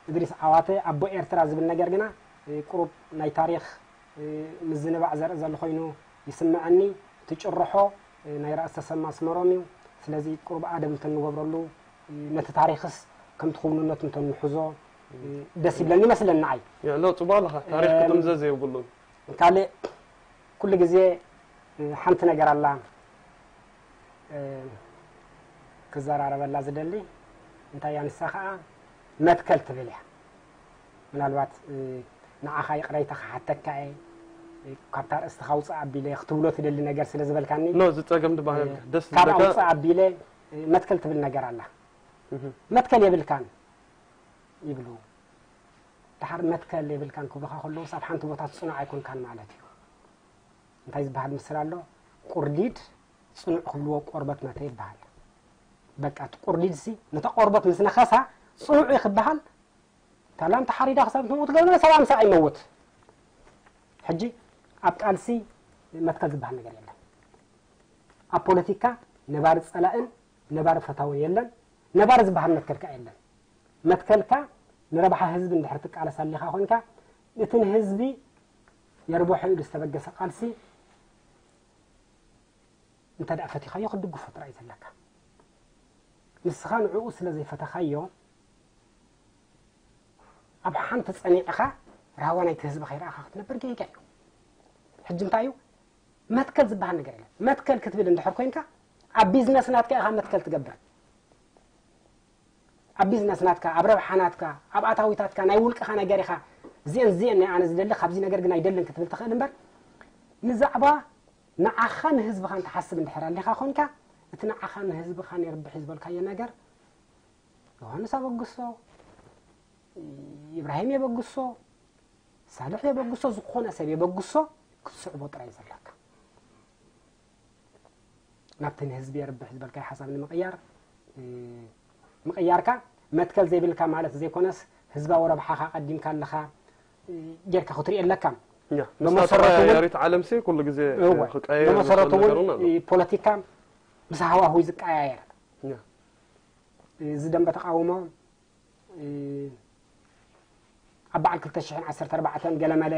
እድሪስ ዓዋተ ኣቦ ኤርትራ ዝብል ነገር ግና ቁሩብ ናይ ታሪኽ ምዝንባዕ ዘርኢ ዘሎ ኮይኑ ይስምዐኒ። እቲ ጭርሖ ናይ ራእሲ ተሰማ ኣስመሮም እዩ። ስለዚ ቁሩብ ኣደብ እንተንገብረሉ ነቲ ታሪኽስ ከምቲ ክውንነቱ እንተንሕዞ ደስ ይብለኒ ይመስለኒ ንዓይ። ሎ ጽቡቕ ኣለኻ። ታሪኽ ክጥምዘዝ የብሉን። ካልእ ኩሉ ግዜ ሓንቲ ነገር ኣላ ክዘራረበላ ዝደሊ። እንታይ እያ ንሳ ኸዓ መትከል ትብል እያ። ምናልባት ንዓኻ ይቕረይታ ክሓተካ እየ ካብታ ርእስቲ ካውፅእ ኣቢለ ክትብሎ ትደሊ ነገር ስለ ዝበልካኒ ኖ ዝፀገም ድባህል ደስ ካብ ዝብለካ ኣውፅእ ኣቢለ መትከል ትብል ነገር ኣላ። እህ። መትከል የብልካን ይብሉ። ድሓር መትከል የብልካን ክብሉኻ ከለውስ ኣብ ሓንቲ ቦታ ፅኑዕ ኣይኮንካን ማለት እዩ። እንታይ ዝበሃል ምስል ኣሎ? ቁርዲድ ፅኑዕ ክብልዎ ቆርበት መተ ይበሃል። በቃ እቲ ቁርዲድ ሲ ነታ ቆርበት ምስ ነኸሳ ፅኑዕ እዩ ክበሃል። ታላም ተሓሪዳ ክሳብ ትመውት ገለ ሰብ ኣምሳ ኣይመውት። ሕጂ ኣብ ቃልሲ መትከል ዝበሃል ነገር የለን። ኣብ ፖለቲካ ነባሪ ፀላእን ነባሪ ፈታውን የለን። ነባሪ ዝበሃል መትከልካ የለን። መትከልካ ንረብሓ ህዝቢ እንድሕር ትቃለስ ኣሊኻ ኮንካ እቲ ንህዝቢ የርብሖ ኢሉ ዝተበገሰ ቃልሲ እንተ ደኣ ፈቲኻዮ ክትድግፎ ጥራይ ዘለካ። ንስኻ ንዕኡ ስለ ዘይፈተኻዮ ኣብ ሓንቲ ጸኒዕኻ ራህዋ ናይቲ ህዝቢ ከይረኣኻ ክትነብር ጌጋ እዩ። ሕጂ እንታይ እዩ መትከል ዝበሃል ነገር የለን። መትከል ክትብል እንድሕር ኮይንካ ኣብ ቢዝነስ ናትካ ኢኻ መትከል ትገብር። ኣብ ቢዝነስ ናትካ፣ ኣብ ረብሓ ናትካ፣ ኣብ ኣታዊታትካ ናይ ውልቅኻ ነገር ኢኻ። እዚአን እዚአን ናይ ኣነ ዝደሊ ካብዚ ነገር ግን ኣይደልን ክትብል ትኽእል እምበር ንዛዕባ ንዓኻ ንህዝብኻ እንትሓስብ እንድሕር ኣሊኻ ኮንካ እቲ ንዓኻ ንህዝብኻ የርብሕ ዝበልካዮ ነገር ዮሃንስ ኣበግሶ፣ ኢብራሂም የበግሶ፣ ሳልሕ የበግሶ፣ ዝኾነ ሰብ የበግሶ ክትስዕቦ ጥራይ ዘለካ። ናብቲ ንህዝቢ የርብሕ ዝበልካዮ ሓሳብ ንምቕያር ምቕያርካ መትከል ዘይብልካ ማለት ዘይኮነስ ህዝባዊ ረብሓኻ ቀዲምካ ኣለኻ ጌርካ ክትሪኦ ኣለካ። መሰረቱ ያሪት ዓለም ሲ ኩሉ ግዜ ክቀየር መሰረቱ እውን ፖለቲካ ምስ ሃዋሁ ዝቀያየር እዚ ደንበ ተቃውሞ ኣብ በዓል ክልተ ሽሕን ዓሰርተ ኣርባዕተን ገለመለ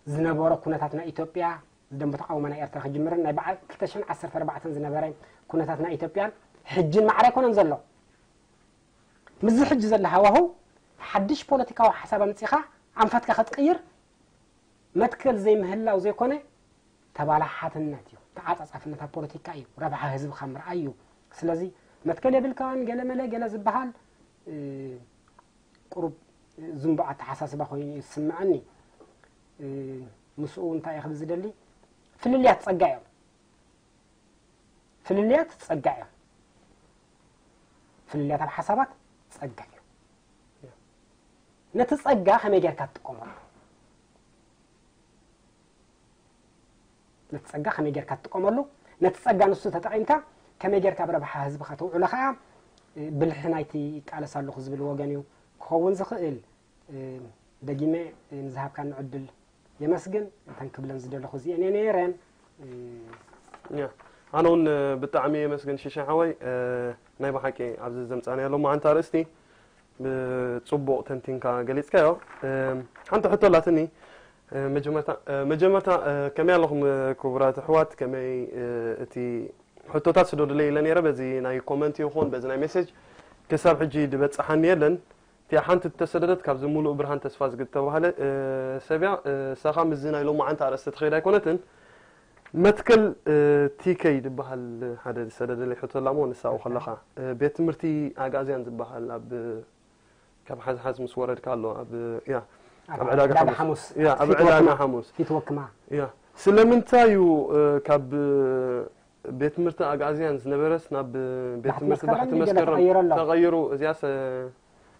ዝነበሮ ኩነታት ናይ ኢትዮጵያ ዝደንበ ተቃውሞ ናይ ኤርትራ ክጅምርን ናይ በዓል ክልተ ሽሕን ዓሰርተ ኣርባዕተን ዝነበረ ኩነታት ናይ ኢትዮጵያን ሕጅን ማዕረ ኣይኮነን ዘሎ። ምስዚ ሕጂ ዘሎ ሃዋሁ ሓድሽ ፖለቲካዊ ሓሳብ ኣምጺኻ ኣንፈትካ ክትቅይር መትከል ዘይምህላው ዘይኮነ ተባላሓትነት እዩ። ተዓጻጻፍነት ኣብ ፖለቲካ እዩ። ረብሓ ህዝብኻ ምርኣይ እዩ። ስለዚ መትከል የብልካን ገለ መለ ገለ ዝበሃል ቁሩብ ዝንቡዕ ኣተሓሳስባ ኮይኑ እዩ ዝስምዐኒ። ምስኡ እንታይ እየ ክብል ዝደሊ ፍልልያት ፀጋ እዮም። ፍልልያት ፀጋ እዮም። ፍልልያት ኣብ ሓሳባት ፀጋ እዮም። ነቲ ፀጋ ከመይ ጌርካ ትጥቀመሉ? ነቲ ጸጋ ከመይ ጌርካ ትጥቀመሉ? ነቲ ጸጋ ንሱ ተጠቒምካ ከመይ ጌርካ ኣብ ረብሓ ህዝብኻ ተውዕሎ ኸኣ ብልሒ ናይቲ ይቃለስ ኣለኹ ዝብል ወገን እዩ ክኸውን ዝኽእል። ደጊመ ንዝሃብካኒ ዕድል የመስግን። እተን ክብለን ዝደለኹ እዚኤን እየን ነይረን። ኣነ እውን ብጣዕሚ የመስግን ሽሻ ሓወይ፣ ናይ ብሓቂ ኣብዚ ዘምጻናዮ ሎማዓንቲ ኣርእስቲ ብጽቡቕ ተንቲንካ ገሊጽካዮ። ሓንቲ ሕቶ ኣላትኒ። መጀመርታ መጀመርታ ከመይ ኣለኹም ክቡራት ኣሕዋት? ከመይ እቲ ሕቶታት ስደዱለይ ኢለ ነይረ፣ በዚ ናይ ኮመንት ይኹን በዚ ናይ ሜሴጅ ክሳብ ሕጂ ዝበጽሓኒ የለን። እቲኣ ሓንቲ እተሰደደት ካብዚ ሙሉእ ብርሃን ተስፋ ዝግተባሃለ፣ እ፣ ሰብያ፣ እ፣ እሳኻ ምስዚ ናይ ሎማዓንቲ ኣርእስቲ ትኸይድ ኣይኮነትን። መትከል፣ እ፣ ቲ ከይ ዝበሃል ሓደ ዝሰደደለይ ሕቶ ኣላ እሞ ንሳኡ ከለኻ፣ እ፣ ቤት ትምህርቲ ኣግኣዝያን ዝበሃል ኣብ ካብ ሓዝሓዝ ምስ ወረድካ ኣሎ ኣብ፣ ያ፣ ኣብ ኣብ ዕዳጋ ዕዳጋ ሓሙስ። ሓሙስ። ያ፣ ኣብ ፊት ዕዳጋ ወክማ። ሓሙስ። ፊት ወክማ። ያ። ስለምንታይ እዩ፣ እ፣ ካብ፣ እ፣ ቤት ትምህርቲ ኣግኣዝያን ዝነበረስ ናብ፣ እ፣ ቤት ባሕቲ ትምህርቲ መስከረም ባሕቲ ድዩ ገለ መስከረም ተቐይሩ ኣሎ? ተቐይሩ? እዚያስ፣ እ፣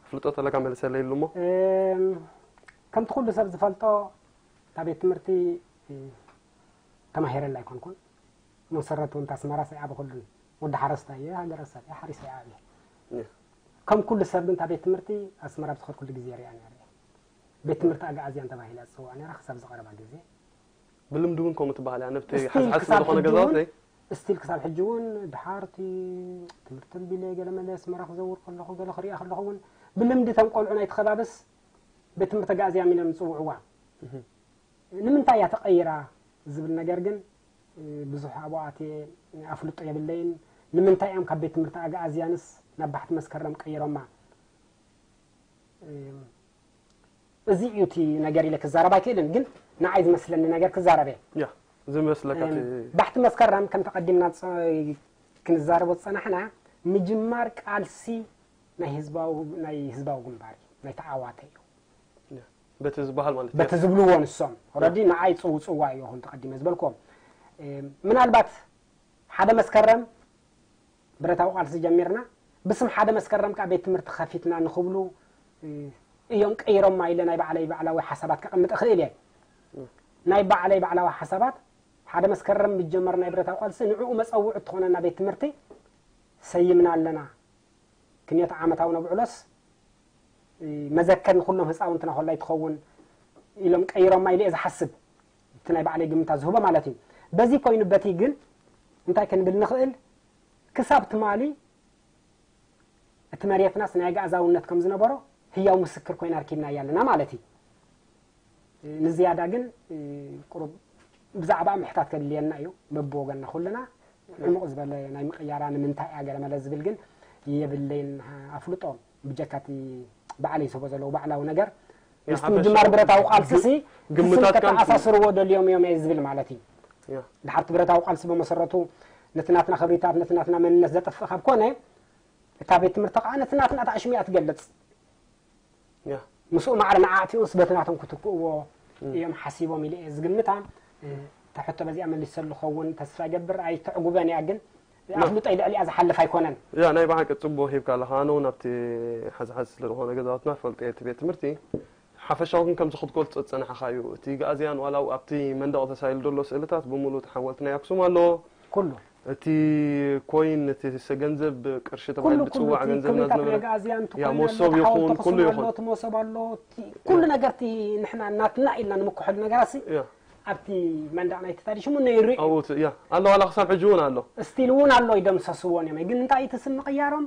ኣፍልጦ ተለካ መልሰለይ ኢሉ እሞ። እም፣ ከምቲ ኩሉ ሰብ ዝፈልጦ፣ እታ ቤት ትምህርቲ፣ እ፣ ተማሂረላ ኣይኮንኩን። መሰረቱ እንተ ኣስመራ ሰይዓበ ኩሉን። ወዲ ሓረስታይ እየ፣ ሃገረሰብ እየ፣ ሓሪሰ እየ ዓብየ። እየ። ከም ኩሉ ሰብ ግን እታ ቤት ትምህርቲ ኣስመራ ብዝኸድኩሉ ግዜ ሪኣ ነይረ እየ። ቤት ትምህርቲ ኣግኣዝያን ተባሂላ ትጽዋዕ ነይራ ክሳብ ዝቐረባ ግዜ። ብልምዲ እውን ከምኡ ትበሃል እያ፣ ነብቲ ስቲል ሓዝሓዝ ክሳብ ስለዝኾነ ሕጂ እውን፣ ገዛውተይ። ስቲል ክሳብ ሕጂ እውን ድሓርቲ ትምህርቲ ኣንቢለ ገለ መለ ኣስመራ ክዘውር ከለኹ፣ ገለ ክሪኣ ከለኹ እውን ብልምዲ እቶም ቆልዑ ናይቲ ከባብስ ቤት ትምህርቲ ኣግኣዝያን ኢሎም ዝጽውዕዋ። እህ። ንምንታይ እያ ተቐይራ ዝብል ነገር ግን፣ እ፣ ብዙሕ ኣብኡ ኣትየ ኣፍልጦ የብለይን። ንምንታይ እዮም ካብ ቤት ትምህርቲ ኣግኣዝያንስ ናብ ባሕቲ መስከረም ቀይሮማ? እ፣ እዚ እዩ እቲ ነገር ኢለ ክዛረብ ኣይክእልን፣ ግን ንዓይ ዝመስለኒ ነገር ክዛረብ እየ። ያ፣ ዝመስለካ እ፣ እቲ ባሕቲ መስከረም ከም ተቐዲምና ጸ-፣ ክንዛረቦ ዝጸናሕና፣ ምጅማር ቃልሲ ናይ ህዝባዊ፣ ናይ ህዝባዊ ግንባር እዩ፣ ናይ ተዓዋተ እዩ። ያ፣ በቲ ዝበሃል ማለት እዩ። በቲ ዝብልዎ ንሶም። ኦረዲ ንዓይ ጽው-፣ ጽዋ እዩ ይኹን ተቐዲመ ዝበልክዎም። እ፣ ምናልባት ሓደ መስከረም ብረታዊ ቃልሲ ጀሚርና፣ ብስም ሓደ መስከረም ከኣ ቤት ትምህርቲ ከፊትና ንኽብሉ፣ እ፣ እዮም ቀይሮማ ኢለ ናይ ባዕለይ ባዕላዊ ሓሳባት ከቐምጥ እኽእል እየ። እ። ናይ ባዕለይ ባዕላዊ ሓሳባት፣ ሓደ መስከረም ዝጀመር ናይ ብረታዊ ቃልሲ ንዕኡ መጸውዒ እትኾነና ቤት ትምህርቲ ሰይምና ኣለና። ክንዮት ዓመታዊ ነብዕሎስ፣ እ፣ መዘከር ንኹሎም ህፃውንትና ኮላይ ትኸውን ኢሎም ቀይሮማ ኢለ እየ ዝሓስብ። እቲ ናይ ባዕለይ ግምታት ዝህቦ ማለት እዩ። በዚ ኮይኑ በቲ ግን እንታይ ክንብል ንኽእል? ክሳብ ትማሊ እቲ መሬትናስ ናይ ኣግኣዛውነት ከም ዝነበሮ ህያው ምስክር ኮይና ኣርኪብናያ ኣለና ማለት እዩ። ንዝያዳ ግን፣ እ፣ ቁሩብ ብዛዕባ ምሕታት ከድልየና እዩ። በብወገንና ኩልና ዕሙቕ ዝበለ ናይ ምቕያራ ንምንታይ እያ ገለ መለ ዝብል ግን የብለይን ኣፍልጦ። ብጀካ እቲ ባዕለይ ዝህቦ ዘለዉ ባዕላዊ ነገር፣ ያ፣ ምስቲ ሓፈሻዊ ምጅማር ብረታዊ ቃልሲ ሲ፣ ግምታት ግምታት እቲ ስም ካንቱ። ከተኣሳስርዎ ደልዮም እዮም እየ ዝብል ማለት እዩ። ያ። ድሓር እቲ ብረታዊ ቃልሲ ብመሰረቱ ነቲ ናትና ክብሪታት፣ ነቲ ናትና መንነት ዘጥፍእ ካብ ኮነ፣ እታ ቤት ትምህርቲ ከዓ ነቲ ናትና ተኣሽሙ እያ ትገልጽ። ያ። ምስኡ ማዕረ ንዓ ኣእትዩስ በቲ ናቶም ክትክእዎ እም። እዮም ሓሲቦም ኢለ እየ ዝግምታ። እ፣ እታ ሕቶ በዚኣ መሊሰሉ ክኸውን ተስፋ ይገብር። ኣይተዕጉበን እያ ግን፣ ያ። ኣፍልጦይ ልዕሊኣ ዝሓልፍ ኣይኮነን። ያ፣ ናይ ብሓቂ ጽቡቕ ሂብካ ኣለኻ። ኣነ እውን ኣብቲ ሓዝሓዝ ስለ ዝኾነ ገዛውትና ፈልጠ እቲ ቤት ትምህርቲ ሓፈሻዊ ግን ከምዚ ክትገልጾ ዝጸናሕኻ እዩ። እቲ ግኣዝያን ዋላ ኣብቲ መንደቕ ተሳኢሉ ዘሎ ስእልታት ብምሉእ ተሓወልቲ ናይ ኣክሱም ኣሎ። ኩሉ። እቲ ኮይን፣ እቲ ሰ-፣ ገንዘብ ቅርሺ ኩሉ፣ ተባሂሉ ኩሉ ዝጽዋዕ እቲ ገንዘብና ኩነታት ዝነበረ ናይ ግኣዝያን፣ እቲ ያ፣ ኮይን ኣሎ፣ መሶብ እቲ ሓወልቲ ይኹን፣ ኩሉ ኣኽሱም ኣሎ፣ ይኹን። እቲ መሶብ ኣሎ፣ እቲ ኩሉ ያ። ነገር እቲ ንሕና ናትና ኢልና ንምክሐሉ ነገራት ሲ ያ። ኣብቲ መንደቕ ናይቲ ታሪኽ ሽሙ ነይሩ እዩ። ኣብኡ እቲ፣ ያ፣ ኣሎ፣ ዋላ ክሳብ ሕጂ እውን ኣሎ። ስቲል እውን ኣሎ፣ ይደምሰስዎን እዮም። ግን እንታይ እቲ ስም ምቕያሮም?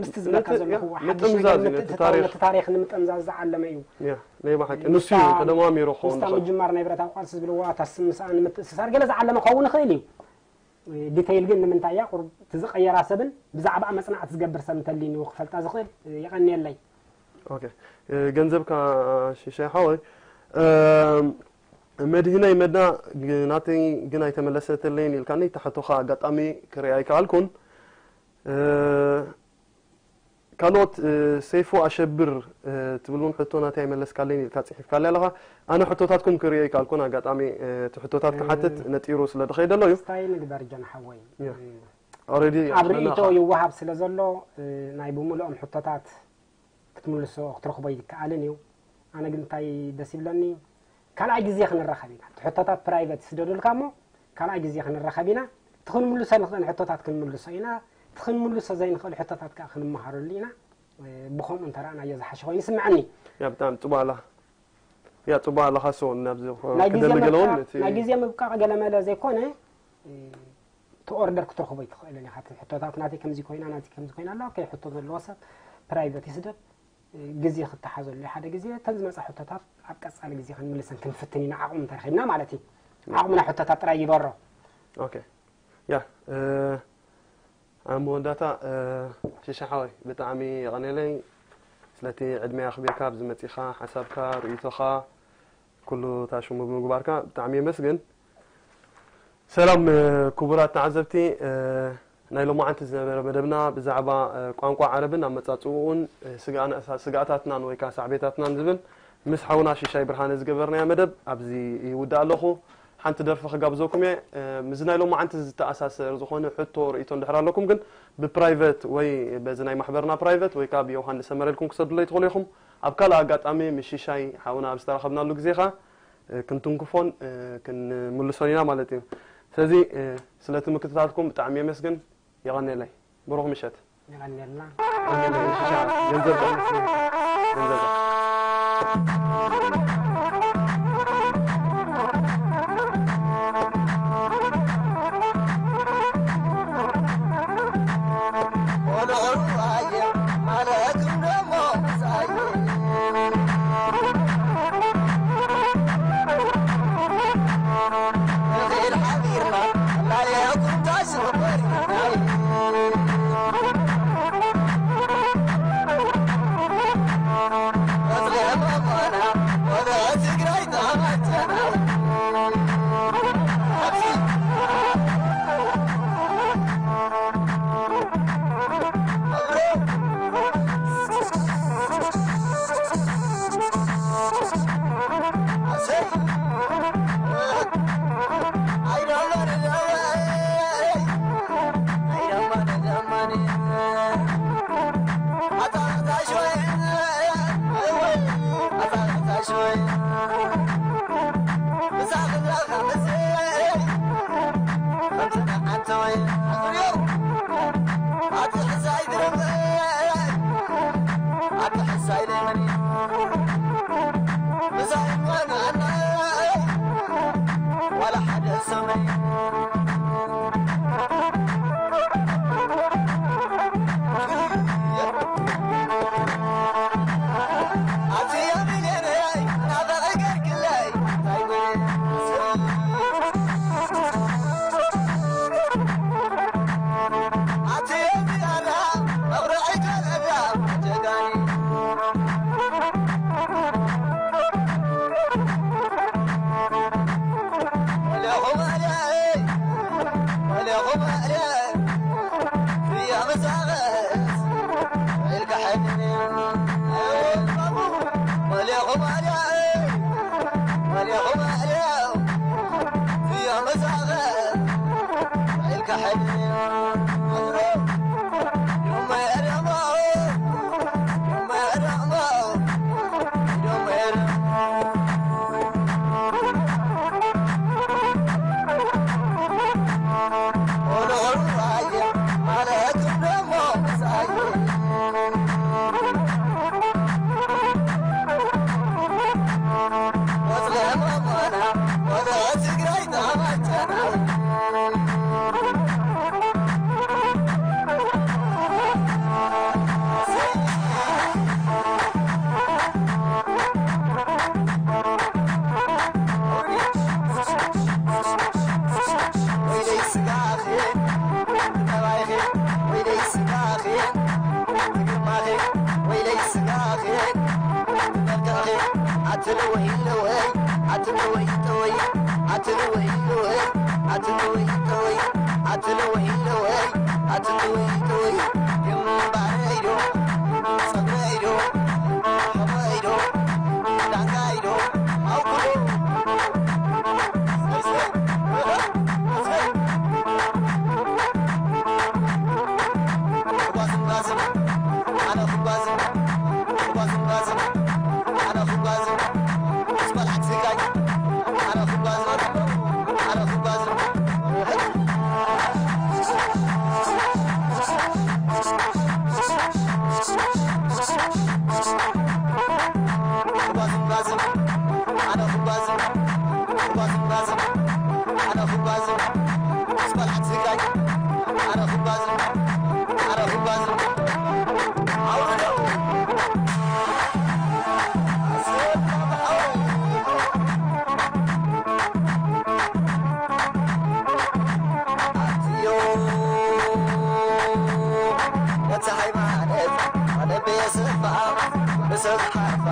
ምስቲ ዝብለካ ነቲ፣ ዘለኹ ያ፣ ሓድሽ ምጥምዛዝ ነገር እዩ፣ ነቲ ምትእትታው፣ ታሪኽ። ነቲ ታሪኽ ንምጥምዛዝ ዝዓለመ እዩ። ያ፣ ናይ ብሓቂ። ምስታ፣ ንሱ እዩ ተደማሚሩ ክኸውን ምስታ ዝኽእል። ምጅማር ናይ ብረታዊ ቃልሲ ዝብልዎ ኣታ ስም ምስኣ ንምትእስሳር ገለ ዝዓለመ ክኸውን ይኽእል እዩ። ዲተይል ግን ንምንታይ እያ ቁሩብ እቲ ዝቐየራ ሰብን ብዛዕባኣ መጽናዕቲ ዝገብር ሰብ እንተልዩኒ ክፈልጣ ዝኽእል የቐንየለይ። ኦኬ። እ፣ ገንዘብካ ሽሻይ ሓወይ፣ እ፣ መድህነይ መድና ግ-፣ ናተይ ግን ኣይተመለሰትለይን ኢልካኒ፣ እታ ሕቶኻ ኣጋጣሚ ክሪኣ ኣይከኣልኩን። እ፣ ካልኦት፣ እ፣ ሰይፉ ኣሸብር፣ እ፣ ትብል እውን ሕቶ ናተይ ኣይመለስካለይን ኢልካ ጽሒፍካለይ ኣለኻ። ኣነ ሕቶታትኩም ክሪኦ ኣይከኣልኩን፣ ኣጋጣሚ፣ እ፣ እቲ ሕቶታት እ፣ ክሓትት ነጢሩ ስለ ዝኸይደ ኣሎ እዩ። ስታይ ንግበር ጀን ሓወይ። ያ። እ፣ ኦልሬዲ ኣብ ኣኽለና ርእይቶ ኢኻ። ይወሃብ ስለ ዘሎ፣ እ፣ ናይ ብምሉኦም ሕቶታት ክትምልሶ፣ ክትረኽቦ ኣይከኣልን እዩ። ኣነ ግን እንታይ ደስ ይብለኒ፣ ካልኣይ ግዜ ክንራኸብ ኢና። እቲ ሕቶታት ፕራይቨት ስደዱልካ እሞ፣ ካልኣይ ግዜ ክንራኸብ ኢና። እቲ ክንምልሶ ንኽእል ሕቶታት ክንምልሶ ኢና። እቲ ክንምልሶ ዘይንኽእል ሕቶታት ከኣ ክንመሃረሉ ኢና። እ፣ ብኸምኡ እንተረኣናዮ ዝሓሸ ኮይኑ ይስምዐኒ። ያ፣ ብጣዕሚ ጽቡቕ ኣላ። ያ፣ ጽቡቕ ኣለኻ። ሶ፣ ናብዚ ናይ ግዜ ክደሊ ገለ እውን ምብቃቕ፣ እቲ ናይ ግዜ ምብቃቕ ገለ መለ ዘይኮነ፣ እ፣ እቲ ኦርደር ክትረኽቦ ኣይትኽእልን ኢኻ። እቲ ሕቶታት ናተይ ከምዚ ኮይና፣ ናተይ ከምዚ ኮይና ኣላ። ኦኬ፣ ሕቶ ዘለዎ ሰብ ፕራይቨት ይስደድ፣ እ፣ ግዜ ክተሓዘሉ እዩ። ሓደ ግዜ እተን ዝመጻ ሕቶታት ኣብ ቀጻሊ ግዜ ክንምልሰን ክንፍትን ኢና፣ ዓቕሚ እንተረኺብና ማለት እዩ። ዓቕምና ሕቶታት ጥራይ ይበሮ። ኦኬ። ያ ኣብ መወዳእታ ሽሻ ሓወይ ብጣዕሚ የቐኔለይ ስለቲ ዕድመ ኣኽቢርካ ኣብዚ መጺኻ ሓሳብካ ርእይቶኻ ኩሉ ታሽሙ ብምግባርካ ብጣዕሚ የመስግን። ሰላም ክቡራት ተዓዘብቲ፣ ናይ ሎማዓንቲ ዝነበረ መደብና ብዛዕባ ቋንቋ ዓረብን ኣመጻጽኡን ስግኣታትናን ወይ ከዓ ሳዕቤታትናን ዝብል ምስ ሓውና ሽሻይ ብርሃነ ዝገበርናዮ መደብ ኣብዚ ይውዳእ ኣለኹ። ሓንቲ ደርፊ ክጋብዘኩም እየ። ምስዚ ናይ ሎማዓንቲ ዝተኣሳሰር ዝኾነ ሕቶ ርእይቶ እንድሕር ኣለኩም ግን ብፕራይቨት ወይ በዚ ናይ ማሕበርና ፕራይቨት ወይ ከዓ ብዮሃንስ ሰመረ ኢልኩም ክሰዱለይ ትኽእሉ ኢኹም። ኣብ ካልእ ኣጋጣሚ ምስ ሽሻይ ሓውና ኣብ ዝተራኸብናሉ ግዜ ኸዓ ክንትንክፎን ክንምልሶን ኢና ማለት እዩ። ስለዚ ስለቲ ምክትታልኩም ብጣዕሚ የመስግን። የቐንየለይ። ብሩኽ ምሸት። የቐንየልና። የቐንየለይ። ሽሻ ገንዘብ ገንዘብ ሰብሓፋ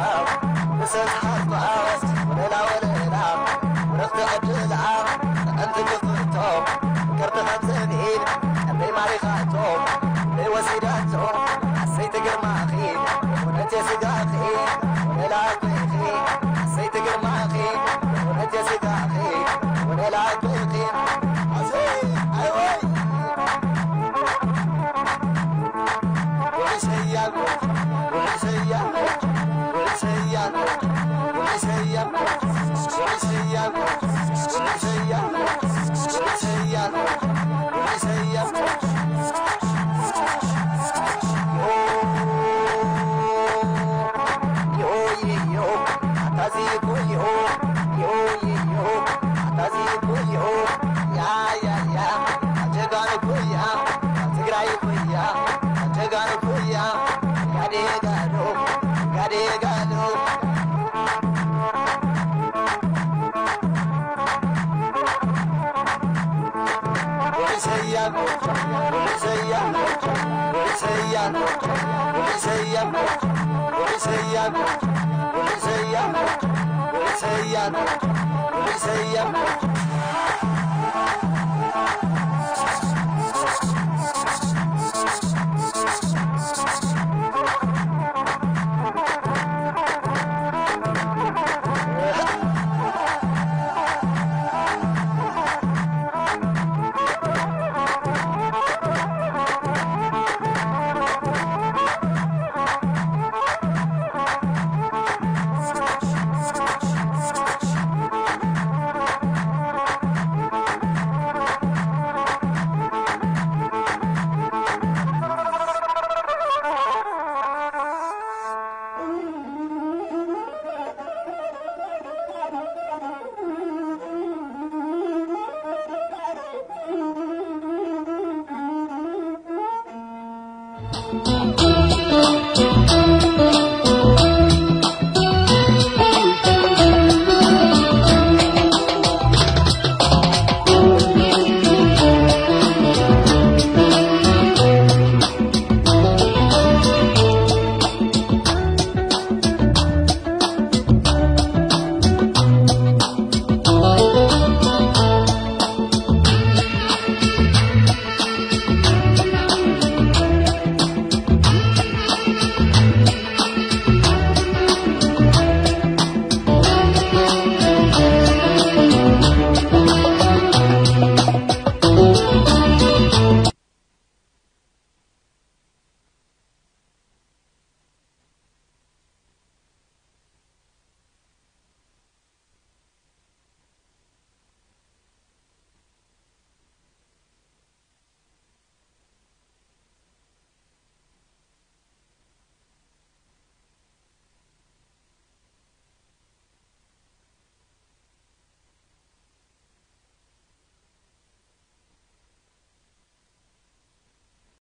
ብሰብሓፋ ወለላ ወለላ ወረኽቲ ዕድላ ጥዕንቲ ክፍቶ ፍቅርቲ ከም ዘብኢል ኣበይ ማሪኻቶ ኣበይ ወሲዳቶ ኣሰይቲ ግርማኺ እውነት የስጋኺ ወለላ ኣበይኺ ኣሰይቲ ግርማኺ እውነት የስጋኺ ወለላ ኣበይኺ ኣሰይ ኣይወይ